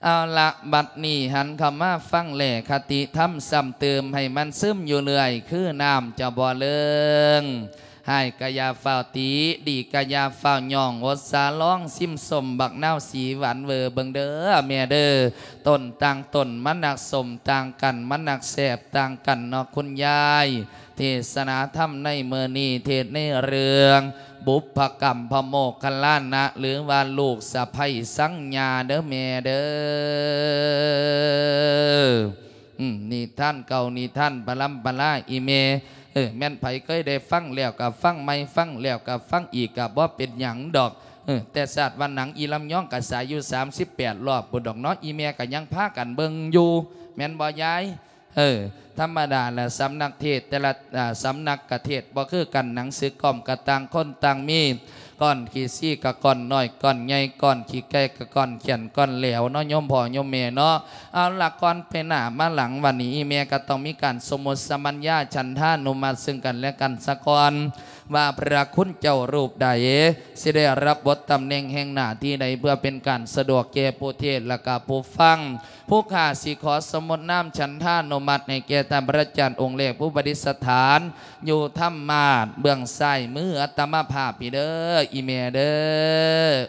ເອົາລະ ບັດນີ້ຫັນເຂົ້າມາຟັງແລຄະຕິທຳຊ້ຳເຕີມໃຫ້ມັນຊຶມຢູ່ເລື້ອຍ ຄືນ້ຳຈະບໍ່ເລີງ. ຮ້າຍກະຢ່າຟ້າວຕິ, ດີກະຢ່າຟ້າວຍ້ອງ, ອົດສາລອງຊິມສົ້ມບັກນາວສີຫວານເວີເບິ່ງເດີແມ່ເດີ. ຕົ້ນຕ່າງຕົ້ນມັນນັກສົ້ມຕ່າງກັນ, ມັນນັກແຊບຕ່າງກັນເນາະຄຸນຍາຍ. ເທດສະໜາທຳໃນມື້ນີ້ ເທດໃນເລື່ອງບຸບພະກຳພະໂມກຄະລານະ ຫຼືວ່າລູກສະໃພ້ສັງຍາເດີແມ່ເດີ. ອືມ ນິທານເກົ່າ ນິທານປະລຳປະລາອີ່ແມ່. ເອີ ແມ່ນໃຜເຄີຍໄດ້ຟັງແລ້ວກໍຟັງໃໝ່, ຟັງແລ້ວກໍຟັງອີກ ກໍບໍ່ເປັນຫຍັງດອກ. ເອີ ແຕ່ຊາດວ່າໜັງອີລຳຍອງກໍສາຍຢູ່ສາມສິບແປດລອບພຸ້ນດອກເນາະ, ອີ່ແມ່ກໍຍັງພາກັນເບິ່ງຢູ່ ແມ່ນບໍ່ຍາຍ? ເອີ ທຳມະດາລະ ສຳນັກເທດແຕ່ລະ ອາ ສຳນັກກະເທດບໍ່ຄືກັນ, ໜັງສືກ້ອມກະຕ່າງຄົນຕ່າງມີ, ກ້ອນຂີ້ຊີ້ກະກ້ອນນ້ອຍກ້ອນໃຫຍ່, ກ້ອນຂີ້ໄກ່ກະກ້ອນແຂ້ນກ້ອນແຫຼວເນາະ ໂຍມພໍ່ໂຍມແມ່ເນາະ. ເອົາລະ ກ່ອນໄປໜ້າມາຫຼັງ ວັນນີ້ອີ່ແມ່ກະຕ້ອງມີການສົມມຸດສະມັນຍາ ສັນທານຸມັດເຊິ່ງກັນແລະກັນສາກ່ອນ ວ່າພະຄຸນເຈົ້າຮູບໃດ ຊິໄດ້ຮັບບົດຕຳແໜ່ງແຫ່ງໜ້າທີ່ໃດ ເພື່ອເປັນການສະດວກແກ່ຜູ້ເທດ ແລະກະຜູ້ຟັງ. ຜູ້ຂ້າຊິຂໍສົມມຸດນາມສັນທານຸມັດໃຫ້ແກ່ທ່ານພະອາຈານອົງແລກ ຜູ້ປະດິດສະຖານຢູ່ທຳມາດເບື້ອງຊ້າຍມືອາດຕະມາພາບພີ້ເດີ ອີ່ແມ່ເດີ.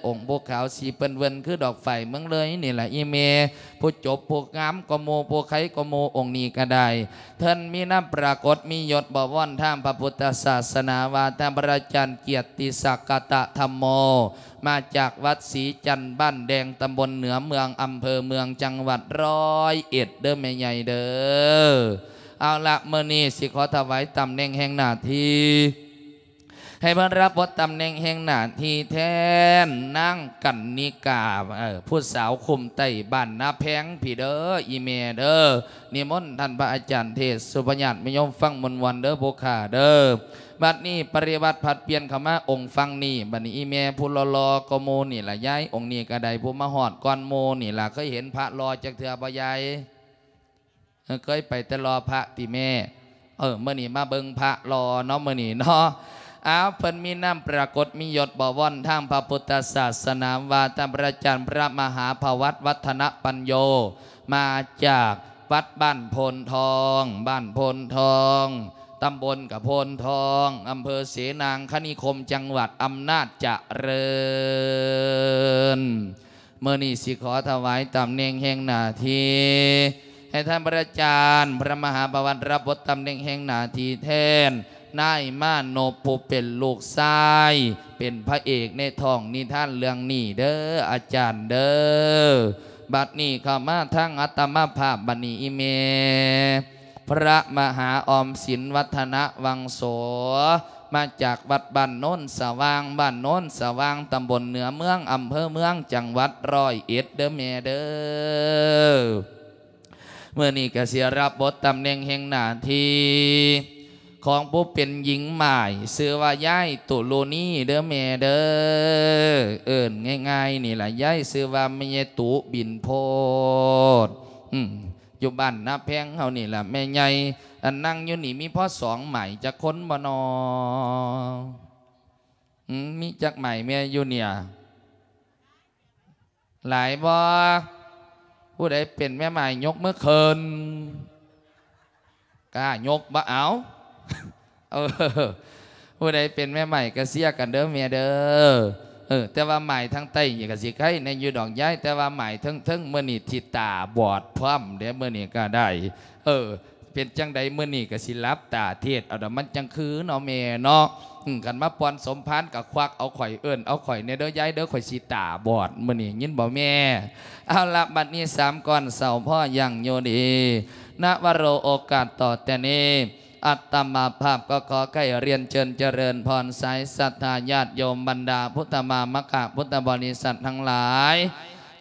ອົງຜູ້ຂາວສີເປິ້ນເວີນຄືດອກຝ້າຍເມືອງເລີຍນີ້ລະ ອີ່ແມ່. ຜູ້ຈົບຜູ້ງາມກວ່າໝູ່ ຜູ້ໄຄກວ່າໝູ່ ອົງນີ້ກໍໄດ້. ເພິ່ນມີນາມປາກົດມີຍົດບໍວອນທາງພະພຸດທະສາສະໜາ ວ່າທ່ານພະອາຈານກຽດຕິສັກກະຕະທຳໂມ ມາຈາກວັດສີຈັນ ບ້ານແດງ ຕຳບົນເໜືອເມືອງ ອຳເພີເມືອງ ຈັງຫວັດຮ້ອຍເອັດເດີແມ່ໃຫຍ່ເດີ. ເອົາລະ ມື້ນີ້ຊິຂໍຖວາຍຕຳແໜ່ງແຫ່ງໜ້າທີ່ ໃຫ້ມາຮັບບົດຕຳແໜ່ງແຫ່ງໜ້າທີ່ແທນນາງກັນນິກາ ເອີ ຜູ້ສາວຄຸ້ມໄຕ້ບ້ານນາແພງພີ້ເດີ ອີ່ແມ່ເດີ. ນິມົນທ່ານພະອາຈານເທດສຸພະຍາດມາໂຍມຟັງມ່ວນໆເດີຜູ້ຂ້າເດີ. ບັດນີ້ປະລິວັດຜັດປ່ຽນເຂົ້າມາອົງຝັ່ງນີ້. ບັດນີ້ອີ່ແມ່ຜູ້ຫຼໍ່ໆກວ່າໝູ່ນີ້ລະຍາຍ, ອົງນີ້ກໍໄດ້ຜູ້ມາຮອດກ່ອນໝູ່ນີ້ລະ. ເຄີຍເຫັນພະຫຼໍ່ຈັກເທື່ອບໍ່ຍາຍ? ເອີ ເຄີຍໄປແຕ່ລໍພະຕິແມ່? ເອີ ມື້ນີ້ມາເບິ່ງພະຫຼໍ່ເນາະ ມື້ນີ້ເນາະ. ອ້າວ ເພິ່ນມີນາມປາກົດມີຍົດບໍວອນທາງພະພຸດທະສາສະໜາ ວ່າທ່ານພະອາຈານພະມະຫາພະວັດ ວັດທະນະປັນໂຍ ມາຈາກວັດບ້ານໂພນທອງ ບ້ານໂພນທອງ ຕຳບົນກະໂພນທອງ ອຳເພີເສນາງຄະນິຄົມ ຈັງຫວັດອຳນາດຈະເລີນ. ມື້ນີ້ຊິຂໍຖວາຍຕຳແໜ່ງແຫ່ງໜ້າທີ່ ໃຫ້ທ່ານພະອາຈານພະມະຫາພະວັດ ຮັບບົດຕຳແໜ່ງແຫ່ງໜ້າທີ່ແທນນາຍມານົບ ຜູ້ເປັນລູກຊາຍ ເປັນພະເອກໃນທ້ອງນິທານເລື່ອງນີ້ເດີອາຈານເດີ. ບັດນີ້ເຂົ້າມາທາງອາດຕະມາພາບ ບັດນີ້ອີ່ແມ່ ພະມະຫາອອມສິນ ວັດທະນະວັງໂສ ມາຈາກວັດບ້ານໂນນສະຫວ່າງ ບ້ານໂນນສະຫວ່າງ ຕຳບົນເໜືອເມືອງ ອຳເພີເມືອງ ຈັງຫວັດຮ້ອຍເອັດເດີແມ່ເດີ. ມື້ນີ້ກະຊິຮັບບົດຕຳແໜ່ງແຫ່ງໜ້າທີ່ຂອງຜູ້ເປັນຍິງໝ້າຍ ຊື່ວ່າຍາຍຕຸລຸນີເດີແມ່ເດີ. ເອີ້ນງ່າຍໆນີ້ລະ ຍາຍຊື່ວ່າແມ່ຍາຍຕຸບິນໂພດ ອືມ ຢູ່ບ້ານນາແພງເຮົານີ້ລະແມ່ໃຫຍ່. ອັນນັ່ງຢູ່ນີ້ມີພໍສອງໝ້າຍຈັກຄົນບໍ່ນໍ? ອືມ ມີຈັກໝ້າຍແມ່ຢູ່ເນີ້ຍ? ຫຼາຍບໍ່? ຜູ້ໃດເປັນແມ່ໝ້າຍຍົກມືຂຶ້ນ. ກ້າຍົກບໍ່ເອົາ? ເອີ ຜູ້ໃດເປັນແມ່ໝ້າຍກໍເຊຍກັນເດີແມ່ເດີ. ເອີ ແຕ່ວ່າໝ້າຍທາງໃຕ້ນີ້ກໍຊິໄຄແດ່ຢູ່ດອກຍາຍ, ແຕ່ວ່າໝ້າຍເທິງໆ ມື້ນີ້ຊິຕາບອດພ້ອມເດ້ ມື້ນີ້ກໍໄດ້. ເອີ ເປັນຈັ່ງໃດມື້ນີ້ກໍຊິຫຼັບຕາເທດເອົາດອກ ມັນຈັ່ງຄືເນາະແມ່ເນາະ. ອືມ ຄັນມາປ່ອນສົມພານກໍຄວັກເອົາຂ້ອຍ ເອີ້ນເອົາຂ້ອຍແດ່ເດີຍາຍເດີ ຂ້ອຍຊິຕາບອດມື້ນີ້ ຍິນບໍ່ແມ່? ເອົາລະ ບັດນີ້ສາມກ່ອນເຊົາພໍຢ່າງຢູ່ດີ ນະວະໂຣ ໂອກາດຕໍ່ແຕ່ນີ້ ອາດຕະມາພາບກໍຂໍໃກ້ຮຽນເຊີນຈະເລີນພອນ ສາຍສັດທາຍາດໂຍມ ບັນດາພຸດທະມາມະກະພຸດທະບໍລິສັດທັງຫຼາຍ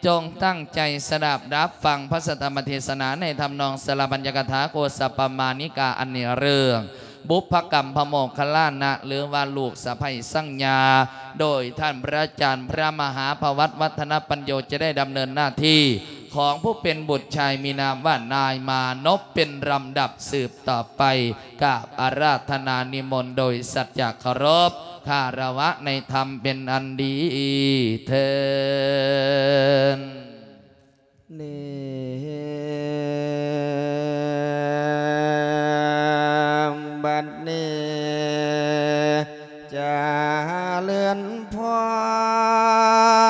ຈົ່ງຕັ້ງໃຈສະດັບຮັບຟັງພະສັດທຳມະເທດສະໜາໃນທຳນອງສາລະບັນຍະກະຖາໂຄສະປະມານິກາ ອັນເນື້ອເລື່ອງບຸບພະກຳພະໂມກຄະລານະ ຫຼືວ່າລູກສະໃພ້ສັງຍາ ໂດຍທ່ານພະອາຈານພະມະຫາພະວັດ ວັດທະນະປັນໂຍ ຈະໄດ້ດຳເນີນໜ້າທີ່ຂອງຜູ້ເປັນບຸດຊາຍ ມີນາມວ່ານາຍມານົບ ເປັນລຳດັບສືບຕໍ່ໄປ. ກາບອາລາທະນານິມົນໂດຍສັດຈະເຄົາລົບຄາລະວະໃນທຳເປັນອັນດີເທີນ. ນີ້ ບັດນີ້ຈະເລີນພອ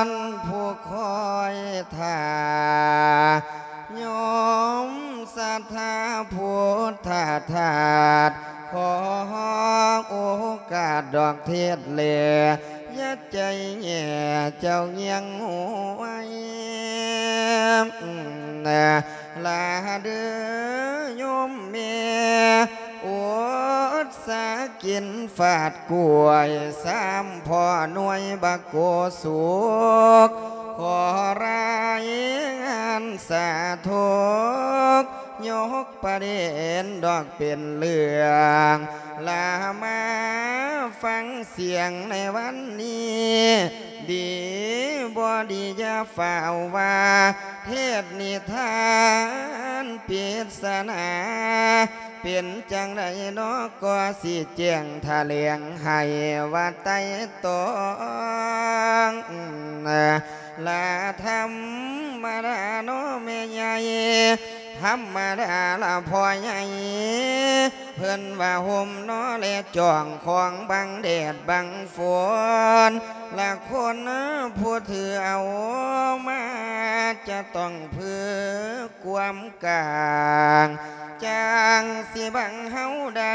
ນ ຜູ້ຄອຍຖ້າ ໂຍມສັດທາພຸດທະທາດ ຂໍໂອກາດດອກເທດແລ ຢ່າໃຈແຍ່ເຈົ້າຍັງຫວຍ ລາເດີໂຍມແມ່ ອົດສາກິນຟາດກ້ວຍ ສາມພໍ່ໜ່ວຍບັກໂກສຸກ ຂໍລາຍງານສາທຸກ ຍົກປະເດັນດອກເປັນເລື່ອງ ລາມາຟັງສຽງໃນວັນນີ້ ດີບໍ່ດີຢ່າຟ້າວວ່າ ເທດນິທານປິດສະໜາ ເປັນຈັ່ງໃດນໍກໍຊິແຈ້ງຖະແຫຼງໃຫ້ວ່າໄຕ່ຕອງ ລະທຳມະດານໍແມ່ໃຫຍ່ ທຳມະດາລະພໍ່ໃຫຍ່ ເພິ່ນວ່າຮົ່ມນໍແລຈອງຂອງບັງແດດບັງຝົນ ລະຄົນຜູ້ຖືເອົາມາ ຈະຕ້ອງເພື່ອຄວາມກາງ ຈັ່ງຊິບັງເຮົາໄດ້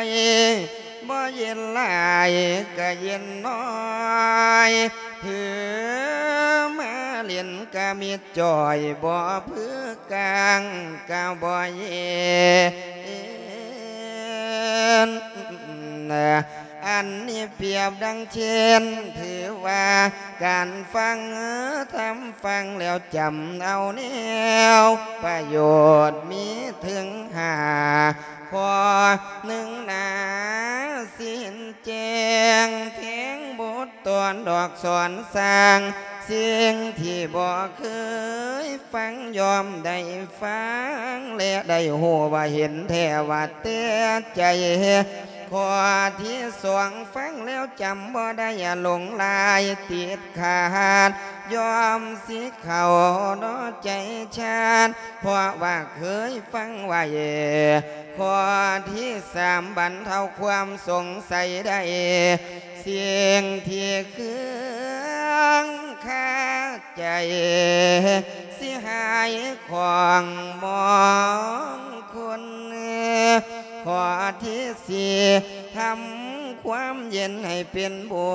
ບໍ່ເຢັນຫຼາຍກະເຢັນນ້ອຍ ຖືມາຫຼິ້ນກະມິດຈ່ອຍ ບໍ່ເພື່ອກາງກະບໍ່ເຢັນ ອັນນີ້ປຽບດັ່ງເຊັ່ນ ຖືວ່າການຟັງທຳ ຟັງແລ້ວຈຳເອົາແນວປະໂຫຍດມີເຖິງຫ້າ ຂໍ້ໜຶ່ງນາ ຊິເຫັນແຈ້ງແທງບົດຕອນດອກສອນສ້າງ ສິ່ງທີ່ບໍ່ເຄີຍຟັງ ຍ່ອມໄດ້ຟັງ ແລະ ໄດ້ຮູ້ວ່າເຫັນແທ້ວ່າແຕ່ໃຈ ຂໍ້ທີສອງ ຟັງແລ້ວຈຳບໍ່ໄດ້ ຫຼົງຫຼາຍຕິດຂາດ ຍ່ອມຊິເຂົ້າເນາະໃຈຊາດ ເພາະວ່າເຄີຍຟັງໄວ້ ຂໍ້ທີສາມ ບັນເທົາຄວາມສົງໄສໄດ້ ສິ່ງທີ່ເຄືອງຄາໃຈ ຊິຫາຍຂອງມອງຄຸນ ຂໍ້ທີສີ່ ທຳຄວາມເຢັນໃຫ້ເປັນບຸ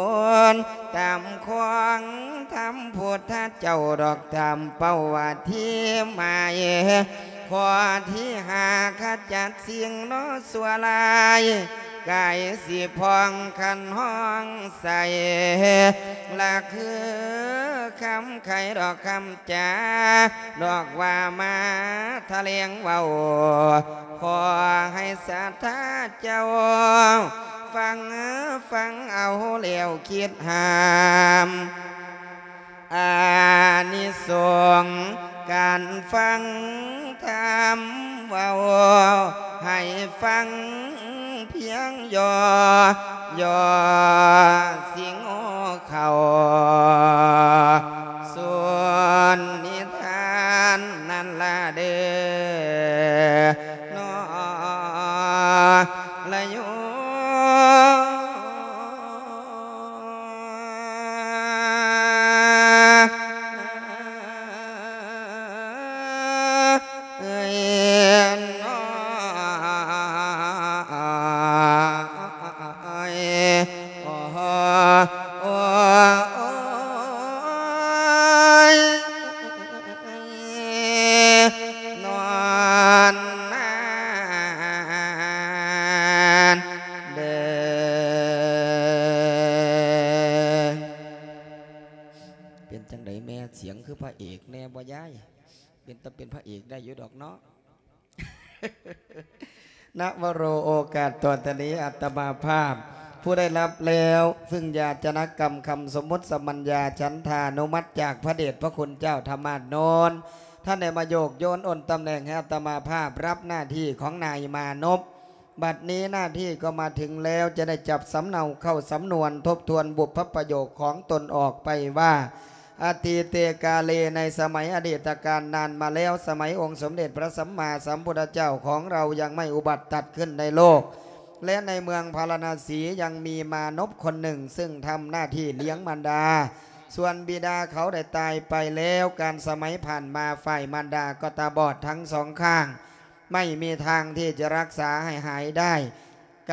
ນ ຕາມຂອງທຳພຸດທະເຈົ້າດອກ ຕາມເປົ້າວ່າທີ່ໝາຍ ຂໍ້ທີຫ້າ ຂະຈັດສິ່ງເນາະຊົ່ວຮ້າຍ ກາຍຊິຜ່ອງຄັນຮອງໃສ ລະຄືຄຳໄຂດອກຄຳຈາ ດອກວ່າມາຖະແຫຼງເວົ້າ ຂໍໃຫ້ສັດທາເຈົ້າ ຟັງ ຟັງເອົາແລ້ວຄິດຫາມ ອານິສົງການຟັງທຳເວົ້າ ໃຫ້ຟັງພຽງຫຍໍ້ ຫຍໍ້ຊິໂງ່ເຂົ້າ ສ່ວນນິທານນັ້ນລະເດີ ເນາະ ລະໂຍ ເອີຍ ເນາະ ໂອ້ ໂອ້ ໂອ້ຍ ນອນນານເດີ. ເປັນຈັ່ງໃດແມ່ ສຽງຄືພະເອກແດ່ບໍ່ຍາຍ? ເປັນຕາເປັນພະເອກໄດ້ຢູ່ດອກເນາະ. ນະວະໂຣ ໂອກາດຕໍ່ຈາກນີ້ ອາດຕະມາພາບ ຜູ້ໄດ້ຮັບແລ້ວ ຊຶ່ງຢາຈະນະກຳຄຳສົມມຸດສະມັນຍາ ສັນທານຸມັດຈາກພະເດດພະຄຸນເຈົ້າທະມາດໂນນ ທ່ານໄດ້ມາໂຍກໂຍນໂອນຕຳແໜ່ງໃຫ້ອາດຕະມາພາບ ຮັບໜ້າທີ່ຂອງນາຍມານົບ. ບັດນີ້ໜ້າທີ່ກໍມາເຖິງແລ້ວ ຈະໄດ້ຈັບສຳເນົາເຂົ້າສຳນວນ ທົບທວນບຸບພະປະໂຫຍກຂອງຕົນອອກໄປວ່າ ອະຕິເຕກາເລ ໃນສະໄໝອະດີດຕະການນານມາແລ້ວ, ສະໄໝອົງສົມເດັດພະສຳມາສຳພຸດທະເຈົ້າຂອງເຮົາຍັງໄມ່ອຸບັດຕັດຂຶ້ນໃນໂລກ ແລະ ໃນເມືອງພາລານະສີຍັງມີມານົບຄົນໜຶ່ງ ຊຶ່ງທຳໜ້າທີ່ລ້ຽງມານດາ. ສ່ວນບິດາເຂົາໄດ້ຕາຍໄປແລ້ວ, ການສະໄໝຜ່ານມາ ຝ່າຍມານດາກໍຕາບອດທັງສອງຂ້າງ, ໄມ່ມີທາງທີ່ຈະຮັກສາໃຫ້ຫາຍໄດ້.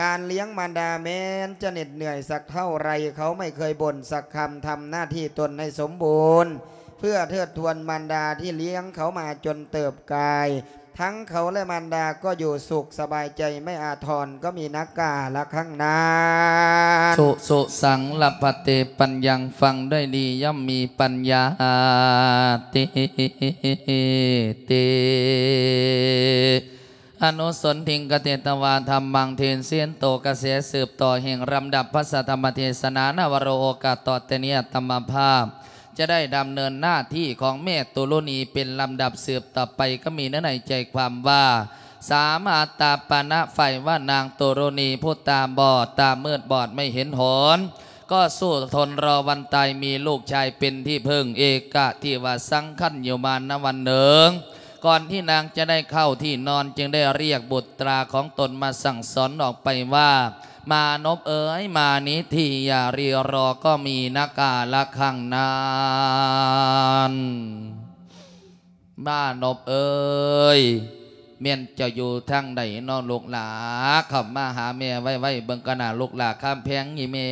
ການລ້ຽງມານດາແມ່ນຈະເໜັດເໜື່ອຍສັກເທົ່າໃດ, ເຂົາໄມ່ເຄີຍບົ່ນສັກຄຳ, ທຳໜ້າທີ່ຕົນໃຫ້ສົມບູນ ເພື່ອເທີດທວນມານດາທີ່ລ້ຽງເຂົາມາຈົນເຕີບກາຍ. ທັງເຂົາແລະມານດາກໍຢູ່ສຸກສະບາຍໃຈ, ໄມ່ອາທອນກໍມີນັກກາລະຄັງນານ. ສຸ ສຸ ສັງ ລະພະເຕ ປັນຍັງ ຟັງດ້ວຍດີ ຍ່ອມມີປັນຍາ ເຕ ເຕ ອະນຸສົນທິງ ກະເຕຕະວາ ທຳມັງ ເທເສນໂຕ ກະແສສືບຕໍ່ແຫ່ງລຳດັບພະສັດທຳມະເທສະນາ ນະວະໂລ ໂອກາດຕໍ່ແຕ່ນີ້ ອາດຕະມາພາບ ຈະໄດ້ດຳເນີນໜ້າທີ່ຂອງແມ່ຕຸລຸນີເປັນລຳດັບສືບຕໍ່ໄປ, ກໍມີເນື້ອໃນໃຈຄວາມວ່າ ສາມາດຕາປະນະໄຟວ່ານາງຕຸລຸນີຜູ້ຕາບອດ, ຕາມືດບອດໄມ່ເຫັນຫົນ, ກໍສູ້ທົນລໍວັນຕາຍ, ມີລູກຊາຍເປັນທີ່ເພິ່ງ, ເອກະທິວາສັງຄັນຢູ່ມານະວັນໜຶ່ງ, ກ່ອນທີ່ນາງຈະໄດ້ເຂົ້າທີ່ນອນ, ຈຶ່ງໄດ້ລຽກບຸດຕາຂອງຕົນມາສັ່ງສອນອອກໄປວ່າ ມານົບເອີຍ, ມານີ້ທີ, ຢ່າຣີລໍ, ກໍມີນະກາລະຄັງນານ. ມານົບເອີຍ, ແມ່ນເຈົ້າຢູ່ທາງໃດນໍລູກຫຼາ? ເຂົ້າມາຫາແມ່ໄວໆ ເບິ່ງກະໜ້າລູກຫຼາຄຳແພງນີ້ແມ່.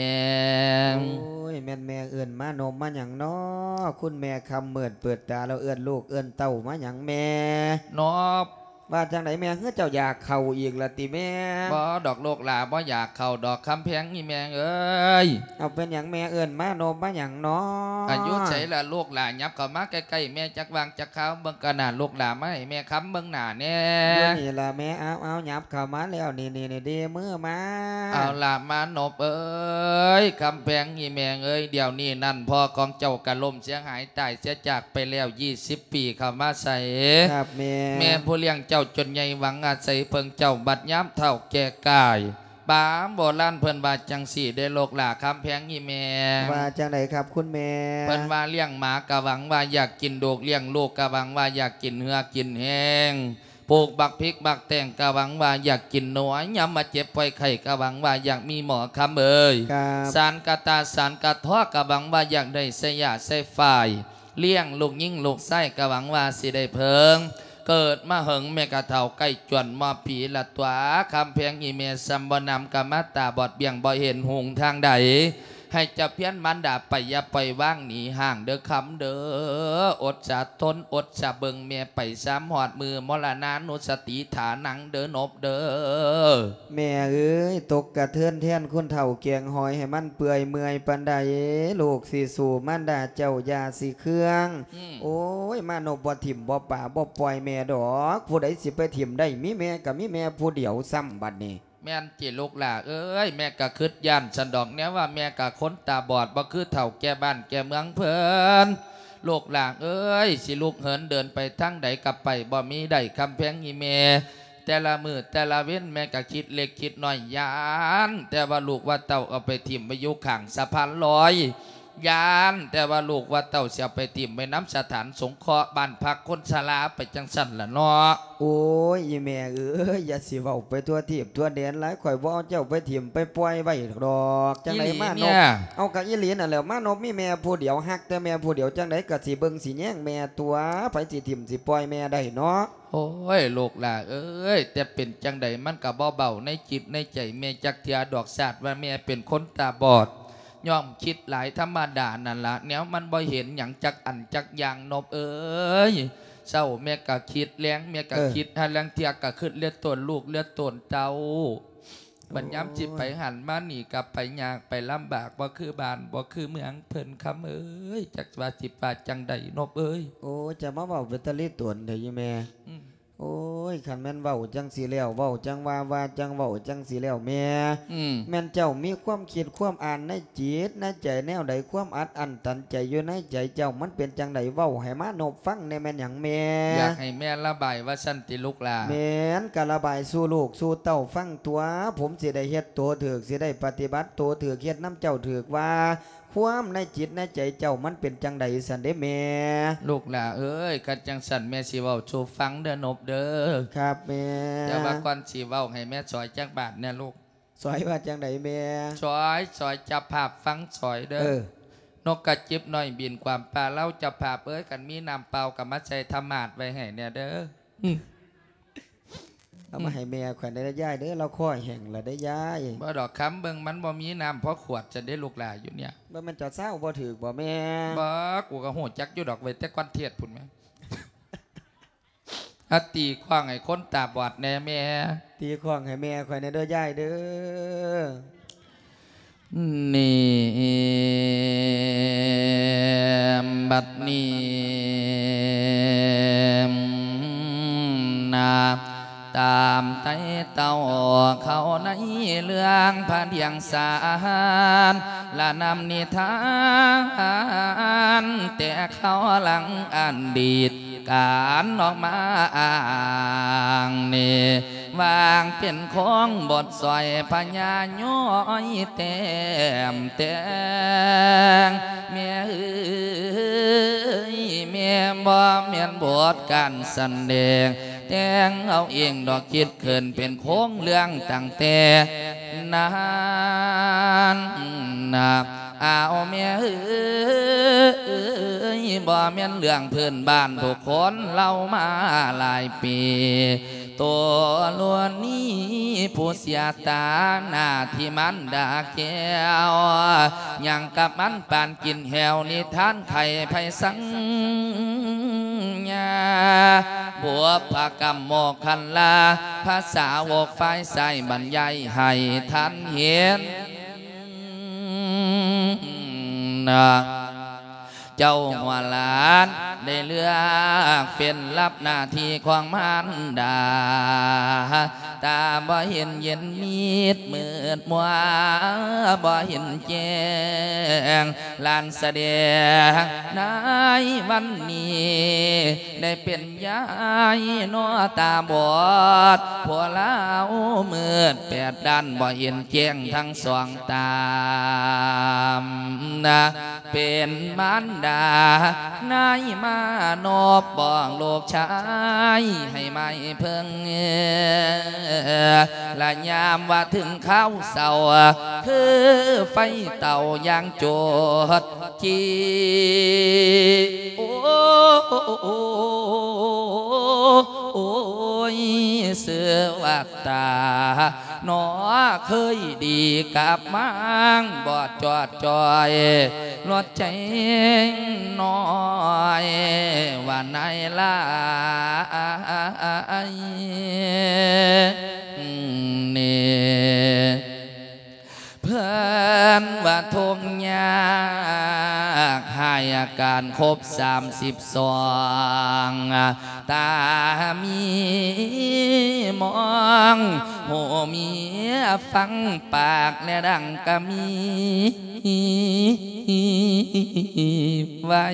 ໂອ້ຍ, ແມ່ນແມ່ເອີ້ນມານົບມາຫຍັງນໍ? ຄຸນແມ່ຄຳມືດເປີດຕາແລ້ວເອີ້ນລູກເອີ້ນເຕົ້າມາຫຍັງແມ່? ນົບ. ວ່າຈັ່ງໃດແມ່? ຄືເຈົ້າຢາກເຂົ້າອີກລະຕິແມ່? ບໍ່ດອກລູກຫຼາ, ບໍ່ຢາກເຂົ້າດອກຄຳແພງນີ້ແມ່ເອີຍ. ເອົາ ເປັນຫຍັງແມ່ເອີ້ນມານົບມາຫຍັງນໍ? ອາ ຢູ່ໃສລະລູກຫຼາ? ຫຍັບເຂົ້າມາໃກ້ໆແມ່ຈັກຫວ່າງຈັກຄາວ, ເບິ່ງກະໜ້າລູກຫຼາ, ມາໃຫ້ແມ່ຄຳເບິ່ງໜ້າແດ່. ຢູ່ນີ້ລະແມ່. ເອົາໆ ຫຍັບເຂົ້າມາແລ້ວ, ນີ້ໆໆ ເດມືມາ. ເອົາລະມານົບເອີຍ, ຄຳແພງນີ້ແມ່ເອີຍ, ດຽວນີ້ນັ້ນພໍ່ຂອງເຈົ້າກະລົ້ມເສຍຫາຍຕາຍເສຍຈາກໄປແລ້ວ ສິບປີເຂົ້າມາໃສ່. ຄັບແມ່. ແມ່ຜູ້ລ້ຽງເຈົ້າຈົນໃຫຍ່ຫວັງອາໄສເພິ່ງເຈົ້າ, ບັດຍາມເຖົ້າແກ່ກາຍ, ປາໂບລານເພິ່ນວ່າຈັ່ງຊີ້ເດ້ລູກຫຼາຄຳແພງອີ່ແມ່. ວ່າຈັ່ງໃດຄັບຄຸນແມ່? ເພິ່ນວ່າລ້ຽງໝາກະຫວັງວ່າຢາກກິນດູກ, ລ້ຽງລູກກະຫວັງວ່າຢາກກິນເຫື່ອກິນແຮງ, ປູກບັກພິກບັກແຕງກະຫວັງວ່າຢາກກິນນົວ, ຍາມມາເຈັບປ່ວຍໄຂ້ກະຫວັງວ່າຢາກມີໝໍຄຳເອີຍ. ຄັບ. ສານກະຕ່າສານກະທໍ້ກະຫວັງວ່າຢາກໄດ້ໃຊ້ຢາໃຊ້ຝ້າຍ. ລ້ຽງລູກຍິງລູກຊາຍກະຫວັງວ່າຊິໄດ້ເພິ່ງ. ເກີດມາເຫິງແມ່ກະເຖົ້າໃກ້ຈວນມອບປີລະຕົວະ, ຄຳແພງອີ່ແມ່ສ່ຳບໍ່ນຳກະມາຕາບອດເບ້ຍງບໍ່ເຫັນຮຸ່ງທາງໃດ. ໃຫ້ເຈົ້າພຽນມານດາໄປ, ຢ່າປ່ອຍວາງໜີຫ່າງເດີຄຳເດີ. ອົດສາທົນອົດສາເບິ່ງແມ່ໄປ, ຊຳຮອດມື້ມໍລະນານຸສະຕິຖານັງເດີນົບເດີ. ແມ່ເອີຍ, ຕົກກະເທືອນແທນຄົນເຖົ້າແກງຫອຍໃຫ້ມັນເປື່ອຍເມື່ອຍປານໃດ, ລູກຊິສູ້ມານດາເຈົ້າຢ່າຊິເຄືອງ. ອືມ. ໂອ້ຍ, ມານົບບໍ່ຖິ້ມບໍ່ປາບໍ່ປ່ອຍແມ່ດອກ, ຜູ້ໃດຊິໄປຖິ້ມໄດ້, ມີແມ່ກະມີແມ່ຜູ້ດຽວຊ້ຳບັດນີ້. ແມ່ນຕິລູກຫຼ້າເອີຍ, ແມ່ກະຄຶດຢ້ານຊັ້ນດອກ, ແນວວ່າແມ່ກະຄົນຕາບອດ, ບໍ່ຄືເຖົ້າແກ່ບ້ານແກ່ເມືອງເພິ່ນ. ລູກຫຼ້າເອີຍ, ຊິລຸກເຫີນເດີນໄປທາງໃດກະໄປບໍ່ມີໄດ້, ຄຳແພງອີ່ແມ່. ແຕ່ລະມື້ແຕ່ລະເວັນແມ່ກະຄິດເລັກຄິດນ້ອຍ, ຢ້ານແຕ່ວ່າລູກວ່າເຕົ້າເອົາໄປຖິ້ມໄວ້ຢູ່ຂ້າງສະພານລອຍ, ຢ້ານແຕ່ວ່າລູກວ່າເຕົ້າຊິເອົາໄປຖິ້ມໄວ້ນຳສະຖານສົງເຄາະບ້ານພັກຄົນຊະລາໄປຈັ່ງຊັ້ນລະເນາະ. ໂອ້ຍ ອີ່ແມ່ເອີຍ, ຢ່າຊິເວົ້າໄປທົ່ວທີບທົ່ວແດນຫຼາຍ, ຂ້ອຍບໍ່ເອົາເຈົ້າໄປຖິ້ມໄປປ່ອຍໄວ້ດອກ. ຈັ່ງໃດມານົບ? ເອົາ ກະອີ່ຫຼີນັ້ນແຫຼະ, ມານົບມີແມ່ຜູ້ດຽວ, ຮັກແຕ່ແມ່ຜູ້ດຽວ, ຈັ່ງໃດກະຊິເບິ່ງຊິແຍງແມ່ຕົວະ, ໃຜຊິຖິ້ມຊິປ່ອຍແມ່ໄດ້ເນາະ. ໂອ້ຍ ລູກຫຼ້າເອີຍ, ແຕ່ເປັນຈັ່ງໃດມັນກະບໍ່ເບົາໃນຈິດໃນໃຈແມ່ຈັກເທື່ອດອກ, ຊາດວ່າແມ່ເປັນຄົນຕາບອດ, ຍ່ອມຄິດຫຼາຍທຳມະດານັ້ນລະ, ແນວມັນບໍ່ເຫັນຫຍັງຈັກອັນຈັກຢ່າງ ນົບເອີຍ. ເຊົ້າແມ່ກະຄິດ, ແລງແມ່ກະຄິດ, ເອີ ຫາລາງເທື່ອກະຄຶດເຫຼືອໂຕນລູກເຫຼືອໂຕນເຕົ້າ. ບັດຍາມຊິໄປຫັ້ນມານີ້ກະໄປຍາກໄປລຳບາກ, ບໍ່ຄືບ້ານບໍ່ຄືເມືອງເພິ່ນ ຄຳເອີຍ. ຈັກວ່າຊິວ່າຈັ່ງໃດ ນົບເອີຍ. ໂອ້ຍ ຈະມາເວົ້າເປັນຕາລິຕົນແທ້ອີ່ແມ່. ອືມ. ໂອ້ຍ ຄັນແມ່ນເວົ້າຈັ່ງຊີ້ແລ້ວ, ເວົ້າຈັ່ງວ່າ, ວ່າຈັ່ງເວົ້າຈັ່ງຊີ້ແລ້ວແມ່. ອືມ. ແມ່ນເຈົ້າມີຄວາມຄິດຄວາມອ່ານໃນຈິດໃນໃຈແນວໃດ? ຄວາມອັດອັ້ນຕັນໃຈຢູ່ໃນໃຈເຈົ້າມັນເປັນຈັ່ງໃດ? ເວົ້າໃຫ້ມານົບຟັງແດ່ ແມ່ນຫຍັງແມ່? ຢາກໃຫ້ແມ່ລະບາຍວ່າຊັ້ນຕິລູກຫຼ້າ? ແມ່ນ, ກະລະບາຍສູ່ລູກສູ່ເຕົ້າຟັງຕົວະ, ຜົມຊິໄດ້ເຮັດໂຕຖືກ, ຊິໄດ້ປະຕິບັດໂຕຖືກ, ເຮັດນຳເຈົ້າຖືກວ່າ ຄວາມໃນຈິດໃນໃຈເຈົ້າມັນເປັນຈັ່ງໃດຊັ້ນເດ້ແມ່? ລູກຫຼ້າເອີຍ ຄັນຈັ່ງຊັ້ນແມ່ຊິເວົ້າສູ່ຟັງເດີນົບເດີ. ຄັບແມ່. ແຕ່ວ່າກ່ອນຊິເວົ້າໃຫ້ແມ່ຊ່ອຍຈັກບາດແດ່ລູກ. ຊ່ອຍວ່າຈັ່ງໃດແມ່? ຊ່ອຍ ຊ່ອຍເຈົ້າພາບຟັງຊ່ອຍເດີ. ເອີ ນົກກະຈິບນ້ອຍບິນກວາມປ່າເລົາ ເຈົ້າພາບເອີຍ ຄັນມີນ້ຳເປົ່າກໍມາໃສ່ທຳມາດໄວ້ໃຫ້ແດ່ເດີ. ອືມ ເອົາມາໃຫ້ແມ່ຂ້ອຍແດ່ເດີຍາຍເດີ ລາວຄໍແຫ້ງລະເດີຍາຍ. ບໍ່ດອກຄຳ ເບິ່ງມັນບໍ່ມີນ້ຳພໍຂວດຊັ້ນເດ້ລູກຫຼ້າຢູ່ເນຍ. ບໍ່ແມ່ນເຈົ້າຊາວບໍ່ຖືກບໍ່ແມ່? ບໍ່ ກູກໍຮູ້ຈັກຢູ່ດອກເວີຍ ແຕ່ກ່ອນເທດພຸ້ນແມ່. ອາ ຕີຄ້ອງໃຫ້ຄົນຕາບອດແດ່ແມ່. ຕີຄ້ອງໃຫ້ແມ່ຂ້ອຍແດ່ເດີຍາຍເດີ. ນີ້ ບັດນີ້ນາ ຕາມໄຕ່ເຕົ້າເຂົາໃນເລື່ອງພະດຽງສານ ລະນຳນິທານແຕ່ເຂົາຫຼັງອະດີດ ການອອກມາອ້າງນີ້ ວາງເປັນຂອງບົດຊ່ອຍພະຍາຍ້ອຍແຕ້ມແຕ່ງ. ແມ່ເອີຍ ແມ່ບໍ່ແມ່ນບົດການສະແດງ ແຕ່ງເອົາເອງດອກ ຄິດຂຶ້ນເປັນໂຄງເລື່ອງຕັ້ງແຕ່ນັ້ນນະ. ອ້າວ ແມ່ເອີຍ ບໍ່ແມ່ນເລື່ອງພື້ນບ້ານ ທຸກຄົນເລົ່າມາຫຼາຍປີ ໂຕລວນນີ້ຜູ້ເສຍຕາໜ້າທີ່ມານດາແກ້ວ ຫຍັງກັບມັນປານກິນແຫ້ວ ນິທານໄຂ່ໄພສັງຍາ ບຸບພະກຳໂມຄັນລາ ພາສາວົກຝ່າຍຊ້າຍບັນຍາຍໃຫ້ທ່ານເຫັນ. ເຈົ້າຫົວຫຼານໄດ້ເລືອກເປັນລັບໜ້າທີ່ຂອງມານດາ ຕາບໍ່ເຫັນເຢັນມິດມືດມົວ ບໍ່ເຫັນແຈ້ງ ຫຼານສະແດງໃນວັນນີ້ ໄດ້ເປັນຍາຍໜໍຕາບອດ ຜົວລາວມືດແປດດ້ານ ບໍ່ເຫັນແຈ້ງທັງສອງຕານະ ເປັນມານດານາຍມານົບ ບອກລູກຊາຍໃຫ້ມາເພິ່ງ ລະຍາມວ່າເຖິງຄາວເສົ້າ ຄືໄຟເຕົາຢ່າງໂຈດຈີ ໂອ ໂອຍ ເສືອວ່າ ຕາໜໍເຄີຍດີກັບມາງ ບໍ່ຈອດຈ່ອຍ ລວດແຈ້ງນ້ອຍວ່ານາຍຫຼາຍນີ້. ເພິ່ນວ່າທຸກຍາກ ຫາຍອາການຄົບສາມສິບສອງ ຕາມີມອງ ຫູມີຟັງ ປາກແລະດັງກະມີໄວ້.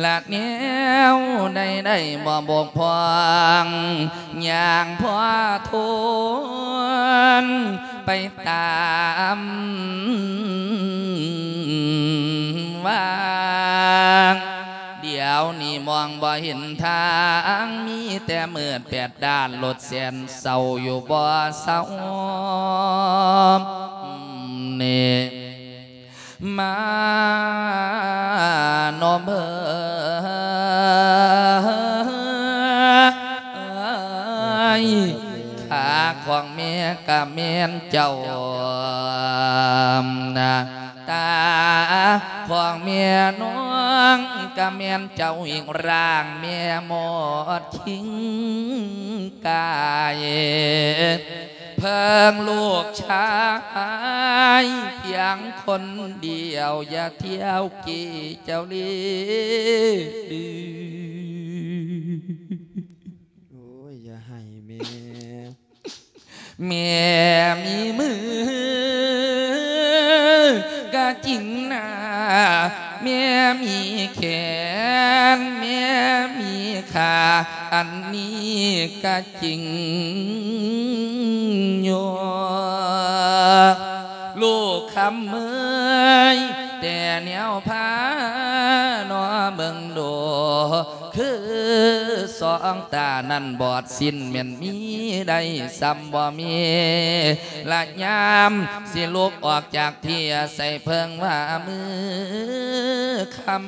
ລະແນວໃດໆບໍ່ບົກຜ່ອງ ຍ່າງພໍທົນໄປຕາມວາງ ດຽວນີ້ມອງບໍ່ເຫັນທາງ ມີແຕ່ມືດແປດດ້ານ ລົດແສນເສົ້າຢູ່ບໍ່ເຊົານີ້. ມານອມເອີຍ ຂາຂອງແມ່ກະແມ່ນເຈົ້ານະ ຕາຂອງແມ່ນ້ອງກະແມ່ນເຈົ້າອີກ ຮ່າງແມ່ໝົດຄິງກາຍ ເພິ່ງລູກຊາຍພຽງຄົນດຽວ ຢ່າທ່ຽວກີ້ເຈົ້າລີ. ໂອ້ຍ ຢ່າໄຫ້ແມ່ ແມ່ມີມືກະຈິງນາ ແມ່ມີແຂນ ແມ່ມີຂາ ອັນນີ້ກະຈິງຢູ່ ຄຳເອີຍ ແຕ່ແນວພາເນາະເບິ່ງດູ ຄືສອງຕານັ້ນບອດສິ້ນ ແມ່ນມີໄດ້ສ່ຳບໍ່ມີ ລະຍາມຊິລຸກອອກຈາກທີ່ອາໄສເພິ່ງວ່າມື້ຄ່ຳ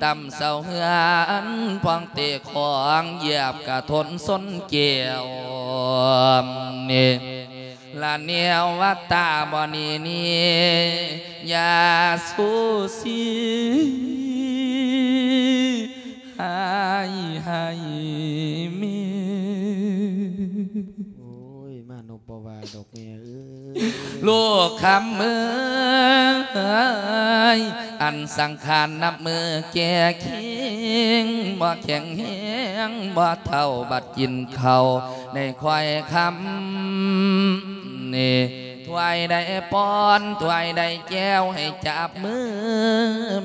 ຕ່ຳເສົາເຮືອນ ພອງເຕະຂອງ ຢຽບກະທົນຊົນແກ້ວ ນີ້ລະແນວວ່າຕາບໍ່ໜີໜີ ຢ່າຊູຊີ ຫາຍໃຫ້ແມ່. ໂອ້ຍ ມານົບບໍ່ວ່າດອກແມ່ເອີຍ ລູກຄຳເອີຍ ອັນສັງຂານນັບມື້ແກ່ເຄັ່ງ ບໍ່ແຂງແຮງ ບໍ່ເຖົ້າ ບັດກິນເຂົ້າໃນຄວາຍຄຳນີ້ ຖ້ວຍໄດ້ປ້ອນ ຖ້ວຍໄດ້ແກ້ວ ໃຫ້ຈັບມື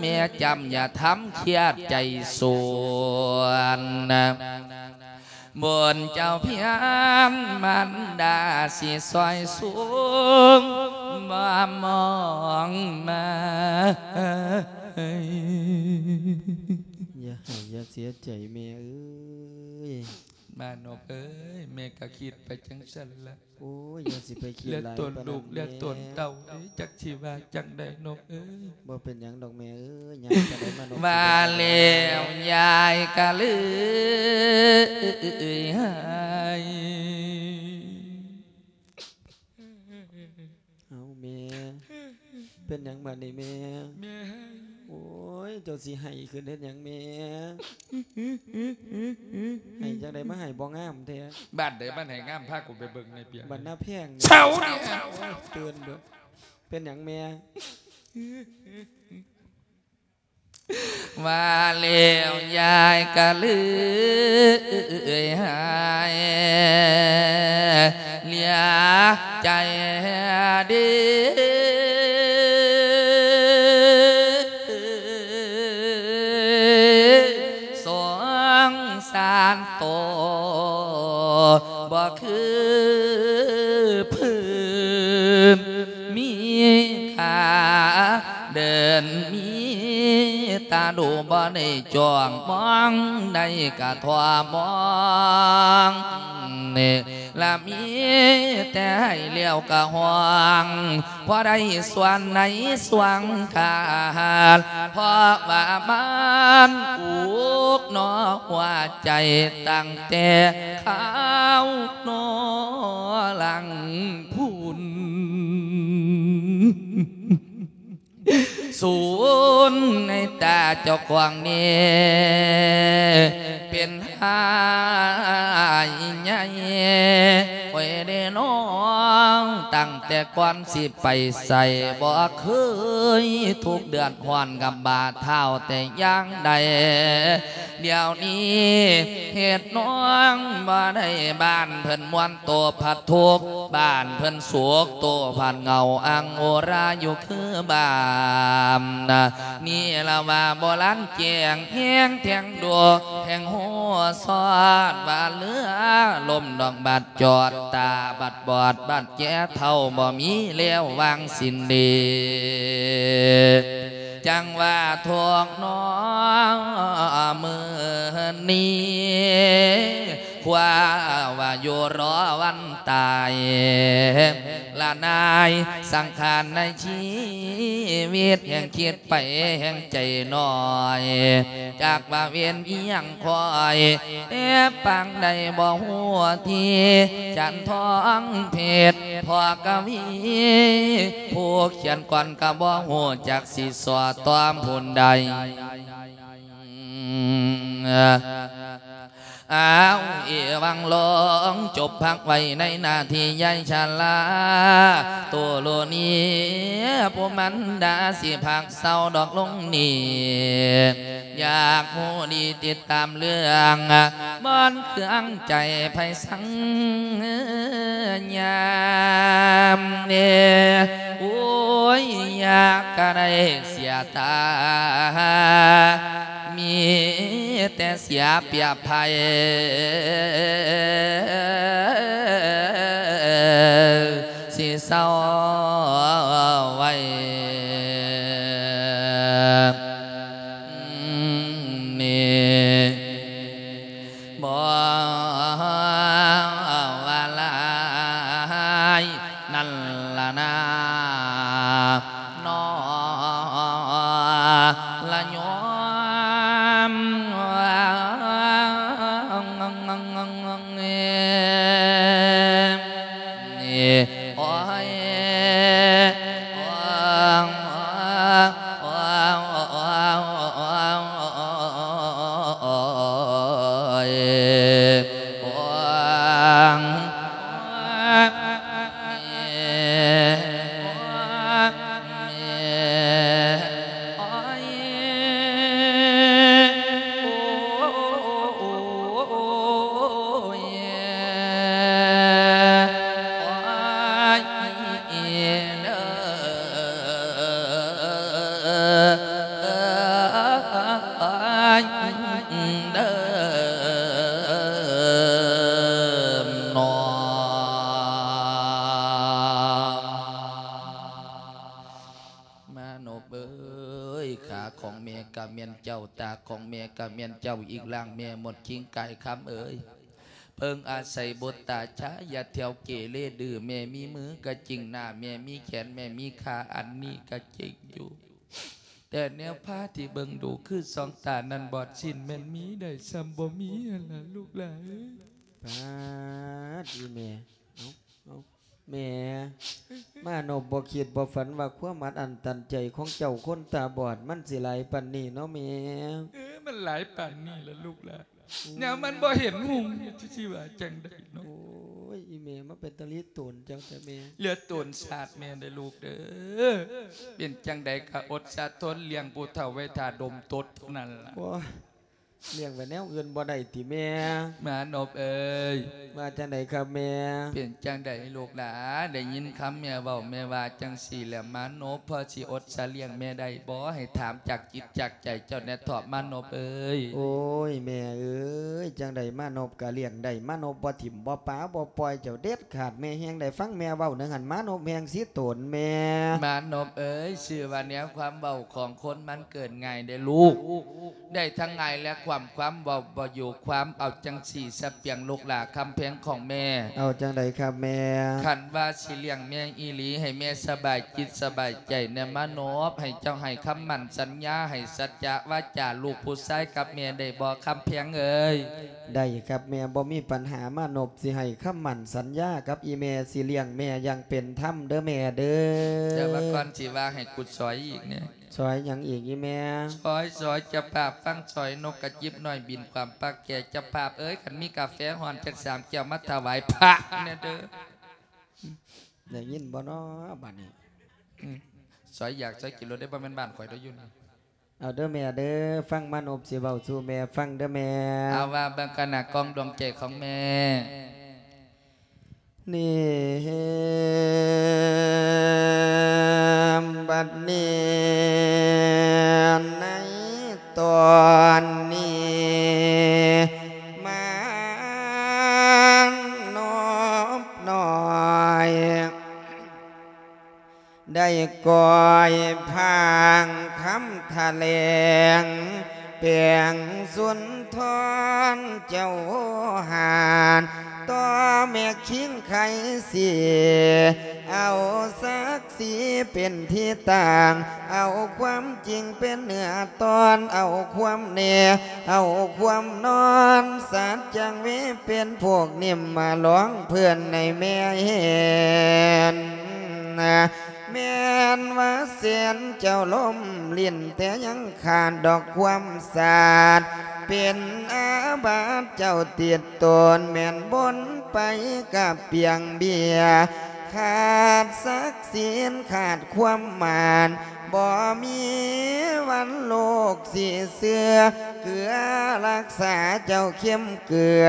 ແມ່ຈຳ ຢ່າທຳຄຽດໃຈສວນ ບຸນເຈົ້າພຽງມານດາຊິຊ່ອຍສູງ ບໍ່ມອງມາ. ຢ່າໄຫ້ຢ່າເສຍໃຈແມ່ເອີຍ ມານົບເອີຍ ແມ່ກະຄິດໄປຈັ່ງຊັ້ນລະ ໂອ້ຍ ຢ່າຊິໄປຄິດຫຼາຍປານນັ້ນແມ່ ແລະຕົນລູກແລະຕົນເຕົ້າເດ້ ຈັກຊິວ່າຈັ່ງໃດນົບເອີຍ. ບໍ່ເປັນຫຍັງດອກແມ່ເອີຍ ຍາຍກະໄດ້ມານົບ ວ່າແລ້ວຍາຍກະເລີຍຫາຍ. ເອົ້າແມ່ ເປັນຫຍັງບາດນີ້ແມ່? ແມ່ໄຫ້. ໂອ້ຍ ເຈົ້າຊິໄຫ້ຂຶ້ນເຮັດຫຍັງແມ່? ໄຫ້ຈັ່ງໃດ ມາໄຫ້ບໍ່ງາມແທ້. ບ້ານໃດບ້ານໃດງາມ ພາກູໄປເບິ່ງແດ່ເປີຍ. ບ້ານນາແພງ. ເຊົາ ໂອ້ຍ ຕື່ນເດີ້. ເປັນຫຍັງແມ່? ວ່າແລ້ວຍາຍກະເລີຍຫາຍ ເຫຼືອໃຈເດ້ ສົງສານໂຕ ບໍ່ຄືພື້ນ ມີຂາເດີນ ມີຕາດູ ບໍ່ໄດ້ຈ້ອງມອງ ໄດ້ກະທົ່ວມອງ ລະມີແຕ່ໄຫ້ແລ້ວກະຮ້ອງ ພໍໄດ້ສ່ວນໃນສ່ວງຂາດ ເພາະວ່າມັນອຸກໜໍຫົວໃຈ ຕັ້ງແຕ່ຄາວໜໍຫຼັງພຸ້ນ ສູນໃນຕາເຈົ້າຂອງນີ້ ເປັນຫາຍໃຫຍ່ ໂອ້ຍເດ້ນ້ອງ ຕັ້ງແຕ່ກ່ອນຊິໄປໃສ ບໍ່ເຄີຍທຸກເດືອດຮ້ອນກັບບາດເທົ້າແຕ່ຢ່າງໃດ. ດຽວນີ້ເຮັດນ້ອງບໍ່ໄດ້ ບ້ານເພິ່ນມ່ວນໂຕພັດທຸກ ບ້ານເພິ່ນໂສກໂຕພັດເຫງົາ ອັງໂອລາຢູ່ຄືບ້ານນະ ນີ້ລະວ່າບໍ່ລັນແຈ້ງແຮງແທງ ໂດແຫ່ງໂຫສອດວ່າເຮືອລົ້ມດອກບັດຈອດ ຕາບັດບອດບັດແຈເຖົ້າ ບໍ່ມີແລ້ວວາງສິນດີ ຈັ່ງວ່າທຸກໜໍມື້ນີ້ ຄວ້າວ່າຢູ່ລໍວັນຕາຍ ລະນາຍສັງຂານໃນຊີວິດ ແຮ່ງຄິດໄປແຮ່ງໃຈນ້ອຍ ຈັກວ່າເວນອີ່ຫຍັງຄອຍ ແອບປາງໃດບໍ່ຮູ້ທີ່ ຈັນທອງເພັດ ພໍ່ກະວີ ຜູ້ຂຽນກອນກະບໍ່ຮູ້ຈັກຊິສໍ້ຕອມຜູ້ໃດ. ອ້າວ ເອວັງ ລົງ ຈົບພັກໄວ້ໃນໜ້າທີ່ຍາຍຊາລາ ໂຕໂລນີ ຜູ້ມັນດາຊິພັກເຊົາດອກລົງນີ້ ຢາກຮູ້ດີຕິດຕາມເລື່ອງ ບ່ອນເຄືອງໃຈໃຜສັງຍາມເດ ໂອ້ຍ ຢາກກະໄດ້ເສຍຕາ ມີແຕ່ເສຍປຽບໃຜ ຊິເຊົາ ນີ້ບໍ່ວ່າຫຼາຍນັ້ນລະນາ ນໍລະໂຍມ. ໂອ້ຍ ໂອ້ຍ ໂອ້ຍ ໂອ້ຍ ໂອ້ຍ ໂອ້ຍ ໂອ້ຍ ໂອ້ຍ ເດີ ເດີນອ. ມານົບເອີຍ ຂາຂອງແມ່ກະແມ່ນເຈົ້າ ຕາຂອງແມ່ກະແມ່ນເຈົ້າ ອີກຮ່າງແມ່ໝົດຄິງກາຍຄຳເອີຍ ເພິ່ງອາໄສບຸດຕາຊາ ຢ່າທ່ຽວເກເລດື້ ແມ່ມີມືກະຈິງ ໜ້າແມ່ມີແຂນ ແມ່ມີຂາ ອັນນີ້ກະຈິງຢູ່ ແຕ່ແນວພາທີ່ເບິ່ງດູຄືສອງຕານັ້ນບອດສິ້ນ ແມ່ນມີໄດ້ສ່ຳບໍ່ມີຫັ້ນລະລູກຫຼານເອີຍ. ປາດ ອີແມ່ ເອົ້າ ເອົ້າ ແມ່ ມານົບບໍ່ຄິດບໍ່ຝັນວ່າຄວາມອັດອັ້ນຕັນໃຈຂອງເຈົ້າຄົນຕາບອດ ມັນຊິຫຼາຍປານນີ້ເນາະແມ່. ເອີ ມັນຫຼາຍປານນີ້ລະລູກຫຼານ ອືມ ແນວມັນບໍ່ເຫັນຮຸ່ງ ຊິວ່າຈັ່ງໃດເນາະ. ໂອ້ຍ ອີແມ່ ມາເປັນຕາລີໂຕນເຈົ້າແທ້ແມ່. ເຫຼືອໂຕນຊາດແມ່ເດີລູກເດີ ເປັນຈັ່ງໃດກະອົດສະທົນລ້ຽງຜູ້ເຖົ້າໄວ້ຖ້າດົມຕົດເທົ່ານັ້ນລະ. ໂອ້ຍ ລ້ຽງໄວ້ແນວອື່ນບໍ່ໄດ້ຕິແມ່? ມານົບເອີຍ ວ່າຈັ່ງໃດຄັບແມ່? ເປັນຈັ່ງໃດລູກຫຼານ ໄດ້ຍິນຄຳແມ່ເວົ້າ ແມ່ວ່າຈັ່ງຊີ້ແຫຼະ ມານົບພໍຊິອົດສະລ້ຽງແມ່ໄດ້ບໍ່? ໃຫ້ຖາມຈາກຈິດຈາກໃຈເຈົ້າແດ່ເຖາະ ມານົບເອີຍ. ໂອ້ຍ ແມ່ເອີຍ ຈັ່ງໃດມານົບກະລ້ຽງໄດ້ ມານົບບໍ່ຖິ້ມບໍ່ປາບໍ່ປ່ອຍເຈົ້າເດັດຂາດ ແມ່ແຮ່ງໄດ້ຟັງແມ່ເວົ້າໜຶ່ງຫັ້ນ ມານົບແຮ່ງຊິໂຕນແມ່. ມານົບເອີຍ ຊື່ວ່າແນວຄວາມເວົ້າຂອງຄົນມັນເກີດງ່າຍເດ້ລູກ ໄດ້ທັງງ່າຍແລະຄວາມ ຄວາມເວົ້າບໍ່ຢູ່ຄວາມ. ເອົາຈັ່ງຊີ້ສະປຽງລູກຫຼານຄຳແພງຂອງແມ່. ເອົາຈັ່ງໃດຄັບແມ່? ຄັນວ່າຊິລ້ຽງແມ່ອີ່ຫຼີ ໃຫ້ແມ່ສະບາຍຈິດສະບາຍໃຈແດ່ມານົບ ໃຫ້ເຈົ້າໃຫ້ຄຳໝັ້ນສັນຍາ ໃຫ້ສັດຈະວາຈາລູກຜູ້ຊາຍກັບແມ່ໄດ້ບໍ່ຄຳແພງເອີຍ? ໄດ້ຄັບແມ່ ບໍ່ມີປັນຫາ ມານົບຊິໃຫ້ຄຳໝັ້ນສັນຍາກັບອີ່ແມ່ ຊິລ້ຽງແມ່ຢ່າງເປັນທຳເດີແມ່ເດີ. ແຕ່ວ່າກ່ອນຊິວ່າໃຫ້ກູຊອຍອີກແນ່. ຊອຍຫຍັງອີກອີ່ແມ່? ຊອຍ ຊອຍ ເຈົ້າພາບຟັງ ຊອຍນົກກະຈິບນ້ອຍບິນຄວາມປາກແກ່. ເຈົ້າພາບເອີຍ ຄັນມີກາແຟຮ້ອນຈັກສາມແກ້ວມາຖະຫວາຍພະແນ່ເດີ. ໄດ້ຍິນບໍ່ນໍບາດນີ້? ອືມ ຊອຍຢາກຊອຍກິນໂລດເດ້ ບໍ່ແມ່ນບ້ານຂ້ອຍເດີຢູ່ນີ້. ເອົາເດີແມ່ເດີ ຟັງມານົບຊິເວົ້າສູ່ແມ່ຟັງເດີແມ່. ເອົາວ່າເບິ່ງກັນນະ ກ້ອງດວງໃຈຂອງແມ່. ນີ້ ບັດນີ້ ໃນຕອນນີ້ ມານົບນ້ອຍ ໄດ້ກ່ອຍພາງຄຳຖະແຫຼງ ແປງສຸນທອນເຈົ້າຫານ ຕໍ່ແມ່ຄິງໄຄສີ ເອົາສັກສີເປັນທີ່ຕັ້ງ ເອົາຄວາມຈິງເປັນເນື້ອຕອນ ເອົາຄວາມແນ່ ເອົາຄວາມນອນ ສັດຈັ່ງເວເປັນພວກນິມມາລອງເພື່ອນໃນແມ່ເຫັນ. ແມ່ນວ່າແສນເຈົ້າລົມຫຼິ້ນ ແຕ່ຍັງຂາດດອກຄວາມສາດ ເປັນອາບັດເຈົ້າຕິດຕົນ ແມ່ນບົນໄປກັບປ່ຽງເບຍ ຂາດສັກສີນ ຂາດຄວາມໝານ ບໍ່ມີວັນໂລກຊິເຊື່ອ ເກືອລັກສາເຈົ້າເຂັມເກືອ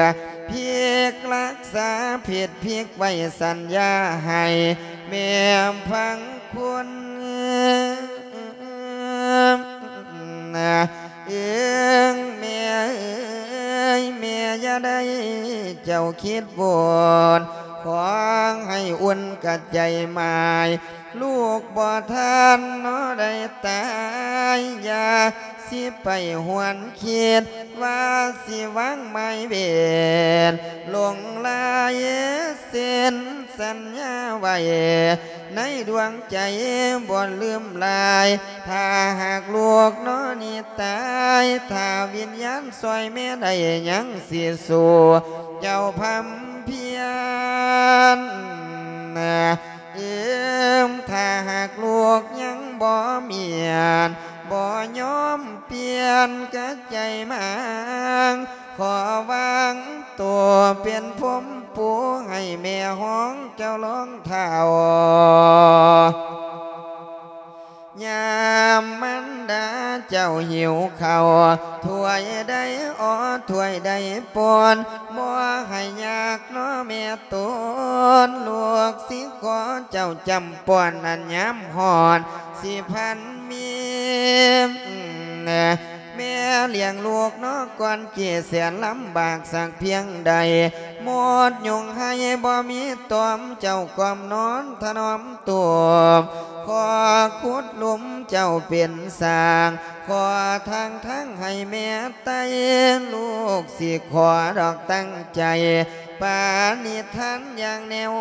ພິກລັກສາຜິດພິກໄວ້ສັນຍາໃຫ້ແມ່ພັງຄຸນ. ເອີງແມ່ເອີຍ ແມ່ຢ່າໄດ້ເຈົ້າຄິດວົນ ຂໍໃຫ້ອຸ່ນກະໃຈໝາຍ ລູກບໍ່ທັນເນາະໄດ້ຕາຍ ຢ່າຊິໄປຫວນຄິດວ່າຊິວາງໝາຍເວນ ຫຼົງລາຍເຊັນສັນຍາໄວ້ ໃນດວງໃຈບໍ່ລືມລາຍ. ຖ້າຫາກລູກເນາະນີ້ຕາຍ ຖ້າວິນຍານຊ່ອຍແມ່ໄດ້ ຍັງຊິສູ້ເຈົ້າພຳພຽນ. ເອີ ຖ້າຫາກລູກຍັງບໍ່ມ້ຽນ ບໍ່ຍອມປ່ຽນກະໃຈມາງ ຂໍວາງໂຕເປັນພົມປູໃຫ້ແມ່ຮອງເຈົ້າລອງເທົ້າ. ຍາມມັນດາເຈົ້າຫິວເຂົ້າ ຖ້ວຍໃດອໍ ຖ້ວຍໃດປ້ອນ ບໍ່ໃຫ້ຍາກເນາະແມ່ຕົນ ລູກຊິຂໍເຈົ້າຈຳປ້ອນ ອັນຍາມຮ້ອນຊິພັນມີ ແມ່ລ້ຽງລູກເນາະກ່ອນເກແສນລຳບາກສັກພຽງໃດ ໝົດຍຸງໄຫ້ບໍ່ມີຕອມ ເຈົ້າກອມນອນຖະໜອມ ຕົວ ຂໍຂຸດຫຼຸມເຈົ້າເປັນສ້າງ ຂໍທາງທາງໃຫ້ແມ່ໄຕ່ ລູກຊິຂໍດອກຕັ້ງໃຈ ປານິທານຢ່າງແນວ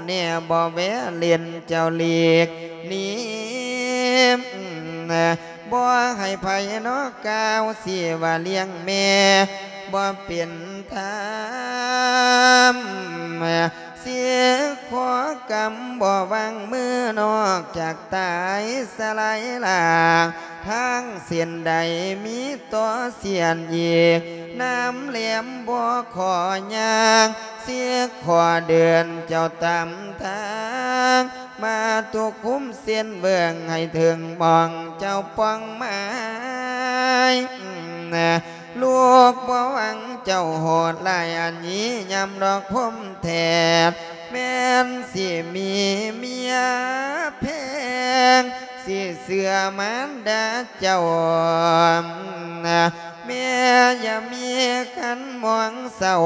ແນ່ ບໍ່ແວເລ່ນເຈົ້າຫຼີກໜີ ບໍ່ໃຫ້ໃຜເນາະກ່າວຊິວ່າລ້ຽງແມ່ ບໍ່ເປັນທຳ ຊິຂໍກຳບໍ່ວາງມື ນອກຈາກຕາຍສະຫຼາຍລ່າງ ທາງເສັ້ນໃດມີຕໍ່ເສັ້ນອີກ ນ້ຳແຫຼມບໍ່ຂໍຍ່າງ ຊິຂໍເດີນເຈົ້າຕາມທາງ ມາຕຸກຄຸມເສັ້ນເບິ່ງໃຫ້ເຖິງໝ່ອງເຈົ້າປ່ອງໝາຍ. ລູກບໍ່ຫວັງເຈົ້າໂຫດຮ້າຍອັນນີ້ ຍາມດອກພົມແທດ ແມ່ນຊິມີເມຍແພງ ຊິເຊື່ອມານດາເຈົ້າ ແມ່ຢ່າມີຄັນມອງເສົ້າ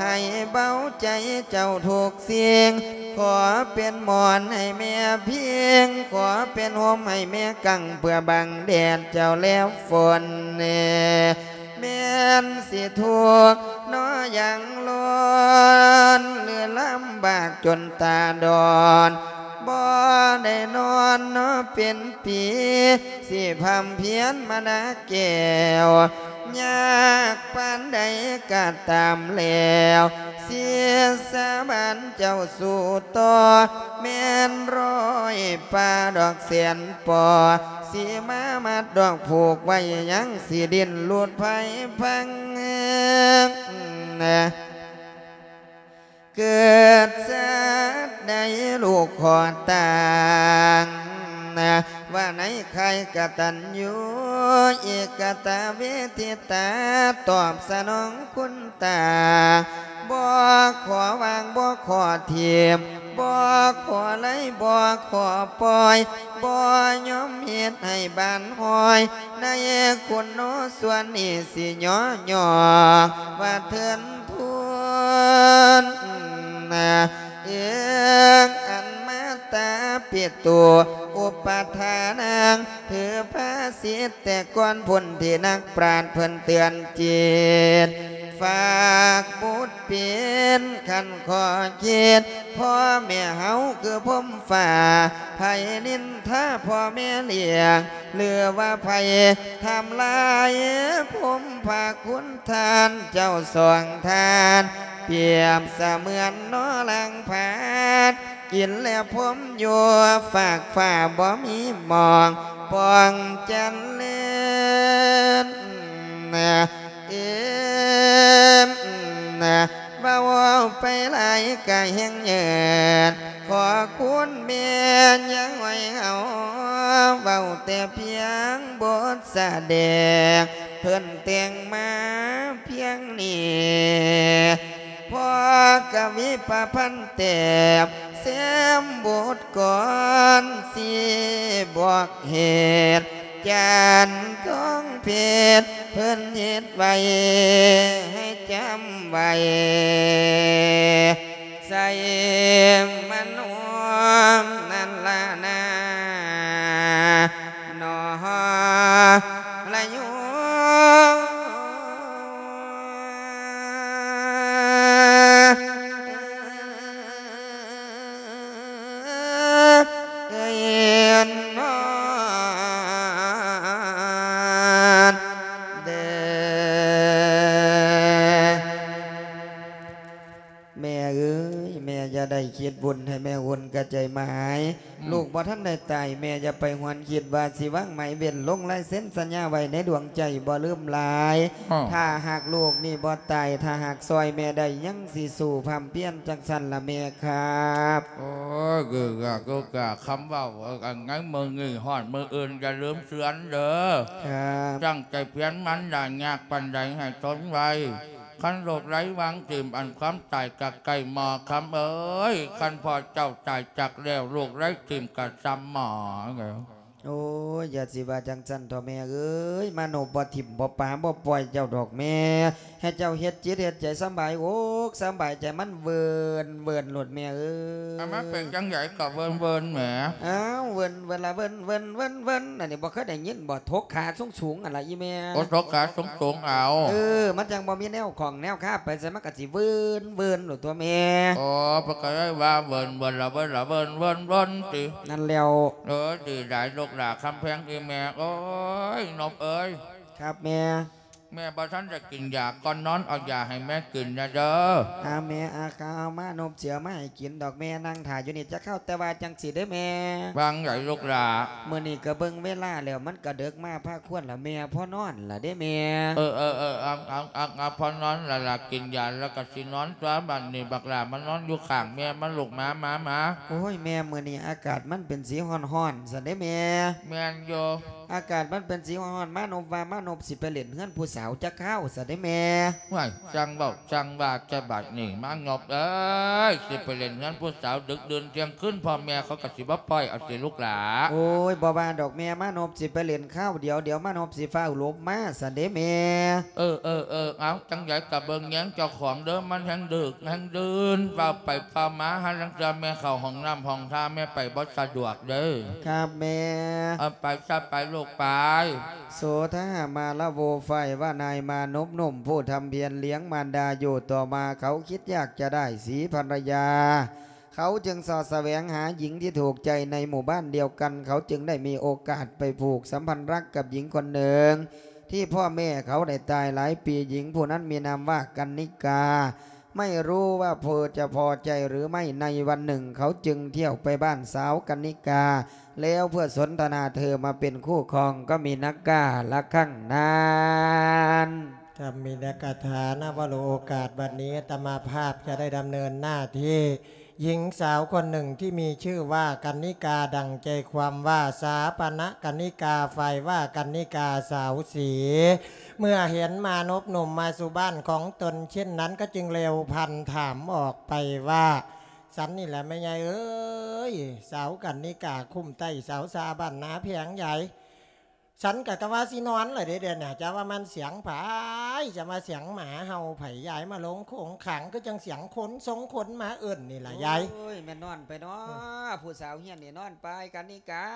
ໃຫ້ເບົາໃຈເຈົ້າທຸກສິ່ງ ຂໍເປັນໝອນໃຫ້ແມ່ພິງ ຂໍເປັນຮົ່ມໃຫ້ແມ່ກັ້ງ ເພື່ອບັງແດດເຈົ້າແລະຝົນ ແມ່ນຊິທຸກເນາະຢ່າງລ້ນ ຫຼືລຳບາກຈົນຕາດອນ ບໍ່ໄດ້ນອນເນາະເປັນປີ ຊິພຳພຽນມານາແກ້ວ ຍາກປານໃດກະຕາມແລ້ວ ສິດສາບານເຈົ້າສູ້ຕໍ່ ແມ່ນຮ້ອຍປ່າດອກແສນປໍ ຊິມາມັດດອກຜູກໄວ້ ຍັງຊິດີ້ນຫຼຸດໄພພັງ ເກີດຊາດໃດລູກຂໍຕ່າງ ວ່າໃນຂ່າຍກະຕັນຍູ ເອກະຕະເວທິຕາ ຕອບສະໜອງຄຸນຕາ ບໍ່ຂໍວາງ ບໍ່ຂໍຖິ້ມ ບໍ່ຂໍໄລ່ ບໍ່ຂໍປ່ອຍ ບໍ່ຍອມເຮັດໃຫ້ບານຫ້ອຍ ໃນຄຸນໂນສ່ວນນີ້ ຊິຍໍຍອກວ່າເທີນ ທຸນ ເອີງອັນມາຕາປິໂຕ ອຸປະທານັງ ຖືພາສິດແຕ່ກ່ອນພຸ້ນ ທີ່ນັກປາດເພິ່ນເຕືອນຈິດ ຝາກບຸດເປັນຄັນຂໍຄິດ ພໍ່ແມ່ເຮົາຄືພົມຟ້າ ໃຜນິນທາພໍ່ແມ່ລ້ຽງ ຫຼືວ່າໃຜທຳລາຍພົມພະຄຸນ ທ່ານເຈົ້າສອງທ່ານ ປຽບສະເໝືອນໜໍ່ຫຼັງພາດ ກິນແລະພົມຢູ່ຟາກຟ້າ ບໍ່ມີໝ່ອງປ່ອງຈັນເລີນ ເອີ ເວົ້າໄປຫຼາຍກະແຮງເຍີດ ຂໍຄຸນແມ່ຍ່າໄວເຮົາ ເວົ້າແຕ່ພຽງບົດສະແດງ ເພິ່ນແຕ່ງມາພຽງນີ້ ພໍ່ກະວິປະພັນແຕ້ມ ແຊມບົດກ່ອນ ຊິບອກເຫດ ຈັນທອງເພັດ ເພິ່ນເຮັດໄວ້ໃຫ້ຈຳໄວ້ ໃສ່ມະໂນ ນັ້ນລະນາ ນອລະຍູ ເອີຍ ນອນເດີ. ແມ່ເອີຍ ແມ່ຢ່າໄດ້ຄິດວຸ່ນໃຫ້ແມ່ວຸ່ນກະໃຈໝາຍ. ອືມ ລູກບໍ່ທັນໄດ້ຕາຍ ແມ່ຢ່າໄປຫວນຄິດວ່າຊິວາງໝາຍເວັ້ນ ລົງລາຍເຊັນສັນຍາໄວ້ໃນດວງໃຈ ບໍ່ລືມຫຼາຍ. ອ້າວ ຖ້າຫາກລູກນີ້ບໍ່ຕາຍ ຖ້າຫາກຊ່ອຍແມ່ໄດ້ ຍັງຊິສູ້ພ້ຳພຽນຈັ່ງຊັ້ນລະແມ່ຄັບ. ໂອ້ຍ ຄືກະ ຄືກະ ຄຳເວົ້າ ເອີ ອັນໃນມື້ນີ້ຮອດມື້ອື່ນຢ່າລືມເຊືອນເດີ. ຄັບ ຕັ້ງໃຈພຽນມັນ ຢ່າຍາກປານໃດໃຫ້ທົນໄວ້. ຄັນໂລກໄຮ້ວາງຖິ້ມ ອັນຄວາມຕາຍກະໃກ້ໝໍ້ ຄຳເອີຍ. ຄັນພໍ່ເຈົ້າຕາຍຈັກແລ້ວ ໂລກໄຮ້ຖິ້ມກະຊ່ຳໝໍ້ແລ້ວ. ໂອ້ຍ ຢ່າຊິວ່າຈັ່ງຊັ້ນເຖາະແມ່ເອີຍ. ມານົບບໍ່ຖິ້ມບໍ່ປາບໍ່ປ່ອຍເຈົ້າດອກແມ່. ໃຫ້ເຈົ້າເຮັດຈິດເຮັດໃຈສຳບາຍອົກສຳບາຍໃຈ ມັນເວີນ ເວີນໂລດແມ່ເອີຍ. ອາ ມັນເປັນຈັ່ງໃດກໍເວີນ ເວີນແໝ. ອ້າວ ເວີນ ເວີນລະເວີນ ເວີນ ເວີນ ເວີນ ອັນນີ້ບໍ່ເຄີຍໄດ້ຍິນບໍ່? ທົກຂາສູງໆ ຫັ້ນລະອີ່ແມ່. ໂອ້ ທົກຂາສູງໆ ເອົາ. ເອີ ມັນຈັ່ງບໍ່ມີແນວຂ້ອງແນວຄາ ໄປໃສມັນກໍຊິເວີນ ເວີນໂລດຕົວະແມ່. ອໍ ເພິ່ນກໍເລີຍວ່າເວີນ ເວີນລະເວີນລະເວີນ ເວີນ ເວີນຕິ. ນັ້ນແລ້ວ. ເອີ ດີຫຼາຍລູກຫຼານຄຳແພງອີ່ແມ່ເອີຍ ນົບເອີຍ. ຄັບແມ່. ແມ່ບໍ່ທັນໄດ້ກິນຢາ ກ່ອນນອນເອົາຢາໃຫ້ແມ່ກິນແດ່ເດີ. ອາ ແມ່ ອາ ຂ້າເອົາມານົບຊິເອົາມາໃຫ້ກິນດອກແມ່ ນັ່ງຖ້າຢູ່ນີ້ຈັກຄາວ. ແຕ່ວ່າຈັ່ງຊີ້ເດີແມ່. ວ່າຈັ່ງໃດລູກຫຼານ? ມື້ນີ້ກໍເບິ່ງເວລາແລ້ວ ມັນກໍເດິກມາພາຄວນລະແມ່ ພໍນອນລະເດ້ແມ່. ເອີ ເອີ ເອີ ເອົາ ເອົາ ເອົາ ເອົາ ພໍນອນລະລະ ກິນຢາແລ້ວກໍຊິນອນຕົວະ. ບັດນີ້ບັກຫຼ້າມານອນຢູ່ຂ້າງແມ່ ມາລູກ ມາ ມາ ມາ. ໂອ້ຍ ແມ່ ມື້ນີ້ອາກາດມັນເປັນສີຮ້ອນໆ ຊັ້ນເດ້ແມ່. ແມ່ນຢູ່. ອາກາດມັນເປັນສີຮ້ອນໆ ມານົບວ່າມານົບຊິໄປຫຼິ້ນເຮືອນຜູ້ສາວຈັກຄາວຊະເດ້ແມ່. ຫ້ວຍ ຊ່າງເວົ້າຊ່າງວ່າແຕ່ບັດນີ້ ມານົບເອີຍ ຊິໄປຫຼິ້ນເຮືອນຜູ້ສາວດຶກດື່ນທ່ຽງຄືນ ພໍ່ແມ່ເຂົາກໍຊິບໍ່ປ່ອຍເອົາຕິລູກຫຼານ. ໂອ້ຍ ບໍ່ວ່າດອກແມ່ ມານົບຊິໄປຫຼິ້ນຄາວດຽວ ດຽວມານົບຊິຟ້າວຫຼົບມາຊະເດ້ແມ່. ເອີ ເອີ ເອີ ເອົາ ຈັ່ງໃດກໍເບິ່ງແຍງເຈົ້າຂອງເດີ ມັນແຮ່ງດຶກແຮ່ງດື່ນ ເວົ້າໄປເວົ້າມາ ຫາລາງເທື່ອແມ່ເຂົ້າຫ້ອງນ້ຳຫ້ອງທ່າ ແມ່ໄປບໍ່ສະດວກເດີ. ຄັບແມ່. ເອົາ ໄປຊະ ໄປລູກໄປ. ໂສທະຫະມາລະໂວ ຝ່າຍວ່ານາຍມານົບໜຸ່ມ ຜູ້ທຳພຽນລ້ຽງມານດາຢູ່ ຕໍ່ມາເຂົາຄິດຢາກຈະໄດ້ສີພັນລະຍາ ເຂົາຈຶ່ງເສາະສະແຫວງຫາຍິງທີ່ຖືກໃຈໃນໝູ່ບ້ານດຽວກັນ ເຂົາຈຶ່ງໄດ້ມີໂອກາດໄປຜູກສຳພັນລັກກັບຍິງຄົນໜຶ່ງ ທີ່ພໍ່ແມ່ເຂົາໄດ້ຕາຍຫຼາຍປີ. ຍິງຜູ້ນັ້ນມີນາມວ່າກັນນິກາ ໄມ່ຮູ້ວ່າເພິ່ນຈະພໍໃຈຫຼືໄມ່. ໃນວັນໜຶ່ງເຂົາຈຶ່ງທ່ຽວໄປບ້ານສາວກັນນິກາ ແລ້ວເພື່ອສົນທະນາເທີມາເປັນຄູ່ຄອງກັບມີນາກາລະຄັ້ງນັ້ນ. ຖ້າມີນາກາຖານະວະໂລ ໂອກາດບັດນີ້ ອາດຕະມາພາບຈະໄດ້ດຳເນີນໜ້າທີ່ ຍິງສາວຄົນໜຶ່ງທີ່ມີຊື່ວ່າກັນນິກາ ດັ່ງໃຈຄວາມວ່າ ສາປະນະກັນນິກາ ຝ່າຍວ່າກັນນິກາ ສາວສີ ເມື່ອເຫັນມານົບໜຸ່ມມາສູ່ບ້ານຂອງຕົນເຊັ່ນນັ້ນ ກໍຈຶ່ງເລັວພັນຖາມອອກໄປວ່າ ສັນນີ້ແຫຼະແມ່ໃຫຍ່ເອີຍ ສາວກັນນິກາຄຸ້ມໃຕ້ສາວຊາບ້ານນາແພງໃຫຍ່. ສັນກະ ກະວ່າຊິນອນລະເດ້ ດຽວນີ້ຈະວ່າມັນສຽງໃຜ ຈະວ່າສຽງໝາເຫົ່າໃຜ ຍາຍມາລົງໂຄງຂັງ ຄືຈັ່ງສຽງຄົນຊົງຄົນມາເອີ້ນນີ້ລະຍາຍ. ໂອ້ຍ ແມ່ນນອນໄປເນາະ ຜູ້ສາວຮຽນນີ້ນອນໄປ ກັນນິກາ.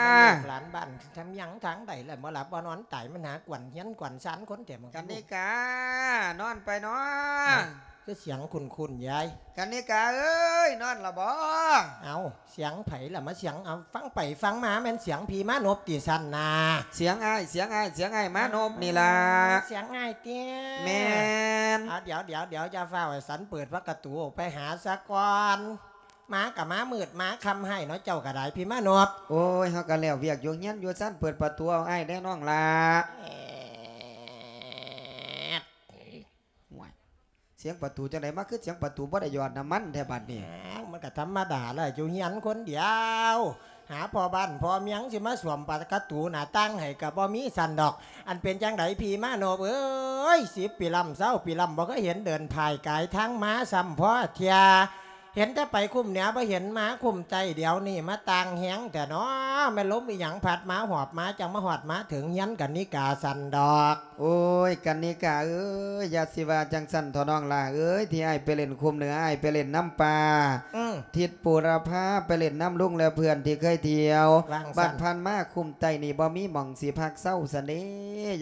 ແມ່ນລູກຫຼານບ້ານທຳຫຍັງທາງໃດລະ ບໍ່ຫຼັບບໍ່ນອນຕາຍ ມັນຫາກວນເຮືອນກວນຊານຄົນແທ້ ກັນນິກາ ນອນໄປເນາະ. ຄືສຽງຄຸ້ນໆຍາຍ. ກັນນິກາເອີຍ ນອນລະບໍ່? ເອົ້າ ສຽງໃຜລະມາສຽງ ເອົາ ຟັງໄປຟັງມາແມ່ນສຽງຜີມານົບຕິຊັ້ນນາ. ສຽງອ້າຍ ສຽງອ້າຍ ສຽງອ້າຍມານົບນີ້ລະ. ສຽງອ້າຍຕິ? ແມ່ນ. ອາ ດຽວ ດຽວ ດຽວ ຢ່າຟ້າວ ໃຫ້ສັນເປີດປະຕູໄປຫາສາກ່ອນ. ມາກະມາມືດມາຄ່ຳໃຫ້ເນາະ ເຈົ້າກະໄດ້ ຜີມານົບ. ໂອ້ຍ ເຮົາກະແລ້ວວຽກຢູ່ເຮືອນຢູ່ຊານ ເປີດປະຕູເອົາອ້າຍແດ່ນ້ອງລະ. ໂອ້ຍ ສຽງປະຕູຈັ່ງໃດ ມາຄືສຽງປະຕູບໍ່ໄດ້ຢອດນ້ຳມັນແທ້ບາດນີ້. ອ້າວ ມັນກະທຳມະດາລະ ຢູ່ເຮືອນຄົນດຽວ ຫາພໍ່ບ້ານພໍ່ເມືອງຊິມາສວມປະຕູໜ້າຕ່າງໃຫ້ກະບໍ່ມີຊັ້ນດອກ. ອັນເປັນຈັ່ງໃດຜີມານົບເອີຍ ສິບປີລ້ຳຊາວປີລ້ຳ ບໍ່ເຄີຍເຫັນເດີນຜ່າຍກາຍທາງມາຊ້ຳພໍເທື່ອ. ເຫັນແຕ່ໄປຄຸ້ມເໜືອ ບໍ່ເຫັນມາຄຸ້ມໃຕ້ ດຽວນີ້ມາຕ່າງແຮງແທ້ເນາະ. ແມ່ນລົມອີ່ຫຍັງພັດມາຫອບມາ ຈັ່ງມາຮອດມາເຖິງເຮືອນກັນນິກາຊັ້ນດອກ. ໂອ້ຍ ກັນນິກາເອີຍ ຢ່າຊິວ່າຈັ່ງຊັ້ນເຖາະນ້ອງຫຼ້າເອີຍ ທີ່ອ້າຍໄປຫຼິ້ນຄຸ້ມເໜືອ ອ້າຍໄປຫຼິ້ນນຳປ່າ ອືມ ທິດບູລະພາ ໄປຫຼິ້ນນຳລຸງ ແລະ ເພື່ອນທີ່ເຄີຍທ່ຽວ ວ່າງຊັ້ນ ບັດຜ່ານມາຄຸ້ມໃຕ້ນີ້ ບໍ່ມີໝ່ອງຊິພັກເຊົາຊັ້ນເດ.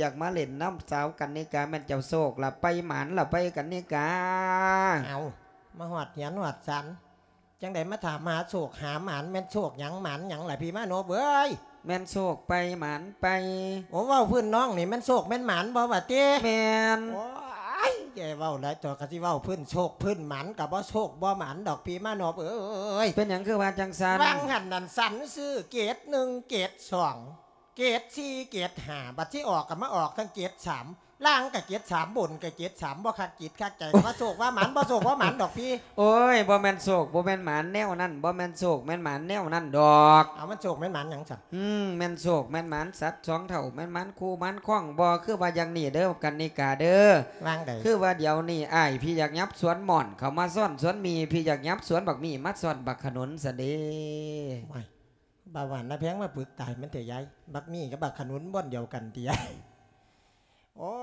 ຢາກມາຫຼິ້ນນຳສາວກັນນິກາ ແມ່ນເຈົ້າໂຊກລະໄປ ໝານລະໄປ ກັນນິກາ. ເອົ້າ ມາຮອດເຮືອນຮອດຊານ ຈັ່ງໃດມາຖາມຫາໂຊກຫາໝານ ແມ່ນໂຊກຫຍັງໝານຫຍັງລະພີ່ມານົບເອີຍ? ແມ່ນໂຊກໄປໝານໄປ. ໂອ້ ເວົ້າພື້ນນ້ອງນີ້ແມ່ນໂຊກແມ່ນໝານບໍ່ຫວາຕິ? ແມ່ນ. ໂອ້ຍ ຢ່າເວົ້າຫຼາຍຕົວະ ກະຊິເວົ້າພື້ນໂຊກພື້ນໝານກະບໍ່ໂຊກບໍ່ໝານດອກພີ່ມານົບເອີຍ. ເປັນຫຍັງຄືວ່າຈັ່ງຊັ້ນ? ວ່າງຫັ້ນນັ້ນສັນຊື້ເກດໜຶ່ງເກດສອງ ເກດສີ່ເກດຫ້າ ບັດຊິອອກກະມາອອກທັງເກດສາມ ລ່າງກະເຈັດສາມ ບົນກະເຈັດສາມ ບໍ່ຄັກຈິດຄັກໃຈ ວ່າໂຊກວ່າໝານ ບໍ່ໂຊກບໍ່ໝານດອກພີ່. ໂອ້ຍ ບໍ່ແມ່ນໂຊກບໍ່ແມ່ນໝານແນວນັ້ນ ບໍ່ແມ່ນໂຊກແມ່ນໝານແນວນັ້ນດອກ. ເອົາ ມັນໂຊກແມ່ນໝານຫຍັງຊັ້ນ? ອືມ ແມ່ນໂຊກແມ່ນໝານສັດສອງເຖົ້າ ແມ່ນໝານຄູ່ໝານຄອງບໍ່? ຄືວ່າຢ່າງນີ້ເດີ ກັນນິກາເດີ. ວ່າງໃດ? ຄືວ່າດຽວນີ້ອ້າຍພີ່ຢາກຫຍັບສວນມ່ອນເຂົ້າມາຊ້ອນສວນໝີ່ ພີ່ຢາກຫຍັບສວນບັກໝີ່ມາຊ້ອນບັກຂະໜູນຊັ້ນເດ. ໂອ້ຍ ບ່າວຫວານນາແພງມາປຶກຕາຍມັນແທ້ຍາຍ ບັກໝີ່ກັບບັກຂະໜູນບ່ອນດຽວກັນຕິຍາຍ? ໂອ້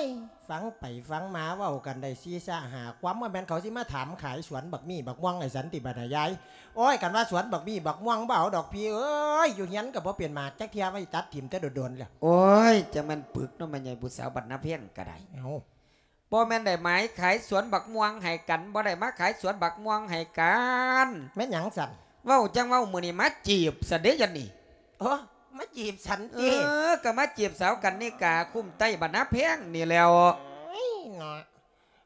ຍ ຟັງໄປຟັງມາເວົ້າກັນໄດ້ສີ່ສາຫ້າຄວາມ ວ່າແມ່ນເຂົາຊິມາຖາມຂາຍສວນບັກໝີ່ບັກມ່ວງໃຫ້ສັນຕິບັດນະຍາຍ. ໂອ້ຍ ຄັນວ່າສວນບັກໝີ່ບັກມ່ວງບໍ່ເອົາດອກພີ່ເອີຍ ຢູ່ເຮືອນກະບໍ່ເປັນໝາກຈັກເທື່ອ ໄວ້ຕັດຖິ້ມແຕ່ດົນໆແລ້ວ. ໂອ້ຍ ຈັ່ງແມ່ນປຶກເນາະ ແມ່ໃຫຍ່ຜູ້ສາວບັດນາແພງກະໄດ້. ເອົ້າ ບໍ່ແມ່ນໄດ້ໝາຍຂາຍສວນບັກມ່ວງໃຫ້ກັນ ບໍ່ໄດ້ມາຂາຍສວນບັກມ່ວງໃຫ້ກັນ. ແມ່ນຫຍັງຊັ້ນ? ເວົ້າຈັ່ງເວົ້າ ມື້ນີ້ມາຈີບຊັ້ນເດ ຈັ່ງນີ້. ໂອ້ ມາຈີບສັນຕິ? ເອີ ກະມາຈີບສາວກັນນິກາຄຸ້ມໃຕ້ບັດນາແພງນີ້ແລ້ວ. ໂອ້ຍເນາະ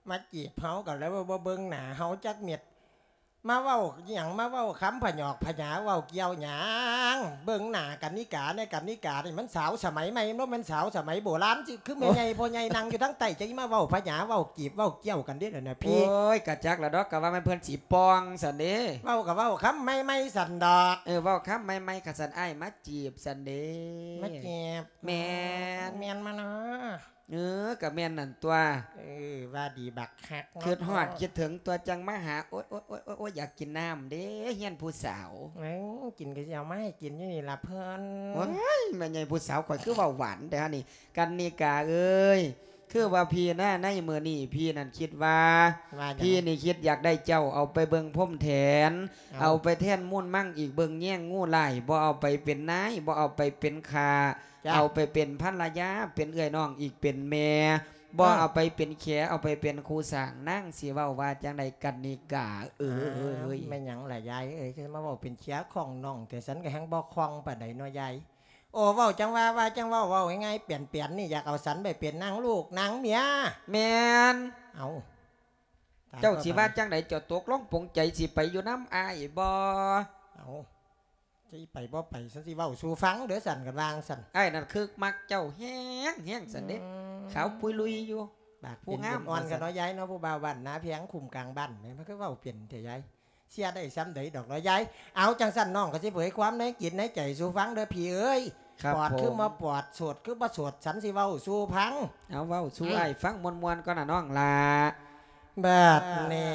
ມາຈີບເຮົາກະແລ້ວ ບໍ່ເບິ່ງໜ້າເຮົາຈັກເມັດ. ມາເວົ້າອີ່ຫຍັງ ມາເວົ້າຄຳພະຫຍອກພະຫຍາ ເວົ້າກ່ຽວຫຍັງ? ເບິ່ງໜ້າກັນນິກາແດ່ ກັນນິການີ້ມັນສາວສະໄໝໃໝ່ ບໍ່ແມ່ນສາວສະໄໝໂບລານ ຊິຄືແມ່ໃຫຍ່ ໂອ້ ພໍ່ໃຫຍ່ນັ່ງຢູ່ທາງໃຕ້ ຈັ່ງຊິມາເວົ້າພະຫຍາ ເວົ້າຈີບ ເວົ້າກ່ຽວກັນເດ ດຽວນີ້ພີ່. ໂອ້ຍ ກະຈັກລະດອກ ກະວ່າແມ່ນເພິ່ນຊິປ່ອງຊັ້ນເດ. ເວົ້າກະເວົ້າຄຳໃໝ່ໆຊັ້ນດອກ. ເອີ ເວົ້າຄຳໃໝ່ໆ ຄັນຊັ້ນອ້າຍມາຈີບຊັ້ນເດ. ມາຈີບ? ແມ່ນ. ແມ່ນມາເນາະ. ເອີ ກະແມ່ນນັ້ນຕົວະ. ເອີ ວ່າດີບັກຄັກເນາະ ຄິດຮອດຄິດເຖິງຕົວະ ຈັ່ງມາຫາ. ໂອ້ຍ ໂອ້ຍ ໂອ້ຍ ໂອ້ຍ ຢາກກິນນ້ຳເດ້ ເຮືອນຜູ້ສາວ. ເອີ ກິນກະຊິເອົາມາໃຫ້ກິນຢູ່ນີ້ລະເພິ່ນ. ໂອ້ຍ ແມ່ໃຫຍ່ຜູ້ສາວຂ້ອຍຄືເວົ້າຫວານແທ້ຫັ້ນນີ້. ກັນນິກາເອີຍ ຄືວ່າພີ່ນະ ໃນມື້ນີ້ພີ່ນັ້ນຄິດວ່າ ວ່າຫຍັງ? ພີ່ນີ້ຄິດຢາກໄດ້ເຈົ້າເອົາໄປເບິ່ງພົມແທນ ເອົາ ເອົາໄປແທນມູນມັງອີກ ເບິ່ງແຍງງູຫຼາຍ ບໍ່ເອົາໄປເປັນນາຍ ບໍ່ເອົາໄປເປັນຂ້າ ເອົາໄປເປັນພັນລະຍາ ເປັນເອື້ອຍນ້ອງອີກ ເປັນແມ່ ບໍ່ ເອີ ເອົາໄປເປັນແຂ ເອົາໄປເປັນຄູ່ສ້າງ. ນາງຊິເວົ້າວ່າຈັ່ງໃດ ກັນນິກາເອີຍ? ແມ່ນຫຍັງລະຍາຍເອີຍ ຄືມາເວົ້າເປັນເຂຍຂອງນ້ອງແທ້? ສັນກະແຮ່ງບໍ່ຄ່ອງປານໃດເນາະຍາຍ. ໂອ້ ເວົ້າຈັ່ງວ່າ ວ່າຈັ່ງເວົ້າ ເວົ້າງ່າຍໆ ແປນໆ ນີ້ ຢາກເອົາສັນໄປເປັນນາງລູກນາງເມຍ. ແມ່ນ. ເອົ້າ ເຈົ້າຊິວ່າຈັ່ງໃດ? ເຈົ້າຕົກລົງປົງໃຈຊິໄປຢູ່ນຳອ້າຍບໍ່? ເອົ້າ ຊິໄປບໍ່ໄປ ສັນຊິເວົ້າສູ່ຟັງເດີ ສັນກະວ່າງຊັ້ນ. ອ້າຍນັ້ນຄຶກມັກເຈົ້າແຮງໆ ສັນເດ. ອືມ ຂາວປຸຍລຸຍຢູ່ ປາກເປັນ ຜູ້ງາມ ເປັນອ່ອນກັນເນາະຍາຍເນາະ. ຜູ້ບ່າວບ້ານນາແພງຄຸ້ມກາງບ້ານ ມັນຄືເວົ້າເປັນແທ້ຍາຍ. ເຊື່ອໄດ້ສ່ຳໃດດອກເນາະຍາຍ. ເອົາ ຈັ່ງຊັ້ນນ້ອງກະຊິເຜີຍຄວາມໃນຈິດໃນໃຈສູ່ຟັງເດີພີ່ເອີຍ. ປອດຄືບໍ່ປອດ ໂສດຄືບໍ່ໂສດ ສັນຊິເວົ້າສູ່ຟັງ. ເອົາ ເວົ້າສູ່ອ້າຍຟັງມ່ວນໆກ່ອນນະນ້ອງຫຼ້າ. ບັດນີ້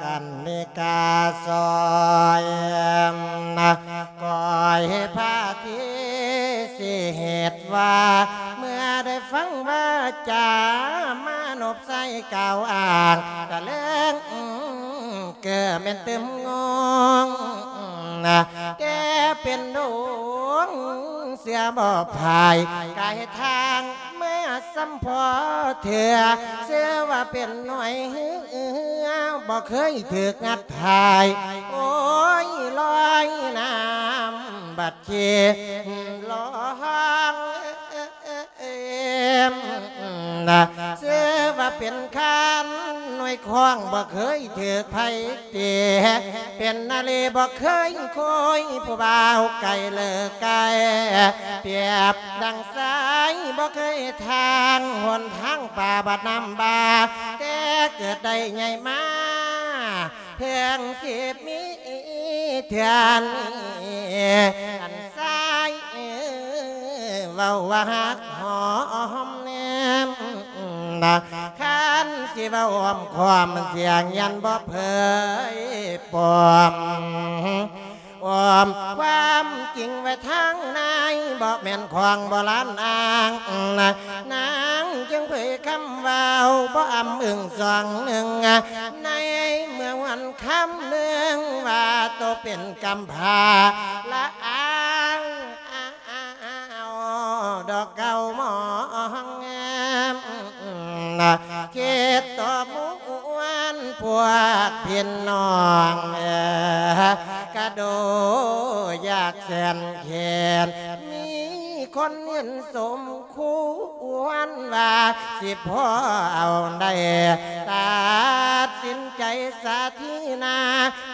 ກັນນິກາຊອຍ ກອຍພາທີຊິເຮັດວ່າ ເມື່ອໄດ້ຟັງວາຈາມານົບໃສ່ກ່າວອ້າງ ກະເລີງເກີແມ່ນຕື່ມງົງ ແຕ່ເປັນດົງເຊື່ອບໍ່ພາຍ ກາຍທາງມາສ່ຳພໍເທື່ອ ເຊື່ອວ່າເປັນໜ້ອຍເຮືອ ບໍ່ເຄີຍຖືກງັດຖ່າຍ ໂອ້ຍ ລອຍນ້ຳ ບັດເຄລອງ ເຊື່ອວ່າເປັນຄານໜ່ວຍຄອງ ບໍ່ເຄີຍຖືກໃຜເຕະ ເປັນນາລີບໍ່ເຄີຍໂຄຍ ຜູ້ບ່າວໄກເລີກໄກ ປຽບດັ່ງຊາຍບໍ່ເຄີຍທາງ ຫົນທາງປ່າບາດນ້ຳບາ ແຕ່ເກີດໄດ້ໃຫຍ່ມາ ເພິ່ງຊິມີເທື່ອນີ້ ອັນຊາຍເວົ້າວ່າຮັກຫອມແນມ ຄັນຊິເວົ້າອ້ອມຄ້ອມ ສຽງຍັນບໍ່ເຜີຍປ້ອມ ອ້ອມຄວາມຈິງໄວ້ທາງໃນ ບໍ່ແມ່ນຂອງໂບລານອ້າງ ນາງຈຶ່ງເຜີຍຄຳເວົ້າ ບໍ່ອຳອຶງສອງໜຶ່ງ ໃນເມື່ອວັນຄຳໜຶ່ງ ວ່າໂຕເປັນກຳພ້າ ລະອາງ ດອກເກົ້າມອງ ຄິດຕໍ່ມວນພວກພີ່ນ້ອງ ກະໂດຍາກແສນແຄ້ນ ມີຄົນເຫັນສົມຄວນວ່າ ຊິພໍເອົາໄດ້ ຕັດສິນໃຈສາທີນາ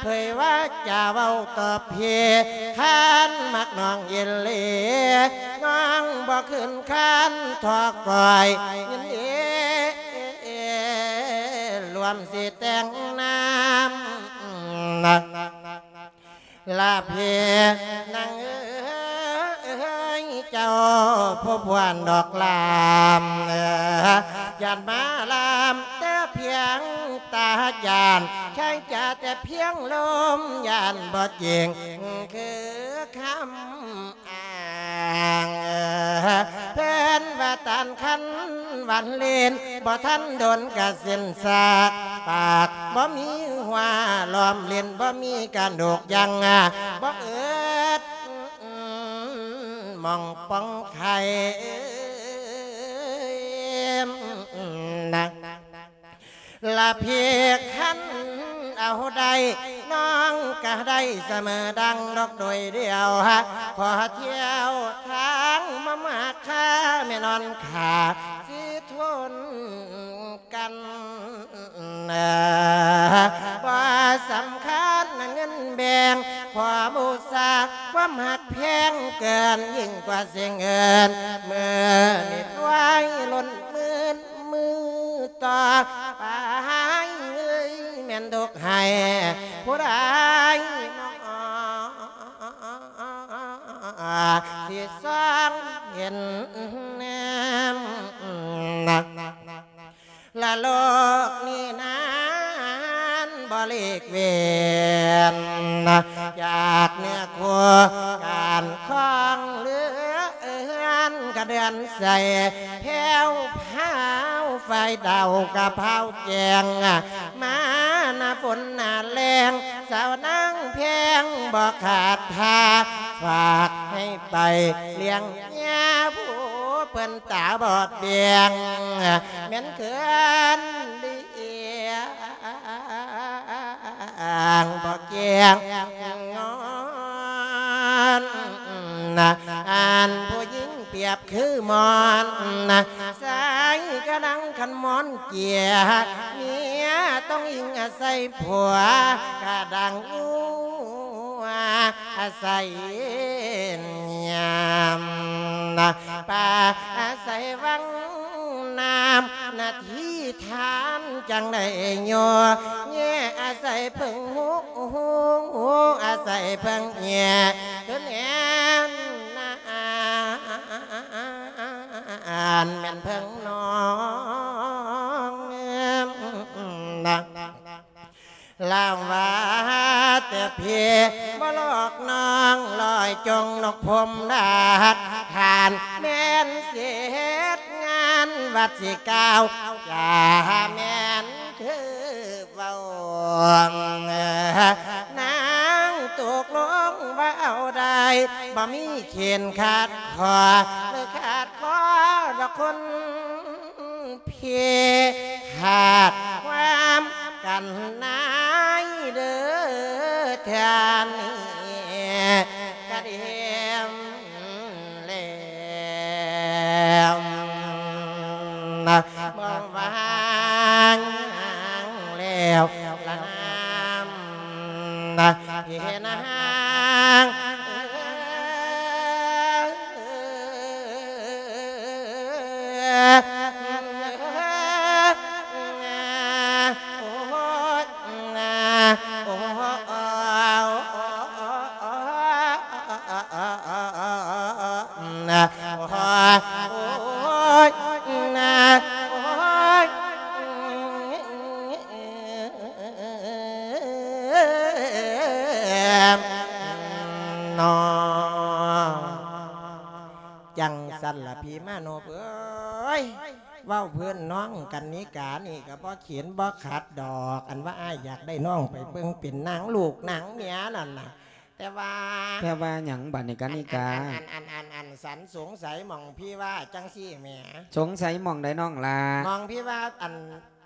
ເຜີຍວາຈາເວົ້າຕໍ່ພີ່ ຄັນມັກນ້ອງອີ່ຫຼີ ນ້ອງບໍ່ຄືນຄານ ທໍ່ກ້ອຍຍິນດີລວມຊິແຕ່ງນາມ ລະເພນາງເອີຍ ເຈົ້າຜູ້ພວນດອກລາມ ຢ້ານມາລາມແຕ່ພຽງຕາຈານ ໃຊ້ຈາແຕ່ພຽງລົມ ຢ້ານບໍ່ຈິງຄືຄຳ ອ້າງ ເພິ່ນວ່າຕານຄັນຫວານເຫຼັ້ນ ບໍ່ທັນດົນກະເສັ້ນສາກ ປາກບໍ່ມີຫົວລ້ອມເຫຼັ້ນ ບໍ່ມີກະດູກຍັງ ບໍ່ເອິດໝ່ອງປ່ອງໄຂ່ ລະເພກຄັນເອົາໄດ້ ນ້ອງກະໄດ້ສະເໝີດັ່ງດອກໂດຍດຽວ ຂໍທ່ຽວທາງມາມາກຄ່າ ແມ່ນອນຂ້າຊິທົນກັນ ບໍ່ສຳຄັນເງິນແບ່ງ ຂໍບູຊາຄວາມຮັກແພງ ເກີນຍິ່ງກວ່າສິ່ງອື່ນ ມື້ນີ້ລວຍລົ້ນໝື່ນ ມື້ຕໍ່ໄປເອີຍ ແມ່ນທຸກໃຫ້ຜູ້ໃດນ້ອ ຊິສ່ອງເຫັນແນມ ລະໂລກນີ້ນັ້ນບໍ່ຫຼີກເວັ້ນ ຈາກເນື້ອຄູ່ການຄອງເຮືອນ ກະເດືອນໃສແພ້ວພາວ ໄຟດາວກະພາວແຈ້ງ ມາໜ້າຝົນໜ້າແລ້ງ ສາວນາງແພງບໍ່ຂາດທ່າ ຝາກໃຫ້ໄປລ້ຽງຍາ ຜູ້ເພິ່ນຕາບອດແບງ ແມ່ນເຂີນຫຼຽງ ບໍ່ແຈ້ງງອນ ອັນຜູ້ຍິງປຽບຄືໝອນ ໃສ່ກະດັງຄັນໝອນເກຍ ເມຍຕ້ອງອີງອາໄສຜົວ ກະດັງງົວອາໄສຍາມ ປາອາໄສວັງນ້ຳ ໜ້າທີ່ທານຈັ່ງໄດ້ໂຍ ແຍອາໄສເພິ່ງຫູ ອາໄສເພິ່ງແຍຄືແນມນາ ອັນແມ່ນເພິ່ງນ້ອງນາ ລາວວ່າແຕ່ເພບໍ່ຫຼອກນ້ອງ ລອຍຈົງນົກພົມດາດ ທ່ານແມ່ນເສດງານວັດຊິກ່າວ ຈາແມ່ນຄືເວົ້າ ນາງຕົກລົງວ່າເອົາໄດ້ ບໍ່ມີເຂນຂາດຂໍ້ ຫຼືຂາດຂໍ້ດອກຄົນ ເພຂາດຄວາມກັນນາຍເດີເທື່ອນີ້ກະເດັມແລ້ວ ບໍ່ວ່າງແລ້ວລະນາມ ເພນາງ ໂອ້ຍ ໂອ້ຍ ໂອ້ຍ ໂອ້ຍ ເວົ້າພື້ນນ້ອງກັນນິການີ້ກໍບໍ່ເຂັນບໍ່ຂັດດອກ ອັນວ່າອ້າຍຢາກໄດ້ນ້ອງໄປເບິ່ງເປັນນາງລູກນາງເມຍນັ້ນນະ ແຕ່ວ່າ ແຕ່ວ່າຫຍັງບາດນີ້ກັນນິກາ? ອັນ ອັນ ອັນ ອັນ ອັນ ອັນ ສັນສົງໄສໝ່ອງພີ່ວ່າຈັ່ງຊີ້ແໝ ສົງໄສໝ່ອງໃດນ້ອງຫຼ້າ? ໝ່ອງພີ່ວ່າ ອັນ